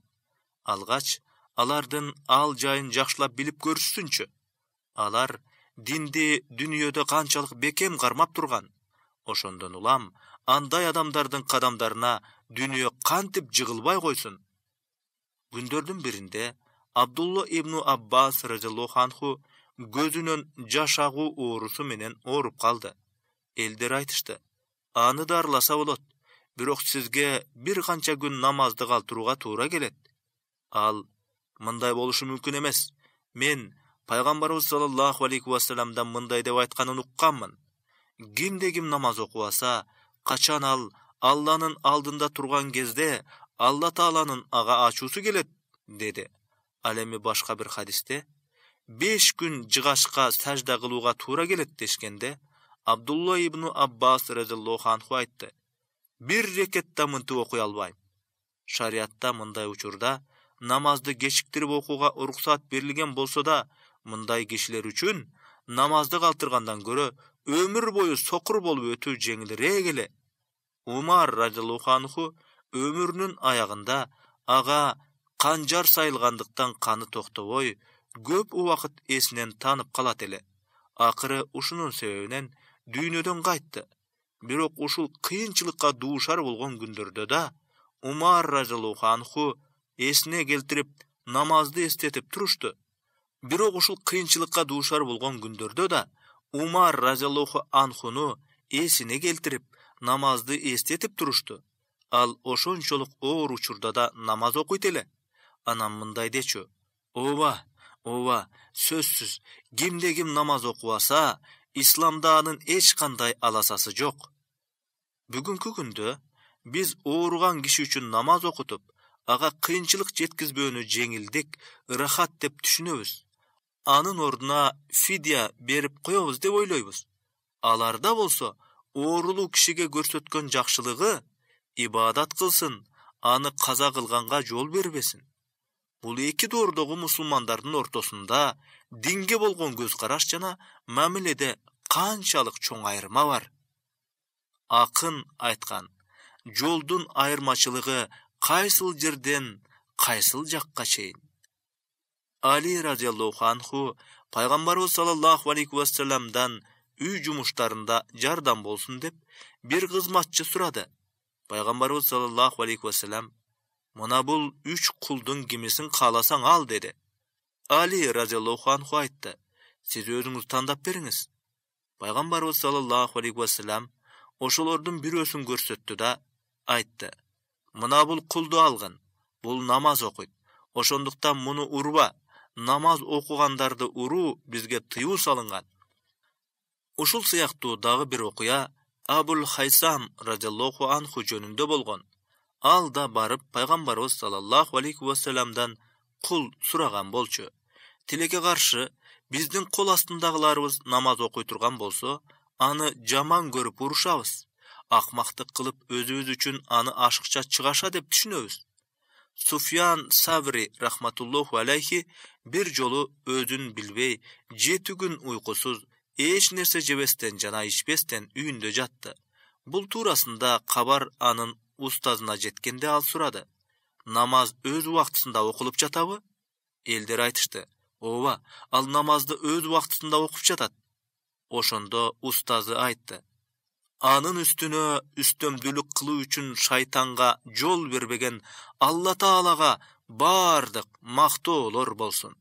Алгач, алардын ал жайын жакшылап билип көрүшсүнчү. Алар динди дүнүйөдө канчалык бекем кармап турган. Ошондон улам андай адамдардын кадамдарына дүнүйө кантип жыгылбай койсун. Күндөрдүн биринде Абдулла ибн Аббас разияллаху анху көзүнөн жаш агуу оорусу менен ооруп калды. Элдер айтышты: аны дарыласа болот, бирок сизге бир канча күн намазды калтырууга туура келет. Ал: мындай болушу мүмкүн эмес. Мен пайгамбарыбыз саллаллаху алейхи ва салламдан мындай деп айтканын укканмын. Кимде ким намаз окубаса, качан ал Алланын алдында турган кезде Алла Тааланын ага ачуусу келет, деди. Ал эми башка бир хадисте 5 күн жыгашка сажда кылууга туура келет дешкенде, Абдулла ибн Аббас разияллаху анху айтты: бир рекетта мынтип окуй албайм. Шариатта мындай учурда намазды кечиктирип окууга уруксат берилген болсо да, мындай кишилер үчүн намазды калтыргандан көрө өмүр бою сокур болуп өтүү жеңилирээк эле. Умар разияллаху анху өмүрүнүн аягында ага канжар сайылгандыктан каны токтобой, көп убакыт эсинен танып калат эле. Акыры ушунун себебинен дүйнөдөн кайтты. Бирок ушул кыйынчылыкка дуушар болгон күндөрдө да Умар разияллаху анху эсине келтирип намазды эстетип турушту. Бирок ушул кыйынчылыкка дуушар болгон күндөрдө да Умар разияллаху анхуну эсине келтирип намазды эстетип турушту. Ал ошончолук оор учурда да намаз окуйт эле. Анан мындай дечү: ооба, сөзсүз, кимде ким намаз окубаса, исламда анын эч кандай аласасы жок. Бүгүнкү күндө биз ооруган киши үчүн намаз окутуп, ага кыйынчылык жеткизбөөнү жеңилдик, ырахат деп түшүнөбүз. Анын ордуна фидия берип коебуз деп ойлойбуз. Аларда болсо оорулуу кишиге көрсөткөн жакшылыгы ибадат кылсын, аны каза кылганга жол бербесин. Бул эки доордогу мусулмандардын ортосунда динге болгон көз караш жана мамиледе канчалык чоң айырма бар. Акын айткан: жолдун айырмачылыгы кайсыл жерден кайсыл жакка чейин. Али разияллаху анху пайгамбарыбыз саллаллаху алейхи ва салламдан үй жумуштарында жардам болсун деп бир кызматчы сурады. Пайгамбарыбыз саллаллаху алейхи ва саллям: мына бул 3 кулдун кимисин кааласаң ал, деди. Али разияллаху анху айтты: сиз өзүңүз тандап бериңиз. Пайгамбарыбыз саллаллаху алейхи ва саллям ошолордун бирөөсүн көрсөттү да айтты: мына бул кулду алгын, бул намаз окуйт. Ошондуктан муну урба, намаз окугандарды уруу бизге тыюу салынган. Ушул сыяктуу дагы бир окуя Абул Хайсам разияллаху анху жөнүндө болгон. Ал да барып пайгамбарыбыз саллаллаху алейхи ва салламдан кул сураган болчу. Тилекке каршы, биздин кол астындагыларыбыз намаз окуй турган болсо, аны жаман көрүп урушабыз. Акмактык кылып өзүбүз үчүн аны ашыкча чыгаша деп түшүнөбүз. Суфьян Саври рахматуллоху алейхи бир жолу өзүн билбей 7 күн уйкусуз, эч нерсе жебестен жана ичпестен үйүндө жатты. Бул туурасында кабар анын устазына жеткенде ал сурады: намаз өз убактысында окулуп жатабы? Элдер айтышты: ооба, ал намазды өз убактысында окуп жатат. Ошондо устазы айтты: анын үстүнө үстөмдүүлүк кылуу үчүн шайтанга жол бербеген Алла Таалага бардык мактоолор болсун.